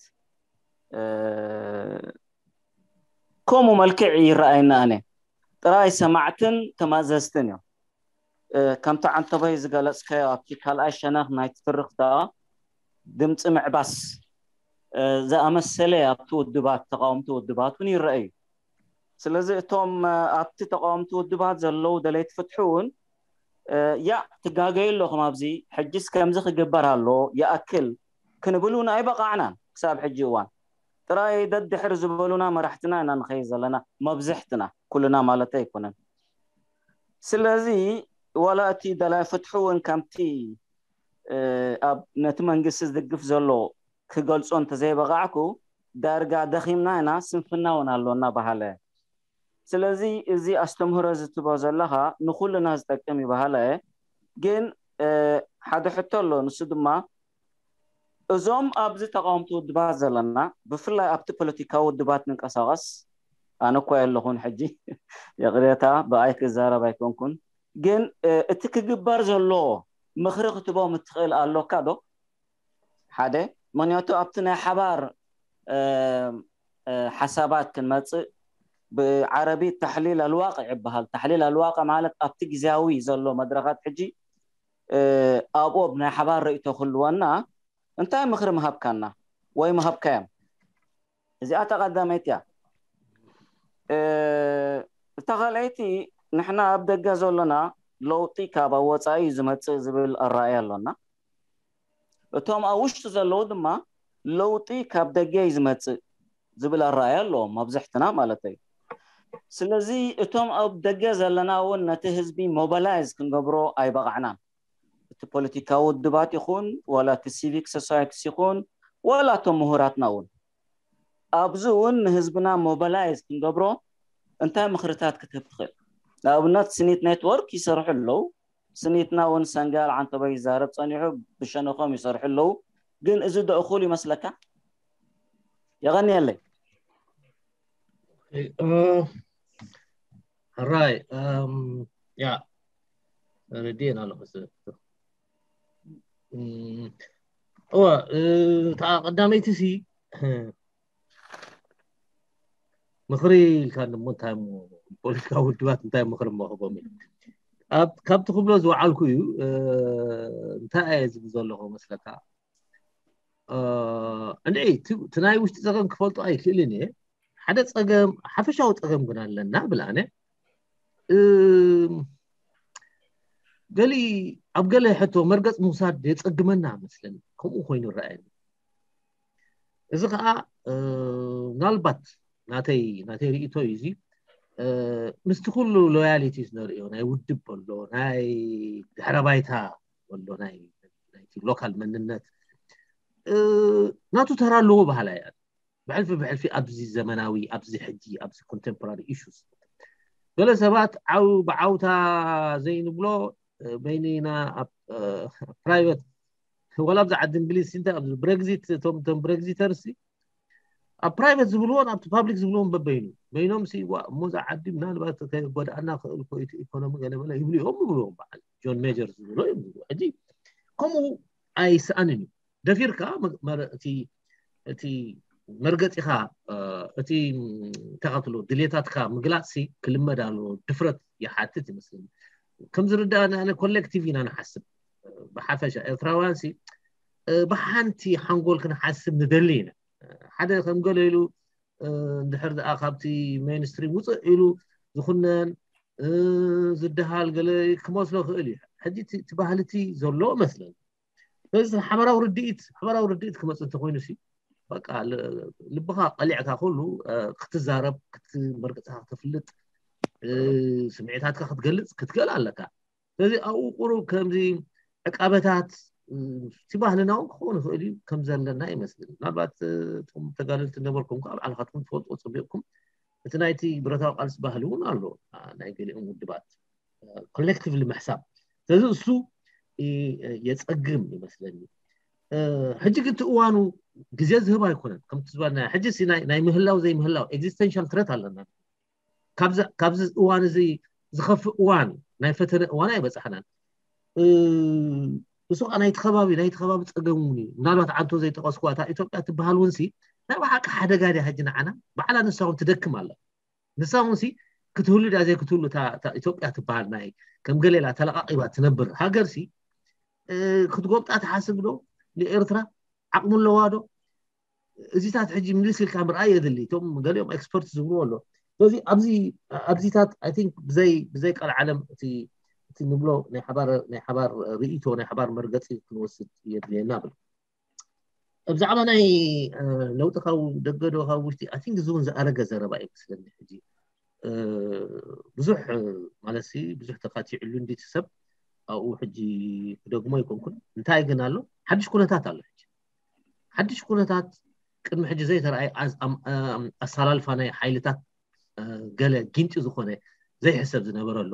ከምኡ መልክዕ ይረኣየና። ኣነ ጥራይ ሰማዕትን ተማዘዝትን እዮም። ከምቲ ዓንተባይ ዝገለፅካዮ ኣብቲ ካልኣይ ሸነኽ ናይ ትርኽታ ድምፂ ምዕባስ ዝኣመሰለ ኣብቲ ውድባት፣ ተቃወምቲ ውድባት እውን ይረኣዩ። ስለዚ እቶም ኣብቲ ተቃወምቲ ውድባት ዘለዉ ደለይቲ ፍትሒ እውን ያ ትጋገዩ ኣለኹም፣ ኣብዚ ሕጅስ ከምዚ ክግበር ኣሎ፣ ይኣክል ክንብል እውን ኣይበቃዕናን። ክሳብ ሕጂ እዋን ጥራይ ደድሕር ዝበሉና መራሕትና ኢና ንኸይድ ዘለና፣ መብዝሕትና፣ ኩልና ማለት ኣይኮነን። ስለዚ ዋላ እቲ ደላይ ፍትሒ እውን ከምቲ ኣብ ነቲ መንግስቲ ዝድግፍ ዘሎ ክገልጾ እንተዘይበቃዕኩ፣ ዳርጋ ደኺምና ኢና፣ ስንፍና እውን ኣሎና በሃለ። ስለዚ እዚ ኣስተምህሮ ዝትቦ ዘለኻ ንኩልና ዝጠቅም እዩ በሃለ። ግን ሓደ ሕቶ ኣሎ፣ ንሱ ድማ እዞም ኣብዚ ተቃወምቲ ውድባት ዘለና፣ ብፍላይ ኣብቲ ፖለቲካዊ ውድባት ንንቀሳቀስ፣ ኣነ እኳ የለኹን ሕጂ፣ ይቕሬታ፣ ብኣይ ክዛረብ ኣይኮንኩን። ግን እቲ ክግበር ዘሎ ምኽሪ ክትቦም እትኽእል ኣሎካ ዶ? ሓደ፣ ምኽንያቱ ኣብቲ ናይ ሓባር ሓሳባት ክንመፅእ፣ ብዓረቢ ተሕሊል ኣልዋቂ ይበሃል። ተሕሊል ኣልዋቂ ማለት ኣብቲ ግዜያዊ ዘሎ መድረኻት ሕጂ ኣብኦም ናይ ሓባር ርእይቶ ክህልወና እንታይ ምኽሪ ምሃብካና ወይ ምሃብካዮም? እዚኣ ተቐዳመይቲ እያ። እታ ካልኣይቲ፣ ንሕና ኣብ ደገ ዘለና ለውጢ ካብ ኣብ ወፃኢ እዩ ዝመፅእ ዝብል ኣረኣእያ ኣሎና። እቶም ኣብ ውሽጢ ዘለዉ ድማ ለውጢ ካብ ደገ እዩ ዝመፅእ ዝብል ኣረኣእያ ኣለዎም መብዝሕትና ማለት እዩ። ስለዚ እቶም ኣብ ደገ ዘለና እውን ነቲ ህዝቢ ሞባላይዝ ክንገብሮ ኣይበቃዕናን። እቲ ፖለቲካዊ ውድባት ይኹን፣ ዋላ እቲ ሲቪክ ሶሳይቲስ ይኹን፣ ዋላ እቶም ምሁራትና እውን ኣብዚ እውን ንህዝብና ሞባላይዝ ክንገብሮ እንታይ ምኽርታት ክትህብ ትኽእል? ንኣብነት ስኒት ኔትወርክ ይሰርሑ ኣለዉ። ስኒትና እውን ሰንጋል ዓንተቦይ ይዛረብ ጸኒሑ፣ ብሸነኾም ይሰርሑ ኣለዉ። ግን እዚ ዶ እኹል ይመስለካ? የቐንየለይ። ሕራይ ያ ረድኤን ኣለኹ። እወ፣ እታ ቀዳመይቲ ሲ ምኽሪ ኢልካ እሞ እንታይ እሞ ፖለቲካዊ ውድባት እንታይ ምኽሪ መኽቦም? ካብ ትኽብሎ ዝወዓልኩ እዩ። እንታይ እየ ዝብል ዘለኹ መስለካ? እንድዒ እቲ ናይ ውሽጢ ጸገም ክፈልጦ ኣይክእልን እየ። ሓደ ጸገም፣ ሓፈሻዊ ጸገም ግን ኣለና ብል ኣነ። ገሊ ኣብ ገለ ሕቶ መርገጽ ምውሳድ የጸግመና መስለኒ። ከምኡ ኮይኑ ይረኣየኒ። እዚ ከዓ ምናልባት ናተይ ናተይ ርእይቶ እዩ። እዚ ምስቲ ኩሉ ሎያሊቲስ ነርእዮ፣ ናይ ውድብ ኣሎ፣ ናይ ድሕረ ባይታ ኣሎ፣ ናይ ናይቲ ሎካል መንነት ናቱ ተራ ኣለዎ በሃላ እያ። ብሕልፊ ብሕልፊ ኣብዚ ዘመናዊ፣ ኣብዚ ሕጂ፣ ኣብዚ ኮንቴምፖራሪ ኢሹስ ገለ ሰባት ዓው ብዓውታ ዘይንብሎ በይንና ኣብ ፕራይቨት፣ ዋላ ኣብዚ ዓዲ እንግሊዝ እንታይ ኣብዚ ብሬግዚት፣ እቶም እቶም ብሬግዚተርስ ኣብ ፕራይቨት ዝብልዎን ኣብቲ ፓብሊክ ዝብልዎን በበይኑ በይኖም ሲ ዋ እሞ እዛ ዓዲ ምናልባት ከጎድኣና ክእል ኮ ኢኮኖሚ ገለመለ ይብሉ እዮም ይብልዎም። በዓል ጆን ሜጀር ዝብሎ እዮም ዝብሉ። ሕጂ ከምኡ ኣይስኣንን እዩ። ደፊርካ እቲ መርገፂኻ እቲ ተኸትሎ ድሌታትካ ምግላፅ ሲ ክልመድ ኣለዎ። ድፍረት ይሓትት ይመስለኒ። ከም ዝርዳእኒ ኣነ ኮሌክቲቭ ኢና ንሓስብ። ብሓፈሻ ኤርትራውያን ሲ ብሓንቲ ሓንጎል ክንሓስብ ንደሊ ኢና። ሓደ ከም ገለ ኢሉ እንድሕር ደኣ ካብቲ ሜንስትሪም ውፅእ ኢሉ ዝኹነን ዝድሃል ገለ ክመስሎ ክእል እዩ። ሕጂ እቲ ባህልቲ ዘሎ መስለኒ። ስለዚ ሓበራዊ ርድኢት ሓበራዊ ርድኢት ክመፅእ እንተኮይኑ ሲ በቃ ልብኻ ቀሊዕካ ኩሉ ክትዛረብ፣ መርገፅካ ክተፍልጥ፣ ስምዒታትካ ክትገልፅ ክትክእል ኣለካ። ስለዚ ኣብኡ ቁሩብ ከምዚ ዕቃበታት እቲ ባህልና እውን ክኸውን ይኽእል እዩ ከም ዘለና ይመስል። ምናልባት እቶም ተጋደልቲ ነበርኩም ከዓ ባዕልኻትኩም ትፈልጥዎ ፀቢቕኩም። እቲ ናይቲ ብረታዊ ቃልሲ ባህሊ እውን ኣሎ፣ ናይ ገሊኦም ውድባት ኮሌክቲቭሊ ምሕሳብ። ስለዚ እሱ የፀግም ይመስለኒ። ሕጂ ግን እቲ እዋኑ ግዜ ዝህብ ኣይኮነን። ከምቲ ዝበልና ሕጂ ናይ ምህላው ዘይምህላው ኤግዚስተንሻል ትረት ኣለና። ካብዚ እዋን እዚ ዝኸፍእ እዋን ናይ ፈተነ እዋን ኣይበፃሕናን። ንሱ ከዓ ናይቲ ከባቢ ናይቲ ከባቢ ፀገም እውን እዩ። ምናልባት ዓንቶ ዘይጠቀስኩዋ እታ ኢትዮጵያ ትበሃል እውን ሲ ናይ ብሓቂ ሓደጋ ድያ ሕጂ ንዓና? ባዕላ ንሳ እውን ትደክም ኣላ። ንሳ እውን ሲ ክትህሉ ድያ ዘይክትህሉ እታ እታ ኢትዮጵያ ትበሃል ናይ ከም ገሌላ ተለቃቂባ ትነብር ሃገር ሲ ክትጎብጣ ትሓስብ ዶ? ንኤርትራ ዓቕሚ ኣለዋ ዶ? እዚታት ሕጂ ምልስ ኢልካ ምርኣይ የድሊ። እቶም ገሊኦም ኤክስፐርት ዝብልዎ ኣሎ። ስለዚ ኣብዚ ኣብዚታት ኣይ ቲንክ ብዘይ ብዘይ ቀልዓለም እቲ እቲ ንብሎ ናይ ሓባር ናይ ሓባር ርእይቶ ናይ ሓባር መርገፂ ክንወስድ የድልየና ብል። ብዛዕባ ናይ ለውጢ ካብ ደገ ዶ ካብ ውሽጢ ኣይ ቲንክ እዚ እውን ዝኣረገ ዘረባ እዩ መስለኒ። ሕጂ ብዙሕ ማለት ብዙሕ ተካቲዕሉ እንዲ ሰብ ኣብኡ ሕጂ ክደግሞ ኣይኮንኩን። እንታይ ግን ኣሎ ሓድሽ ኩነታት ኣሎ። ሕጂ ሓድሽ ኩነታት ቅድሚ ሕጂ ዘይተረኣየ ኣሰላልፋ ናይ ሓይልታት ገለ ጊንጢ ዝኾነ ዘይሕሰብ ዝነበረ ኣሎ።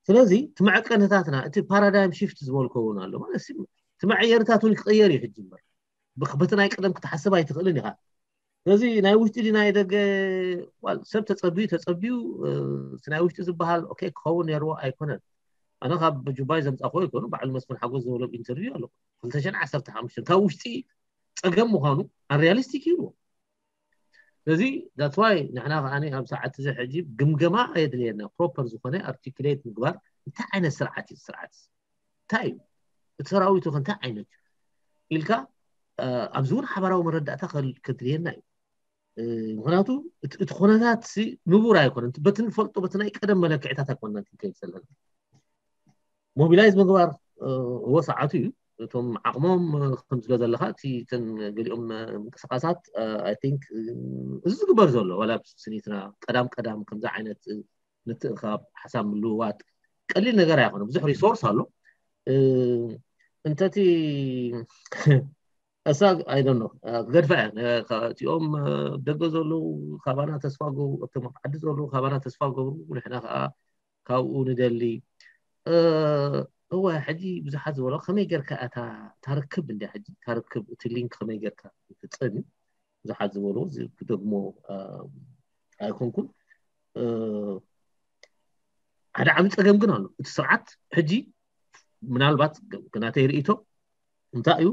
ስለዚ እቲ መዐቀንታትና እቲ ፓራዳይም ሽፍት ዝበልኮ እውን ኣሎ ማለት እቲ መዐየርታት እውን ክቀየር እዩ ሕጂ እምበር በቲ ናይ ቀደም ክትሓስብ ኣይትኽእልን ኢኻ። ስለዚ ናይ ውሽጢ ናይ ደገ ሰብ ተፀብዩ ተፀብዩ እቲ ናይ ውሽጢ ዝበሃል ኦኬ ክኸውን ነርዎ ኣይኮነን። ኣነ ካብ ጁባይ ዘምፃእኮ ይኮኑ ባዕሉ መስፍን ሓጎስ ዝበሎ ኢንተርቪው ኣሎ ክልተ ሽሕን ዓሰርተ ሓሙሽተን ካብ ውሽጢ ፀገም ምዃኑ ኣንሪያሊስቲክ ይብልዎ። ስለዚ that's why ንሕና ከዓኒ ኣብ ሰዓት እዚ ሕጂ ግምገማ የድልየና ፕሮፐር ዝኾነ ኣርቲኩሌት ምግባር እንታይ ዓይነት ስርዓት እዩ ስርዓት እንታይ እዩ እቲ ሰራዊቱ ከ እንታይ ዓይነት ኢልካ ኣብዚ እውን ሓበራዊ መረዳእታ ከድልየና እዩ። ምክንያቱ እቲ ኩነታት ንቡር ኣይኮነን በቲ ንፈልጦ በቲ ናይ ቀደም መለክዕታት ኣይኮንና ክንከይድ ዘለና። ሞቢላይዝ ምግባር እዎ ሰዓቱ እዩ። እቶም ዓቕሞም ከም ዝለ ዘለካ እቲ እተን ገሊኦም ምንቅስቃሳት ኣይ ቲንክ እዚ ዝግበር ዘሎ ዋላ ስኒትና ቀዳም ቀዳም ከምዚ ዓይነት ምትእኻብ ሓሳብ ምልውዋጥ ቀሊል ነገር ኣይኮነ ብዙሕ ሪሶርስ ኣሎ። እንተቲ እሳ ኣይደኖ ክገድፋ እያ እቲኦም ደገ ዘለዉ ካባና ተስፋ ገብሩ እቶም ኣብ ዓዲ ዘለዉ ካባና ተስፋ ገብሩ ንሕና ከዓ ካብኡ ንደሊ እወ ሕጂ ብዙሓት ዝበሎ ከመይ ጌርካ እታ ታርክብ እንዲ ሕጂ ታርክብ እቲ ሊንክ ከመይ ጌርካ ይፍፀም እዩ ብዙሓት ዝበሎ ክደግሞ ኣይኮንኩን ሓደ ዓብ ፀገም ግን ኣሎ እቲ ስርዓት ሕጂ ምናልባት ናተይ ርእቶ እንታይ እዩ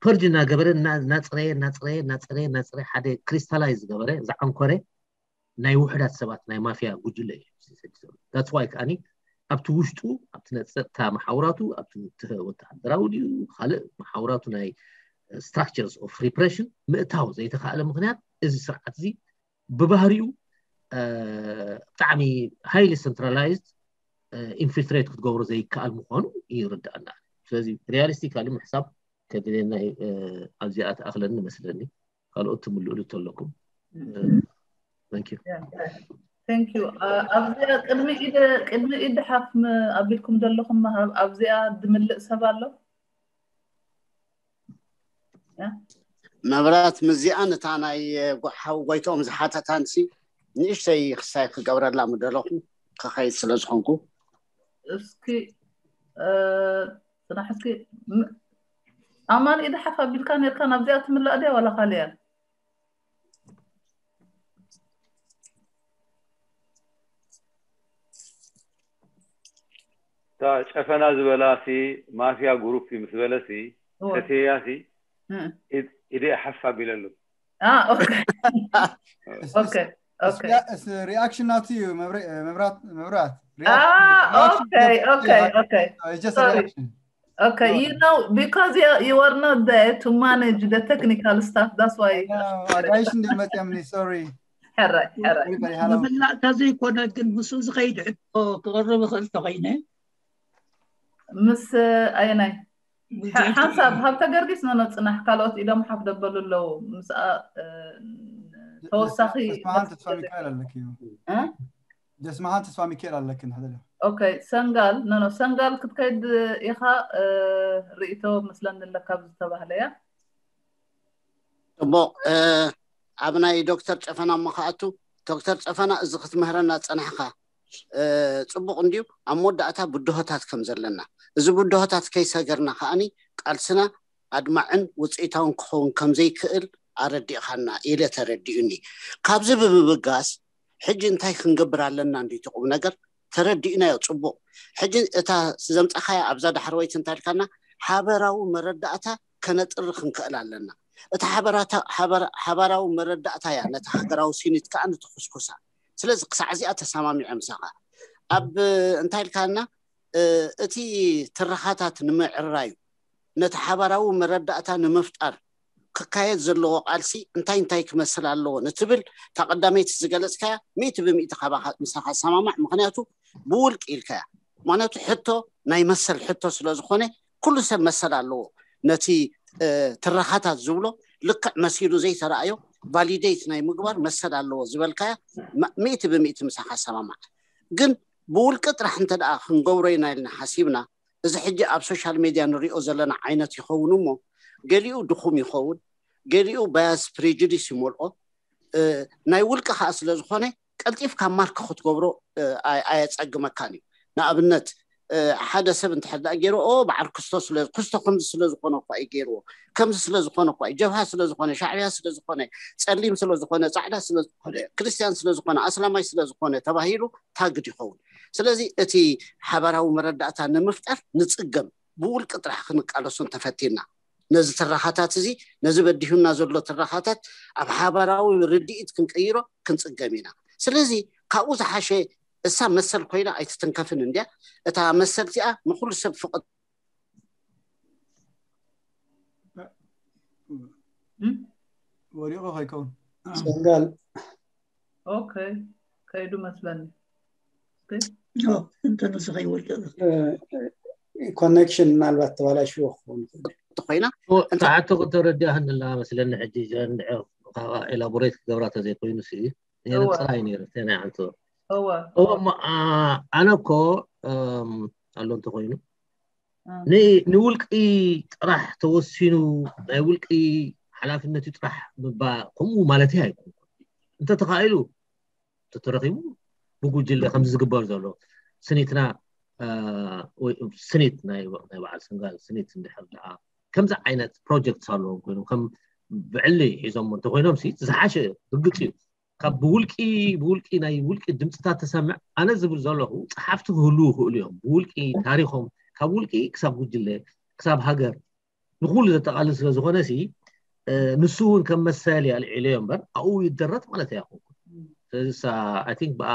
ፐርጅ እናገበረ እናፅረየ እናፅረየ እናፅረየ እናፅረየ ሓደ ክሪስታላይዝ ዝገበረ ዝዓንኮረ ናይ ውሕዳት ሰባት ናይ ማፍያ ጉጅለ እዩ that's why ከዓኒ ኣብቲ ውሽጡ ኣብቲ ነፀጥታ መሓውራቱ ኣብቲ ወተሃደራዊ ድዩ ካልእ መሓውራቱ ናይ structures of repression ምእታው ዘይተካእለ ምክንያት እዚ ስርዓት እዚ ብባህሪኡ ብጣዕሚ highly centralized infiltrate ክትገብሮ ዘይከኣል ምኳኑ ይርዳእና። ስለዚ realistically ምሕሳብ ከድልየና ኣብዚኣ ትኣክለኒ መስለኒ። ካልኦት ትምልእሉ ተለኩም። ኣብዚኣ ቅድሚ ኢድ ቅድሚ ኢድ ሓፍ ኣቢልኩም ዘለኹም ኣብዚኣ ድምልእ ሰብ ኣሎ? መብራት ምዚኣን እታ ናይ ሓው ጎይትኦም ዝሓተታን ሲ ንእሽተይ ክሳይ ክገብረላ ምደለኹ ክኸይድ ስለ ዝኾንኩ እስኪ ፅናሕ እስኪ ኣማን ኢድ ሓፍ ኣቢልካ ነርካ ናብዚኣ ትምላእ ድያ ዋላ ካልያ እታ ጨፈና ዝበላ ሲ ማፍያ ግሩፕ እዩ ምስ በለ ሲ ተትያ ሲ ኢደ ሓፍ ኣቢለሉ ኦኬ ሪኣክሽን ናቱ እዩ መብራት መብራት Okay, you know, because you, you are not there to manage the technical stuff, that's why. ጋይሽ እንደ መፅያምኒ sorry. ሕራይ ሕራይ ምፍላጥካ ዘይኮነ ግን ምስኡ ዝኸይድ ሕቶ ክቕርብ እኽእል ተኾይነ ምስ ኣየናይ ሓንሳብ ሃብተ ገርጊስ ነኖ ፅናሕ ካልኦት ኢዶም ሓፍ ደበሉ ኣለዉ ምስኣ ተወሳኺ ተስፋ ሚካኤል ኣለኪ ደስማሃን ተስፋ ሚካኤል ኣለክን ሕደለ ኦኬ ሰንጋል ኖ ኖ ሰንጋል ክትከይድ ኢኻ ርእቶ መስለኒ ኣለካ ዝተባህለ እያ ፅቡቅ ኣብ ናይ ዶክተር ጨፈና እሞ ከኣቱ ዶክተር ጨፈና እዚ ክትምህረና ፀናሕካ ፅቡቅ እንድዩ ኣብ መወዳእታ ብድሆታት ከም ዘለና እዚ ብድሆታት ከይሰገርና ከኣኒ ቃልስና ኣድማዕን ውፅኢታውን ክኸውን ከም ዘይክእል ኣረዲእኻና ኢለ ተረዲኡኒ። ካብዚ ብምብጋስ ሕጂ እንታይ ክንገብር ኣለና እንድዩ እቲ ቁም ነገር ተረዲእናዮ ጽቡቕ። ሕጂ እታ ዘምጻኻያ ኣብዛ ዳሕረወይቲ እንታይ ኢልካና? ሓበራዊ መረዳእታ ከነጥሪ ክንክእል ኣለና። እቲ ሓበራታ- ሓበራ- ሓበራዊ መረዳእታ እያ ነቲ ሃገራዊ ሲኒት ከኣ ንትኹስኩሳ። ስለዚ ክሳዕ እዚኣ ተሰማሚዐ ምሳኻ። ኣብ እንታይ ኢልካና? እ፣ እቲ ትረኻታት ንምዕራዩ ነቲ ሓባራዊ መረዳእታ ንምፍጣር ክካየድ ዘለዎ ቃልሲ እንታይ እንታይ ክመስል ኣለዎ ንትብል እታ ቀዳመይቲ ዝገለጽካያ ሚእቲ ብሚእቲ ካባኻ ምሳኻ ሰማማዕ። ምኽንያቱ ብውልቂ ኢልካያ። ምኽንያቱ ሕቶ ናይ መሰል ሕቶ ስለ ዝኾነ ኩሉ ሰብ መሰል ኣለዎ። ነቲ ትረኻታት ዝብሎ ልክዕ መሲሉ ዘይተረኣዮ ቫሊዴት ናይ ምግባር መሰል ኣለዎ ዝበልካያ ሚእቲ ብሚእቲ ምሳኻ ሰማማዕ። ግን ብውልቂ ጥራሕ እንተ ደኣ ክንገብሮ ኢና ኢልና ሓሲብና፣ እዚ ሕጂ ኣብ ሶሻል ሜድያ ንሪኦ ዘለና ዓይነት ይኸውን እሞ፣ ገሊኡ ድኹም ይኸውን፣ ገሊኡ ባያስ ፕሬጁዲስ ይመልኦ። ናይ ውልቂ ከዓ ስለ ዝኾነ ቀልጢፍካ ማርክ ክትገብሮ ኣየፀግመካን እዩ። ንኣብነት ሓደ ሰብ እንተሕዳ ገይሩ ኦ በዓል ክስቶ ስለ ክስቶ ከምዚ ስለ ዝኾነ እኳ እዩ ገይርዎ፣ ከምዚ ስለ ዝኾነ እኳ እዩ፣ ጀብሃ ስለ ዝኾነ፣ ሻዕብያ ስለ ዝኾነ፣ ፀሊም ስለ ዝኾነ፣ ፃዕዳ ስለ ዝኾነ፣ ክርስትያን ስለ ዝኾነ፣ ኣስላማይ ስለ ዝኾነ ተባሂሉ ታግድ ይኸውን። ስለዚ እቲ ሓባራዊ መረዳእታ ንምፍጣር ንፅገም፣ ብውልቂ ጥራሕ ክንቃለሶ እንተፈቲና ነዚ ትረኻታት እዚ፣ ነዚ በዲሁና ዘሎ ትረኻታት ኣብ ሓባራዊ ርድኢት ክንቅይሮ ክንፅገም ኢና። ስለዚ ካብኡ ዝሓሸ እሳ መሰል ኮይና ኣይትትንከፍን እንድያ። እታ መሰል እዚኣ ንኩሉ ሰብ ፍቕድ ወሪቑ ከይከውን ሰንጋል ኦኬ ከይዱ መስለኒ። እንተ ንሱ ከይወድቕ ኮኔክሽን ምናልባት ተባላሽዎ ክኸውን ይኽእል። ተኮይና ሰዓቱ ክተረዲኣ ክንላ መስለኒ ሕጂ እዚኣ እንድሕር ካብኣ ኤላቦሬት ክገብራ ተዘይኮይኑ ሲ የነፅራ እዩ ነይሩ ተናይ ዓንቶ እወ እወ እሞ ኣ፣ ኣነ እኮ እም፣ ኣሎ እንተኮይኑ ን- ንውልቂ ጥራሕ ተወሲኑ ናይ ውልቂ ሓላፍነት እዩ ጥራሕ ምባ ከምኡ ማለት ኣይኮንኩን። እንተተኻኢሉ ተተረኺቡ ብጉጅለ ከምዚ ዝግበር ዘሎ ስኒትና እ፣ ወይ ስኒት ናይ ናይ በዓል ሰንጋል ስኒት እንድሕር ደኣ ከምዚ ዓይነት ፕሮጀክት ኣለዎም ኮይኖም ከም ብዕሊ ሒዞም እንተኮይኖም ሲ ዝሓሸ ርግፅ እዩ። ካብ ብውልቂ ብውልቂ ናይ ውልቂ ድምፅታት ተሰምዕ ኣነ ዝብል ዘለኹ ጸሓፍቲ ክህልዉ ይኽእሉ እዮም። ብውልቂ ታሪኾም ካብ ውልቂ ክሳብ ጉጅለ ክሳብ ሃገር ንኩሉ ዘጠቓልል ስለ ዝኾነ ሲ እ፣ ንሱ እውን ከም መሰል ኣልዒለዮ እምበር ኣብኡ ይደረት ማለት ኣይኮንኩን። ስለዚ ሳ I think ብኣ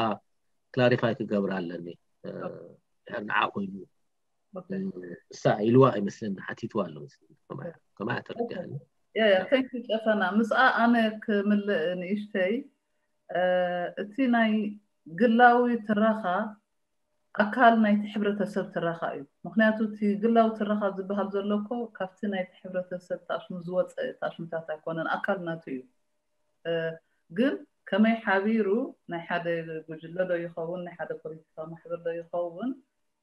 ክላሪፋይ ክገብር ኣለኒ እ፣ ድሕር ንዓ ኮይኑ እሳ ኢልዋ ኣይመስለኒ ሓቲትዋ ኣሎ መሰለኒ። ከማያ- ከማያ ተረዲኣኒ። ያ ያ thank you ጨፈና ምስኣ ኣነ ክምልእ ንእሽተይ እ፣ እቲ ናይ ግላዊ ትረኻ ኣካል ናይቲ ሕብረተሰብ ትረኻ እዩ። ምክንያቱ እቲ ግላዊ ትረኻ ዝበሃል ዘሎ እኮ ካብቲ ናይቲ ሕብረተሰብ ታሽሙ ዝወፀ ታሽሙታት ኣይኮነን፣ ኣካል ናቱ እዩ። እ፣ ግን ከመይ ሓቢሩ ናይ ሓደ ጉጅለ ዶ ይኸውን ናይ ሓደ ፖለቲካዊ ማሕበር ዶ ይኸውን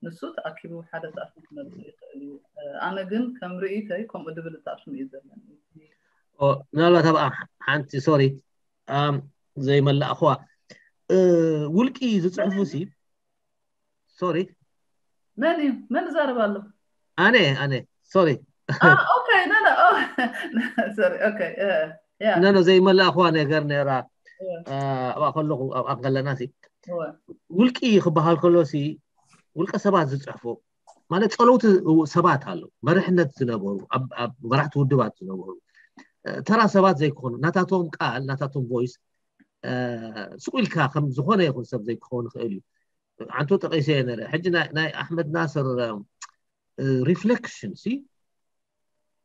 ንሱ ተኣኪቡ ሓደ ሰኣት ክመልእ ይኽእል እዩ። ኣነ ግን ከም ርእይተይ ከምኡ ድብል እጣሽሙ እዩ ዘለኒ። ኦ፣ ምናልባት ኣብኣ ሓንቲ ሶሪ ዘይመላእኽዋ እ፣ ውልቂ ዝፅሕፉ ሲ ሶሪ መን እዩ መን ዛረብ ኣሎ? ኣነ ኣነ ሶሪ ኦኬ ኖ ኖ ሶሪ ኦኬ ያ ኖ ኖ ዘይመላእኽዋ ነገር ነራ እ፣ ኣብኣ ከለኹ ኣብኣ ከለና ሲ ውልቂ ክበሃል ከሎ ሲ ውልቀ ሰባት ዝፅሕፉ ማለት ፀለውቲ ሰባት ኣለዉ መርሕነት ዝነበሩ ኣብ ኣብ መራሕቲ ውድባት ዝነበሩ እ፣ ተራ ሰባት ዘይኮኑ ናታቶም ቃል ናታቶም ቮይስ እ፣ ስቁ ኢልካ ከም ዝኾነ ይኹን ሰብ ዘይክኸውን ይኽእል እዩ። ዓንቶ ጠቂሰ ነረ ሕጂ ናይ ናይ ኣሕመድ ናስር ሪፍሌክሽን ሲ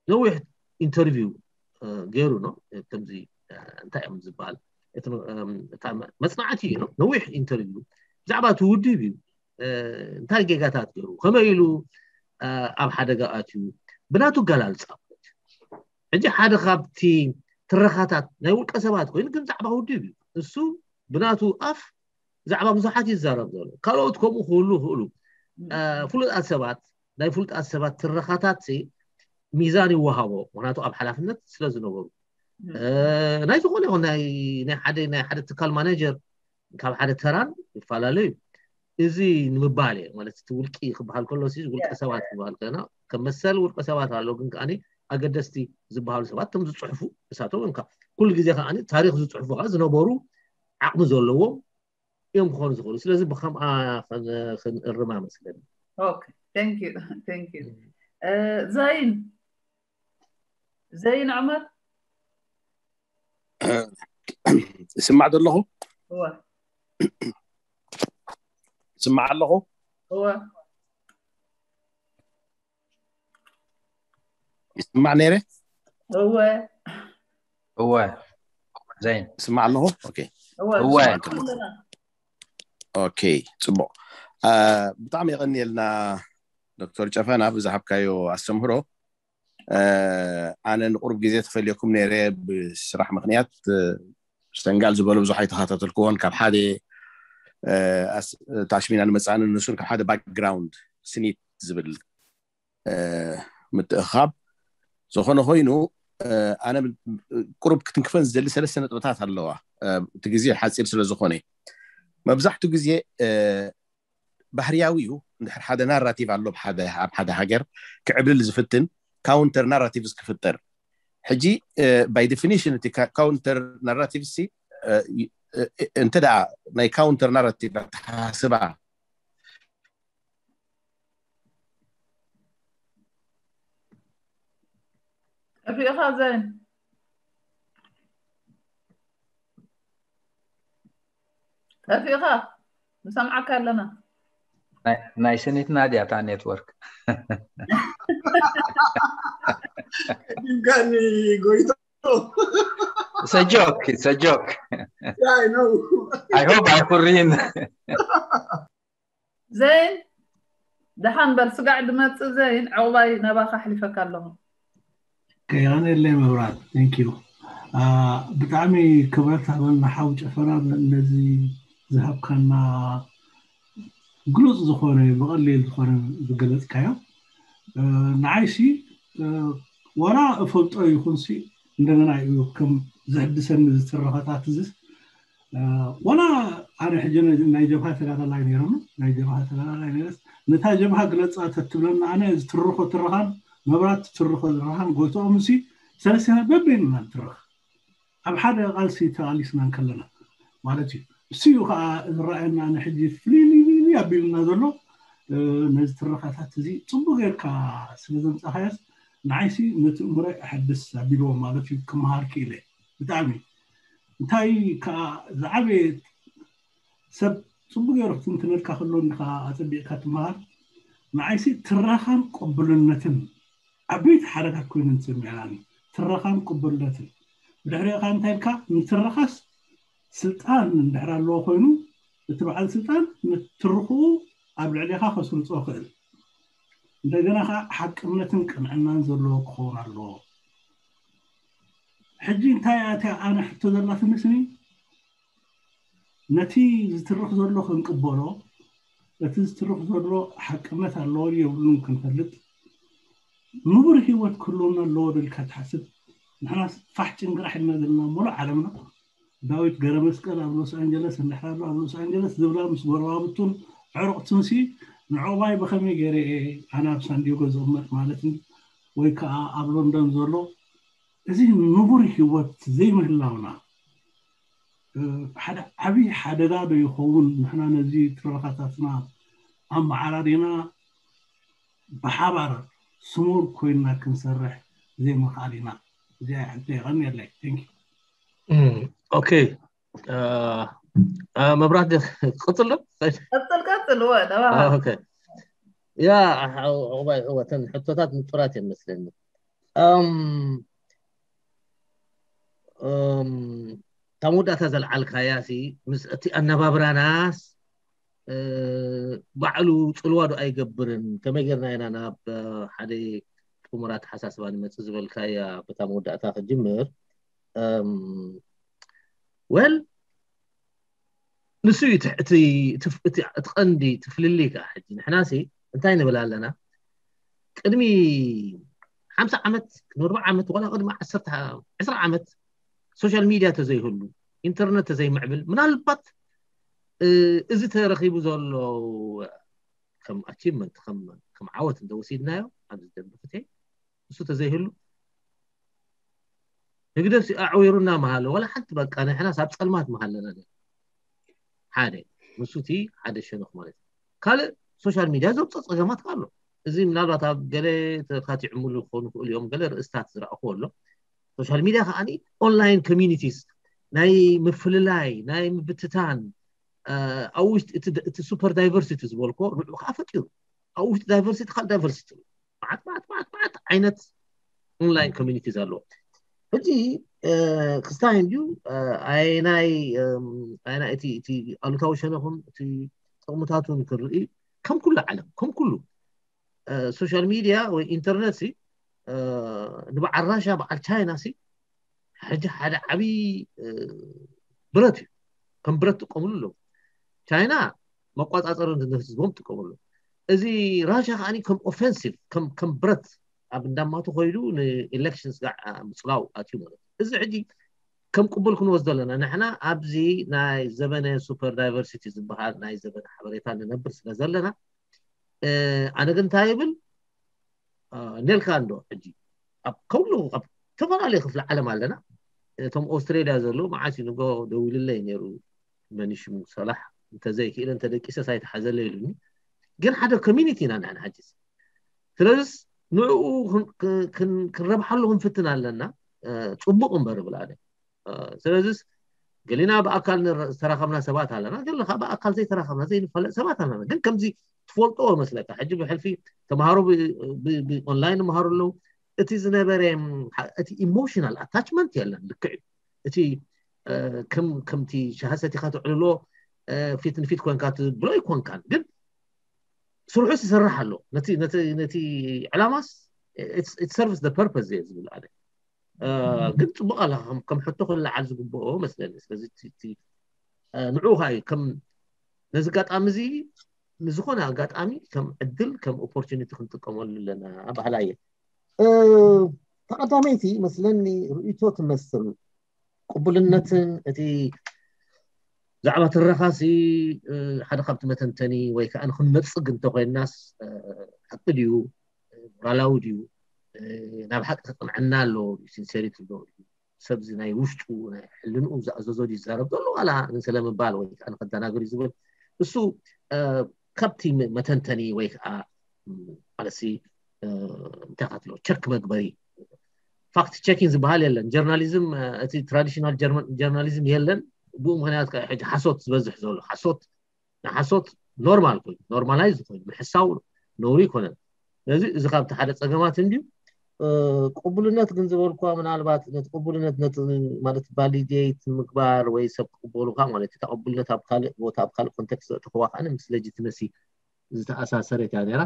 ነዊሕ ኢንተርቪው ገይሩ ነው ከምዚ እ፣ እንታይ እዮም ዝበሃል እቲ እ፣ እታ መ- መፅናዕቲ እዩ ነው ነዊሕ ኢንተርቪው ብዛዕባ እቲ ውድብ እዩ እ፣ እንታይ ጌጋታት ገይሩ ከመይ ኢሉ እ፣ ኣብ ሓደጋ ኣትዩ ብናቱ ገላልፃ ማለት እዩ። ሕጂ ሓደ ካብቲ ትረኻታት ናይ ውልቀ ሰባት ኮይኑ ግን ዛዕባ ውድብ እዩ እሱ ብናቱ ኣፍ ዛዕባ ብዙሓት ይዛረብ ዘሎ ካልኦት ከምኡ ክህሉ ይኽእሉ እ፣ ፍሉጣት ሰባት ናይ ፍሉጣት ሰባት ትረኻታት ሲ ሚዛን ይወሃቦ ምክንያቱ ኣብ ሓላፍነት ስለ ዝነበሩ እ፣ ናይ ዝኾነ ይኹን ናይ ናይ ሓደ ናይ ሓደ ትካል ማኔጀር ካብ ሓደ ተራን ይፈላለዩ እዚ ንምባል እየ ማለት እቲ ውልቂ ክበሃል ከሎ ሲ ውልቀ ሰባት ክበሃል ከና ከም መሰል ውልቀ ሰባት ኣሎ ግን ከኣ ኣገደስቲ ዝበሃሉ ሰባት እቶም ዝፅሕፉ እሳቶም እዮም ኩሉ ግዜ ከዓ ታሪክ ዝፅሕፉ ከዓ ዝነበሩ ዓቕሚ ዘለዎም እዮም ክኾኑ ዝኽእሉ። ስለዚ ብከምኣ ከን- ክንእርማ መስለኒ። Okay, thank you, thank you. ዘይን ዘይን ዑመር ስማዕ ዘለኹ እወ ስማዕ ኣለኹ እወ ይስማዕ ነይረ እወ እወ ዘይን ስማዕ ኣለኹ ኦኬ እወ እወ። ንሰምዓካ ኣለና። ኦኬ ጽቡቕ አ፣ ብጣዕሚ የቐንየልና ዶክተር ጨፈና ብዝሃብካዮ ኣስተምህሮ አ፣ ኣነ ንቁሩብ ግዜ ተፈልየኩም ነይረ ብስራሕ ምክንያት አ፣ ሰንጋል ዝበሎ ብዙሕ ኣይተኸታተልክዎን ካብ ሓደ አ፣ ኣስ- ታሽሚና ንመጻእን ንሱን ካብ ሓደ ባክግራውንድ ስኒት ዝብል አ፣ ምትእኻብ ዝኾነ ኮይኑ አ፣ ኣነ ብ- ቁሩብ ክትንክፈን ዝደሊ ሰለስተ ነጥብታት ኣለዋ አ፣ እቲ ግዜ ሓፂር ስለ ዝኾነ መብዛሕትኡ ግዜ አ፣ ባህርያዊ እዩ እንድሕር ሓደ ናራቲቭ ኣሎ ኣብ ሓደ ኣብ ሓደ ሃገር ክዕብልል ዝፍትን ካውንተር ናራቲቭስ ክፍጠር ሕጂ ባይ ዴፊኒሽን እቲ ካውንተር ናራቲቭ ሲ እንተ ደኣ ናይ ካውንተር ናራቲቭ ኣተሓስባ ጠፊእኻ ዘይን ጠፊእኻ ንሰምዓካ ኣለና። ናይ- ናይ ስኒትና ድያ እታ ኔትወርክ? ድንጋኒ ጎይቶ It's a joke, it's a joke. I know. I hope ኣይኩሪን። ዘይን ደሓን በል ስጋዕ ድመፅእ ዘይን ዕቑባይ ናባኻ ኣሕሊፈካ ኣለኹ። ከያነ የለይ መብራት thank you ብጣዕሚ ክብረት ሃበልና ሓው ጨፈና ነዚ ዝሃብካና ግሉፅ ዝኾነ ብቐሊል ዝኾነ ዝገለፅካዮ ንዓይሲ ዋላ እፈልጦ ይኹንሲ እንደገና እዩ ከም ዘሕድሰኒ ዝትረኸታት እዚስ ዋላ ኣነ ሕጂ ናይ ጀብሃ ተጋዳላይ ነይረኒ ናይ ጀብሃ ተጋዳላይ ነይረስ ነታ ጀብሃ ግለፃ ተትብለና ኣነ ዝትርኾ ትረኻን መብራት ትትርኾ ትረኻን ጎይትኦም ሲ ሰለስቲና በበይንና ንትረኽ ኣብ ሓደ ቃልሲ ተቓሊስና እንከለና ማለት እዩ እሱ እዩ ከዓ ዝረኣየና ኣነ ሕጂ ፍልይ ኣቢሉና ዘሎ ነዚ ትረኻታት እዚ ፅቡቅ ጌርካ ስለ ዘምፃኻያስ ንዓይሲ ነቲ እምሮይ ኣሐድስ ኣቢልዎ ማለት እዩ ክመሃር ክኢለ ብጣዕሚ እንታይ ከዓ ዝዓበየ ሰብ ፅቡቅ ገይሩ ክትንትነልካ ከሎ እንዲካ ኣፀቢቅካ ትመሃር ንዓይሲ ትረኻን ቅቡልነትን ዓበይቲ ሓረጋት ኮይነን ዝሰሚዐናኒ ትረኻን ቅቡልነትን ብድሕሪኡ ከዓ እንታይ ኢልካ ንትረኻስ ስልጣን እንድሕር ኣለዎ ኮይኑ እቲ በዓል ስልጣን ንትርኽኡ ኣብ ልዕሌኻ ከስርፆ ክእል እንደገና ከዓ ሓቅነትን ቅንዕናን ዘለዎ ክኸውን ኣለዎ ሕጂ እንታይ ኣትያ ኣነ ሕቶ ዘላትኒ ስኒ ነቲ ዝትርኽ ዘሎ ክንቅበሎ እቲ ዝትርኽ ዘሎ ሓቅነት ኣለዎ የብሉን ክንፈልጥ ንቡር ህይወት ክህልወና ኣለዎ ደልካ ትሓስብ ንሕና ፋሕ ጭንቅራሕ ኢልና ዘለና ሙሉእ ዓለምና ዳዊት ገረመስቀል ኣብ ሎስ ኣንጀለስ እንድሕር ኣሎ ኣብ ሎስ ኣንጀለስ ዝብላ ምስ ጎረባብቱን ዕሩቕቱንሲ ንዕቑባይ ብኸመይ ገይረ እየ ኣነ ኣብ ሳንዲጎ ዝቕመጥ ማለት ወይ ከዓ ኣብ ሎንደን ዘሎ እዚ ንቡር ህይወት ዘይምህላውና ሓደ ዓብዪ ሓደጋ ዶ ይኸውን ንሕና ነዚ ትረኻታትና ኣመዓራሪና ብሓባር ስሙር ኮይንና ክንሰርሕ ዘይምኽኣል ኢና እዚኣ ሕቶ የቐንየለይ ኦኬ መብራት ክቕፅል ዶ ቀፅል ቀፅል ወ ያ ዕቑባይ እወተን ሕቶታት ንጡራት እዮም መስለኒ እታ መወዳእታ ዘልዓልካያ ሲ ምስ እቲ ኣነባብራናስ ባዕሉ ፅልዋ ዶ ኣይገብርን ከመይ ጌርና ኢና ናብ ሓደ ጥሙር ኣተሓሳስባ ንመፅእ ዝበልካያ በታ መወዳእታ ክጅምር well ንሱ እዩ እቲ ቀንዲ ትፍልልይ ከዓ ሕጂ ንሕናሲ እንታይ ንብል ኣለና ቅድሚ ሓምሳ ዓመት ቅድሚ ኣርባዓ ዓመት ዋላ ቅድሚ ዓሰርተ ዕስራ ዓመት ሶሻል ሚድያ ተዘይህሉ ኢንተርነት ተዘይምዕብል ምናልባት እዚ ተረኺቡ ዘሎ ከም ኣቺቭመንት ከም ዓወት እንተወሲድናዮ ኣብዚ ደንቢ ፍትሒ እሱ ተዘይህሉ ህግደፍ ኣዕዊሩና መሃለ ዋላ ሓንቲ በቃ ንሕናስ ኣብ ፀልማት መሃለና ሓደ ንሱ እቲ ሓደ ሸነኽ ማለት እዩ። ካልእ ሶሻል ሚድያ ዘውፅኦ ፀገማት ኣሎ። እዚ ምናልባት ኣብ ገለ ተካቲዕምሉ ክኾኑ ይኽእሉ እዮም፣ ገለ ርእስታት ዝረእኹ ኣሎ። ሶሻል ሚድያ ከዓኒ ኦንላይን ኮሚኒቲስ ናይ ምፍልላይ ናይ ምብትታን ኣብ ውሽጢ እቲ ሱፐር ዳይቨርሲቲ ዝበልኮ ንዑ ከዓ ፈጢሩ። ኣብ ውሽጢ ዳይቨርሲቲ ካልእ ዳይቨርሲቲ፣ ማዓት ማዓት ማዓት ማዓት ዓይነት ኦንላይን ኮሚኒቲ ዘለዎ። ሕጂ ክስታይ እንድዩ ኣይናይ ኣይናይ እቲ እቲ ኣሉታዊ ሸነኹን እቲ ጥቕምታቱን ክርኢ ከም ኩሉ ዓለም ከም ኩሉ ሶሻል ሚድያ ወይ ኢንተርነት ሲ ንበዓል ራሻ በዓል ቻይና ሲ ሕጂ ሓደ ዓብዪ ብረት እዩ። ከም ብረት ጥቀምሉ ኣለዉ። ቻይና መቋፃፀሪ ንህዝቦም ጥቀምሉ። እዚ ራሻ ከዓኒ ከም ኦፌንሲቭ ከም ከም ብረት ኣብ እንዳማቱ ኮይዱ ንኤሌክሽንስ ጋዕ ምፅላው ኣትዩ ማለት እዩ። እዚ ሕጂ ከም ቅቡል ክንወስዶ ኣለና። ንሕና ኣብዚ ናይ ዘበነ ሱፐር ዳይቨርሲቲ ዝበሃል ናይ ዘበነ ሓበሬታ ንነብር ስለ ዘለና ኣነ ግን እንታይ ይብል ነልካ እንዶ ሕጂ ኣብ ከብሉ ኣብ ዝተፈላለዩ ክፍሊ ዓለም ኣለና። እቶም ኦስትሬልያ ዘለዉ መዓስ እዩ ንጎ ደዊልለይ ነይሩ፣ መን ሽሙ ሰላሕ፣ እንተዘይክእለ እንተደቂሰ ሳይተሓዘለ ኢሉኒ። ግን ሓደ ኮሚኒቲ ኢና ንሕና ሕጂ። ስለዚስ ንዕኡ ክንረብሓሉ ክንፍትን ኣለና። ፅቡቕ እምበር እብል ኣነ። ስለዚስ ገሊና ብኣካል ዝተራኸብና ሰባት ኣለና፣ ገለ ከዓ ብኣካል ዘይተራኸብና ዘይንፈለጥ ሰባት ኣለና። ግን ከምዚ ትፈልጦ መስለካ ሕጂ ብሕልፊ ተምሃሮ ብኦንላይን ይምሃሩ ኣለዉ። እቲ ዝነበረ እቲ ኢሞሽናል ኣታችመንት የለን። ልክዕ እዩ። እቲ ከምቲ ሻሂ ሰቲኻ ትዕልሎ ፊት ንፊት ኮንካ ትብሎ ኣይኮንካን፣ ግን ስርሑ ይሰርሕ ኣሎ። ነቲ ዕላማስ ሰርቭስ ፐርፐስ እየ ዝብል ኣነ። ግን ፅቡቅ ኣላ ከም ሕቶ ክለዓል ዝግብኦ መስለኒ። ስለዚ ንዑ ከዓ እዩ ከም ነዚ ኣጋጣሚ እዚ ንዝኾነ ኣጋጣሚ ከም ዕድል ከም ኦፖርቹኒቲ ክንጥቀመሉ ኣለና ባህላ እየ። ተቐዳመይቲ መስለኒ ርእይቶ ትመስል። ቅቡልነትን እቲ ዛዕባ ትረኻሲ ሓደ ካብቲ መተንተኒ ወይ ከዓ ንክንነፅግ እንተኮይናስ ሓቂ ድዩ ሞራላዊ ድዩ ናብ ሓቂ ክቅንዐና ኣሎ ሲንሴሪቲ ዶ ሰብዚ ናይ ውሽጡ ናይ ሕልንኡ ዝኣዘዞ ድዩ ዝዛረብ ዘሎ ዋላ ንስለ ምባል ወይ ከዓ ንከደናግር እዩ ዝብል እሱ ካብቲ መተንተኒ ወይ ከዓ ማለትሲ እንታይ ካትሎ ቸክ መግበሪ ፋክት ቸኪንግ ዝበሃል የለን። ጀርናሊዝም እቲ ትራዲሽናል ጀርናሊዝም የለን። ብኡ ምክንያት ከዓ ሕጂ ሓሶት ዝበዝሕ ዘሎ ሓሶት ንሓሶት ኖርማል ኮይኑ ኖርማላይዝ ኮይኑ ምሕሳው ነውሪ ይኮነን። ስለዚ እዚ ካብቲ ሓደ ፀገማት እንድዩ። ቅቡልነት ግን ዝበልኳ ምናልባት ነቲ ቅቡልነት ነቲ ማለት ቫሊዴት ምግባር ወይ ሰብ ክቅበሉካ ማለት እዩ። ቅቡልነት ኣብ ካልእ ቦታ ኣብ ካልእ ኮንቴክስት ዘእተኽዋ ከዓ ምስ ሌጂትመሲ ዝተኣሳሰረት እያ ነይራ።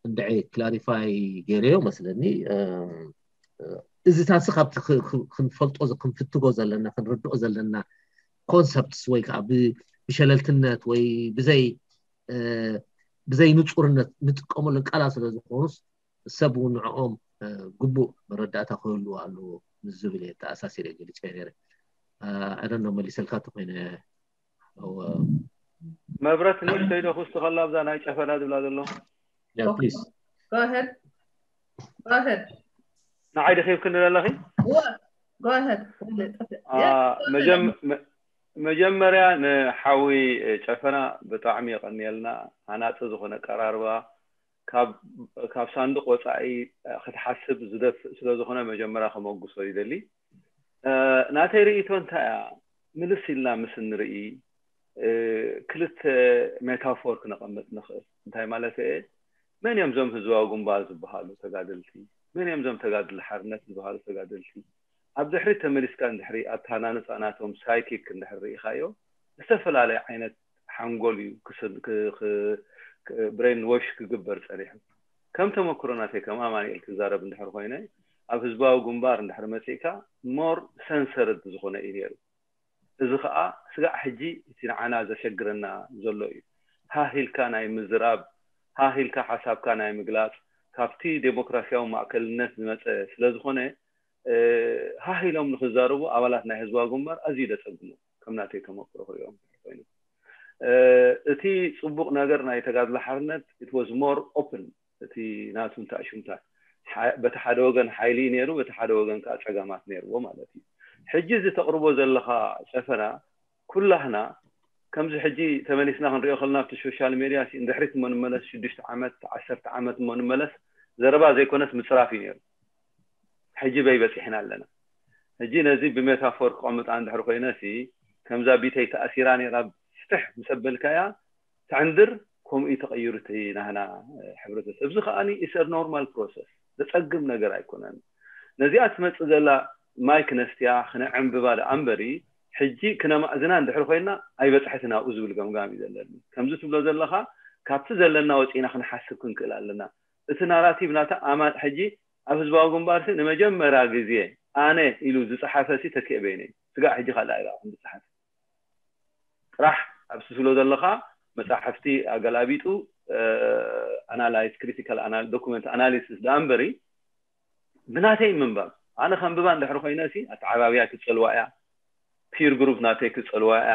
እንድዒ ክላሪፋይ ገይረዮ መስለኒ። እዚ ታሲ ካብቲ ክንፈልጦ ክንፍትጎ ዘለና ክንርድኦ ዘለና ኮንሰፕትስ ወይ ከዓ ብሸለልትነት ወይ ብዘይ ብዘይ ንፁርነት ንጥቀመሎም ቃላት ስለ ዝኾኑስ ሰብ እውን ንዕኦም ግቡእ መረዳእታ ክህልዎ ኣለዎ ምስ ዝብል እየ ተኣሳሲረ ገሊፀ ነይረ። ኣደኖ መሊሰልካ ተኮይነ መብረት ንእሽተይ ዶ ክውስኸላ ኣብዛ ናይ ጨፈና ዝብላ ዘሎ ፕሊስ Go ahead. Go ahead. ንዓይ ደኺብክኒ ዘለኺ Go ahead. መጀመርያ ንሓዊ ጨፈና ብጣዕሚ የቐንየልና። ሃናፂ ዝኾነ ቀራርባ ካብ ሳንዱቅ ወፃኢ ክትሓስብ ዝደፍእ ስለዝኾነ መጀመርያ ከመጉሶ ይደሊ። ናተይ ርእይቶ እንታይ እያ? ምልስ ኢልና ምስ እንርኢ ክልተ ሜታፎር ክነቐምጥ ንኽእል። እንታይ ማለት እየ? መን እዮም ዞም ህዝባዊ ግንባር ዝበሃሉ ተጋደልቲ? መን እዮም ዞም ተጋድል ሓርነት ዝበሃሉ ተጋደልቲ? ኣብ ድሕሪት ተመሊስካ እንድሕሪ ኣተሃናንፃ ናቶም ሳይኪክ እንድሕር ርኢኻዮ ዝተፈላለየ ዓይነት ሓንጎል እዩ ብሬን ዎሽ ክግበር ፀኒሑ። ከም ተመክሮ ናተይ ከም ኣማኒኤል ክዛረብ እንድሕር ኮይነ ኣብ ህዝባዊ ግንባር እንድሕር መፂእካ ሞር ሰንሰርድ ዝኾነ እዩ ነይሩ። እዚ ከዓ ስጋዕ ሕጂ እቲ ንዓና ዘሸግረና ዘሎ እዩ። ሃህ ኢልካ ናይ ምዝራብ፣ ሃህ ኢልካ ሓሳብካ ናይ ምግላፅ ካብቲ ዴሞክራሲያዊ ማእከልነት ዝመፀ ስለዝኾነ ሃህ ኢሎም ንክዛረቡ ኣባላት ናይ ህዝባዊ ግንባር ኣዝዩ ደፀግሙ ከም ናተይ ተመክሮ ክሪኦም ኮይኑ እቲ ፅቡቅ ነገር ናይ ተጋድሎ ሓርነት it was more open እቲ ናቱ እንታሽምታ በቲ ሓደ ወገን ሓይሊ ነይሩ በቲ ሓደ ወገን ከዓ ፀገማት ነይርዎ ማለት እዩ። ሕጂ እዚ ተቅርቦ ዘለካ ጨፈና ኩላህና ከምዚ ሕጂ ተመሊስና ክንሪኦ ከለና ኣብቲ ሶሻል ሜድያ እንድሕሪት እሞ ንመለስ ሽዱሽተ ዓመት ዓሰርተ ዓመት እሞ ንመለስ ዘረባ ዘይኮነስ ምፅራፍ እዩ ነይሩ። ሕጂ በይ በፂሕና ኣለና። ሕጂ ነዚ ብሜታፎር ክቐምጣ እንድሕር ኮይነ ሲ ከምዛ ቢተይ ተኣሲራ ነይራ ፍትሕ ምስ ኣበልካያ ትዕንድር። ከምኡ እዩ ተቐይሩ እቲ ናህና ሕብረተሰብ። እዚ ከዓኒ ኢሰር ኖርማል ፕሮሰስ ዘፀግም ነገር ኣይኮነን። ነዚኣ ትመፅእ ዘላ ማይክ ነስትያ ክነዕንብባ ደኣ እምበሪ ሕጂ ክነማእዝና እንድሕር ኮይና ኣይበፅሐትን ኣብኡ ዝብል ገምጋም እዩ ዘለኒ። ከምዚ ትብሎ ዘለኻ ካብቲ ዘለና ወፂና ክንሓስብ ክንክእል ኣለና። እቲ ናራቲቭ ናታ ኣማ ሕጂ ኣብ ህዝባዊ ግንባርሲ ንመጀመርያ ግዜ ኣነ ኢሉ ዝፀሓፈ ሲ ተኪኤ በይነ እዩ። ስጋዕ ሕጂ ካልእ ኣይረኣኹን ዝፀሓፍ ጥራሕ ኣብ ትስሎ ዘለኻ መፃሕፍቲ ኣገላቢጡ ኣናላይዝ ክሪቲካል ዶኩመንት ኣናሊሲስ ደኣ እምበሪ ብናተይ ምንባብ ኣነ ከንብባ እንድሕር ኮይነ ሲ ኣተዓባብያ ክፀልዋ እያ። ፒር ግሩፕ ናተይ ክፀልዋ እያ።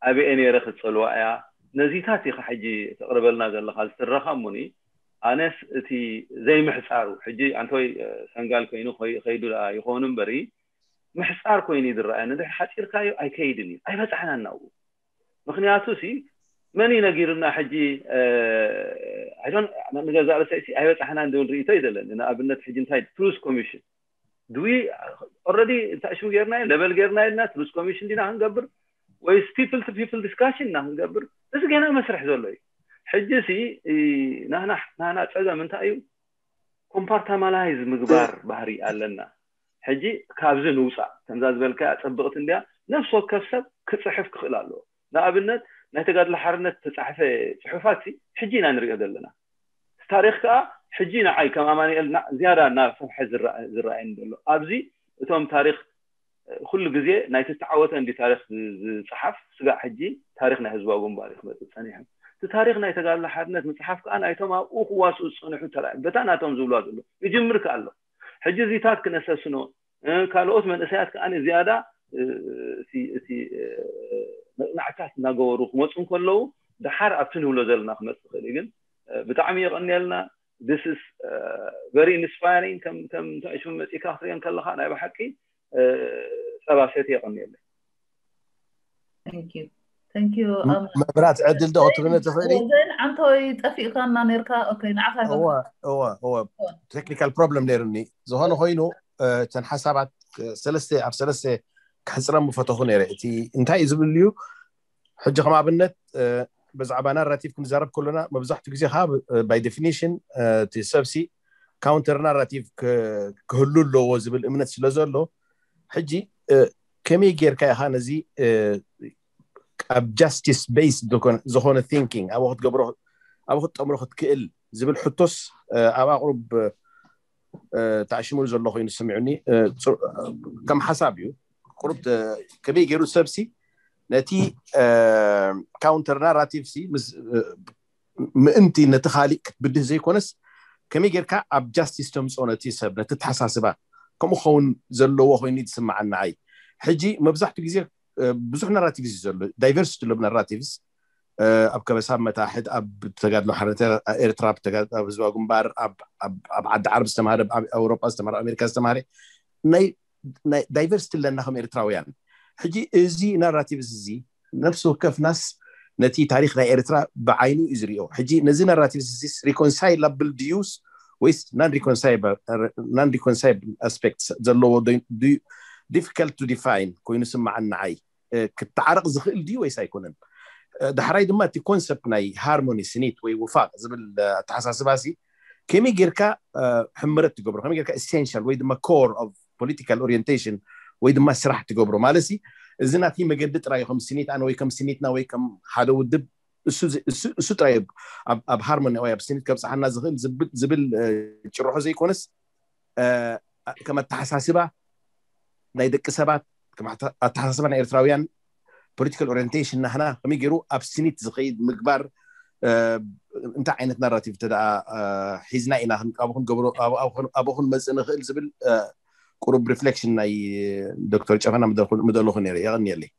ኣበየ ነይረ ክፀልዋ እያ። ነዚታት ኢኻ ሕጂ ተቕርበልና ዘለኻ ዝትረኻ እሙኒ ኣነስ እቲ ዘይምሕፃሩ ሕጂ ኣንተወይ ሰንጋል ኮይኑ ከይዱ ይኸውን እምበሪ ምሕፃር ኮይኑ እዩ ዝረኣየኒ። እንድሕር ሓፂርካዮ ኣይከይድን እዩ ኣይበፃሕናን ናብኡ። ምክንያቱ ሲ መን እዩ ነጊሩና ሕጂ ኣይዶን ንገዛእ ርእሰይ ሲ ኣይበፃሕናን ዝብል ርእቶ እዩ ዘለኒ። ንኣብነት ሕጂ እንታይ ትሩዝ ኮሚሽን ድዊ ኦረዲ እንታይ ሽሙ ጌርና ለበል ጌርና ኢልና ትሩዝ ኮሚሽን ዲና ክንገብር ወይስ ፒፕል ቱ ፒፕል ዲስካሽን ኢና ክንገብር? እዚ ገና መስርሕ ዘሎ እዩ። ሕጂ ሲ ናህና ናህና ፀገም እንታይ እዩ? ኮምፓርታማላይዝ ምግባር ባህሪ ኣለና። ሕጂ ካብዚ ንውፃእ ከምዛ ዝበልካ ፀብቕቲ እንዲያ ነፍሲ ወከፍ ሰብ ክፅሕፍ ክኽእል ኣለዎ። ንኣብነት ናይ ተጋድሎ ሓርነት ተፃሕፈ ፅሑፋት ሕጂ ኢና ንሪኦ ዘለና። ታሪኽ ከዓ ሕጂ ንዓይ ከም ኣማኑኤል ዝያዳ እናሰፍሐ ዝረኣየኒ ዘሎ ኣብዚ እቶም ታሪኽ ኩሉ ግዜ ናይ ዝተዓወተ እንዲ ታሪኽ ዝፅሓፍ ስጋዕ ሕጂ ታሪኽ ናይ ህዝባዊ ግንባር ክመፅእ ፀኒሑ። እቲ ታሪኽ ናይ ተጋድሎ ሓርነት ምፅሓፍ ከዓ ናይቶም ኣብኡ ክዋስኡ ዝፀንሑ ተራ በታ ናቶም ዝብልዋ ዘሎ ይጅምር ከ ኣሎ። ሕጂ እዚታት ክነሰስኖ ካልኦት መንእሰያት ከዓ ዝያዳ እቲ መፅናዕታት እናገበሩ ክመፁ እንከለዉ ደሓር ኣብቲ ንብሎ ዘለና ክመፅእ ይኽእል እዩ። ግን ብጣዕሚ የቐንየልና። This is very inspiring። ከም ከም ሽሙ መፂእካ ክትሪኦ ከለካ ናይ ብሓቂ ፀባ ሰቲ የቐንየለይ። መብራት ዕድል ዶ ክትብነ ትኽእሊ? ዓንተወይ ጠፊእካና ነርካ። ኦኬ ንዓኻ እወ እወ እወ ቴክኒካል ፕሮብለም ነይሩኒ። ዝኾነ ኮይኑ እተን ሓሳባት ሰለስተ ኣብ ሰለስተ ክሕፅረም ምፈተኹ ነይረ። እቲ እንታይ እዩ ዝብል እዩ ሕጂ ከም ኣብነት ብዛዕባ ናራቲቭ ክንዛረብ ከሎና መብዛሕትኡ ግዜ ከዓ ባይ ዴፊኒሽን እቲ ሰብሲ ካውንተር ናራቲቭ ክህሉ ኣለዎ ዝብል እምነት ስለ ዘሎ ሕጂ ከመይ ጌርካ ኢኻ ነዚ ኣብ ጃስቲስ ቤይስ ዝኾነ ቲንኪንግ ኣብ ክትገብሮ ኣብ ክትጠምሮ ክትክእል ዝብል ሕቶስ ኣብ ኣቕሩብ ተዓሽሙሉ ዘሎ ኮይኑ ስሚዑኒ ከም ሓሳብ እዩ። ቁሩብ ከመይ ገይሩ ሰብሲ ነቲ ካውንተር ናራቲቭ ሲ ምእንቲ ነቲ ካሊእ ክትብድህ ዘይኮነስ ከመይ ጌርካ ኣብ ጃስቲስ ተምፅኦ ነቲ ሰብ ነቲ ተሓሳስባ ከምኡ ክኸውን ዘለዎ ኮይኑ ዝስማዓኒ ንዓይ። ሕጂ መብዛሕትኡ ግዜ ብዙሕ ናራቲቭስ እዩ ዘሎ፣ ዳይቨርሲቲ ኣለብ ናራቲቭስ ኣብ ከበሳ መታሕት ኣብ ተጋድሎ ሓርነት ኤርትራ ኣብ ህዝባዊ ግንባር ኣብ ዓዲ ዓረብ ዝተማሃረ ኣብ ኣውሮጳ ዝተማሃረ ኣሜሪካ ዝተማሃረ ናይ ዳይቨርሲቲ ኣለና ከም ኤርትራውያን። ሕጂ እዚ ናራቲቭስ እዚ ነፍሲ ወከፍናስ ነቲ ታሪክ ናይ ኤርትራ ብዓይኑ እዩ ዝሪኦ። ሕጂ ነዚ ናራቲቭስ እዚ ሪኮንሳይላብል ድዩስ ወይስ ናን ሪኮንሳይብል ኣስፔክት ዘለዎ difficult to define ኮይኑ ስማዓኒ ንዓይ። ክተዓረቕ ዝኽእል ድዩ ወይስ ኣይኮነን? ዳሕራይ ድማ እቲ ኮንሰፕት ናይ ሃርሞኒ ስኒት ወይ ውፋቅ ዝብል ኣተሓሳስባ ሲ ከመይ ጌርካ ሕምረት ትገብሮ ከመይ ጌርካ essential ወይ ድማ core of political orientation ወይ ድማ ስራሕ ትገብሮ ማለት ሲ እዚ ናቲ መገዲ ጥራይ ከም ስኒት ኣነ ወይ ከም ስኒትና ወይ ከም ሓደ ውድብ እሱ ጥራይ ኣብ ሃርሞኒ ወይ ኣብ ስኒት ከብፅሓና ዝኽእል ዝብል ጭርሖ ዘይኮነስ ከም ኣተሓሳስባ ናይ ደቂ ሰባት ኣተሓሳስባ ናይ ኤርትራውያን ፖለቲካል ኦሪንቴሽን ናህና ከመይ ገይሩ ኣብ ስኒት ዝኸይድ ምግባር እንታይ ዓይነት ናራቲቭ ተ ሒዝና ኢና ክንቃቡ ክንገብሮ ኣብኡ ክንመፅእ ንኽእል ዝብል ቁሩብ ሪፍሌክሽን ናይ ዶክተር ጨፈና ምደለኹ ነይረ። የቐንየለይ።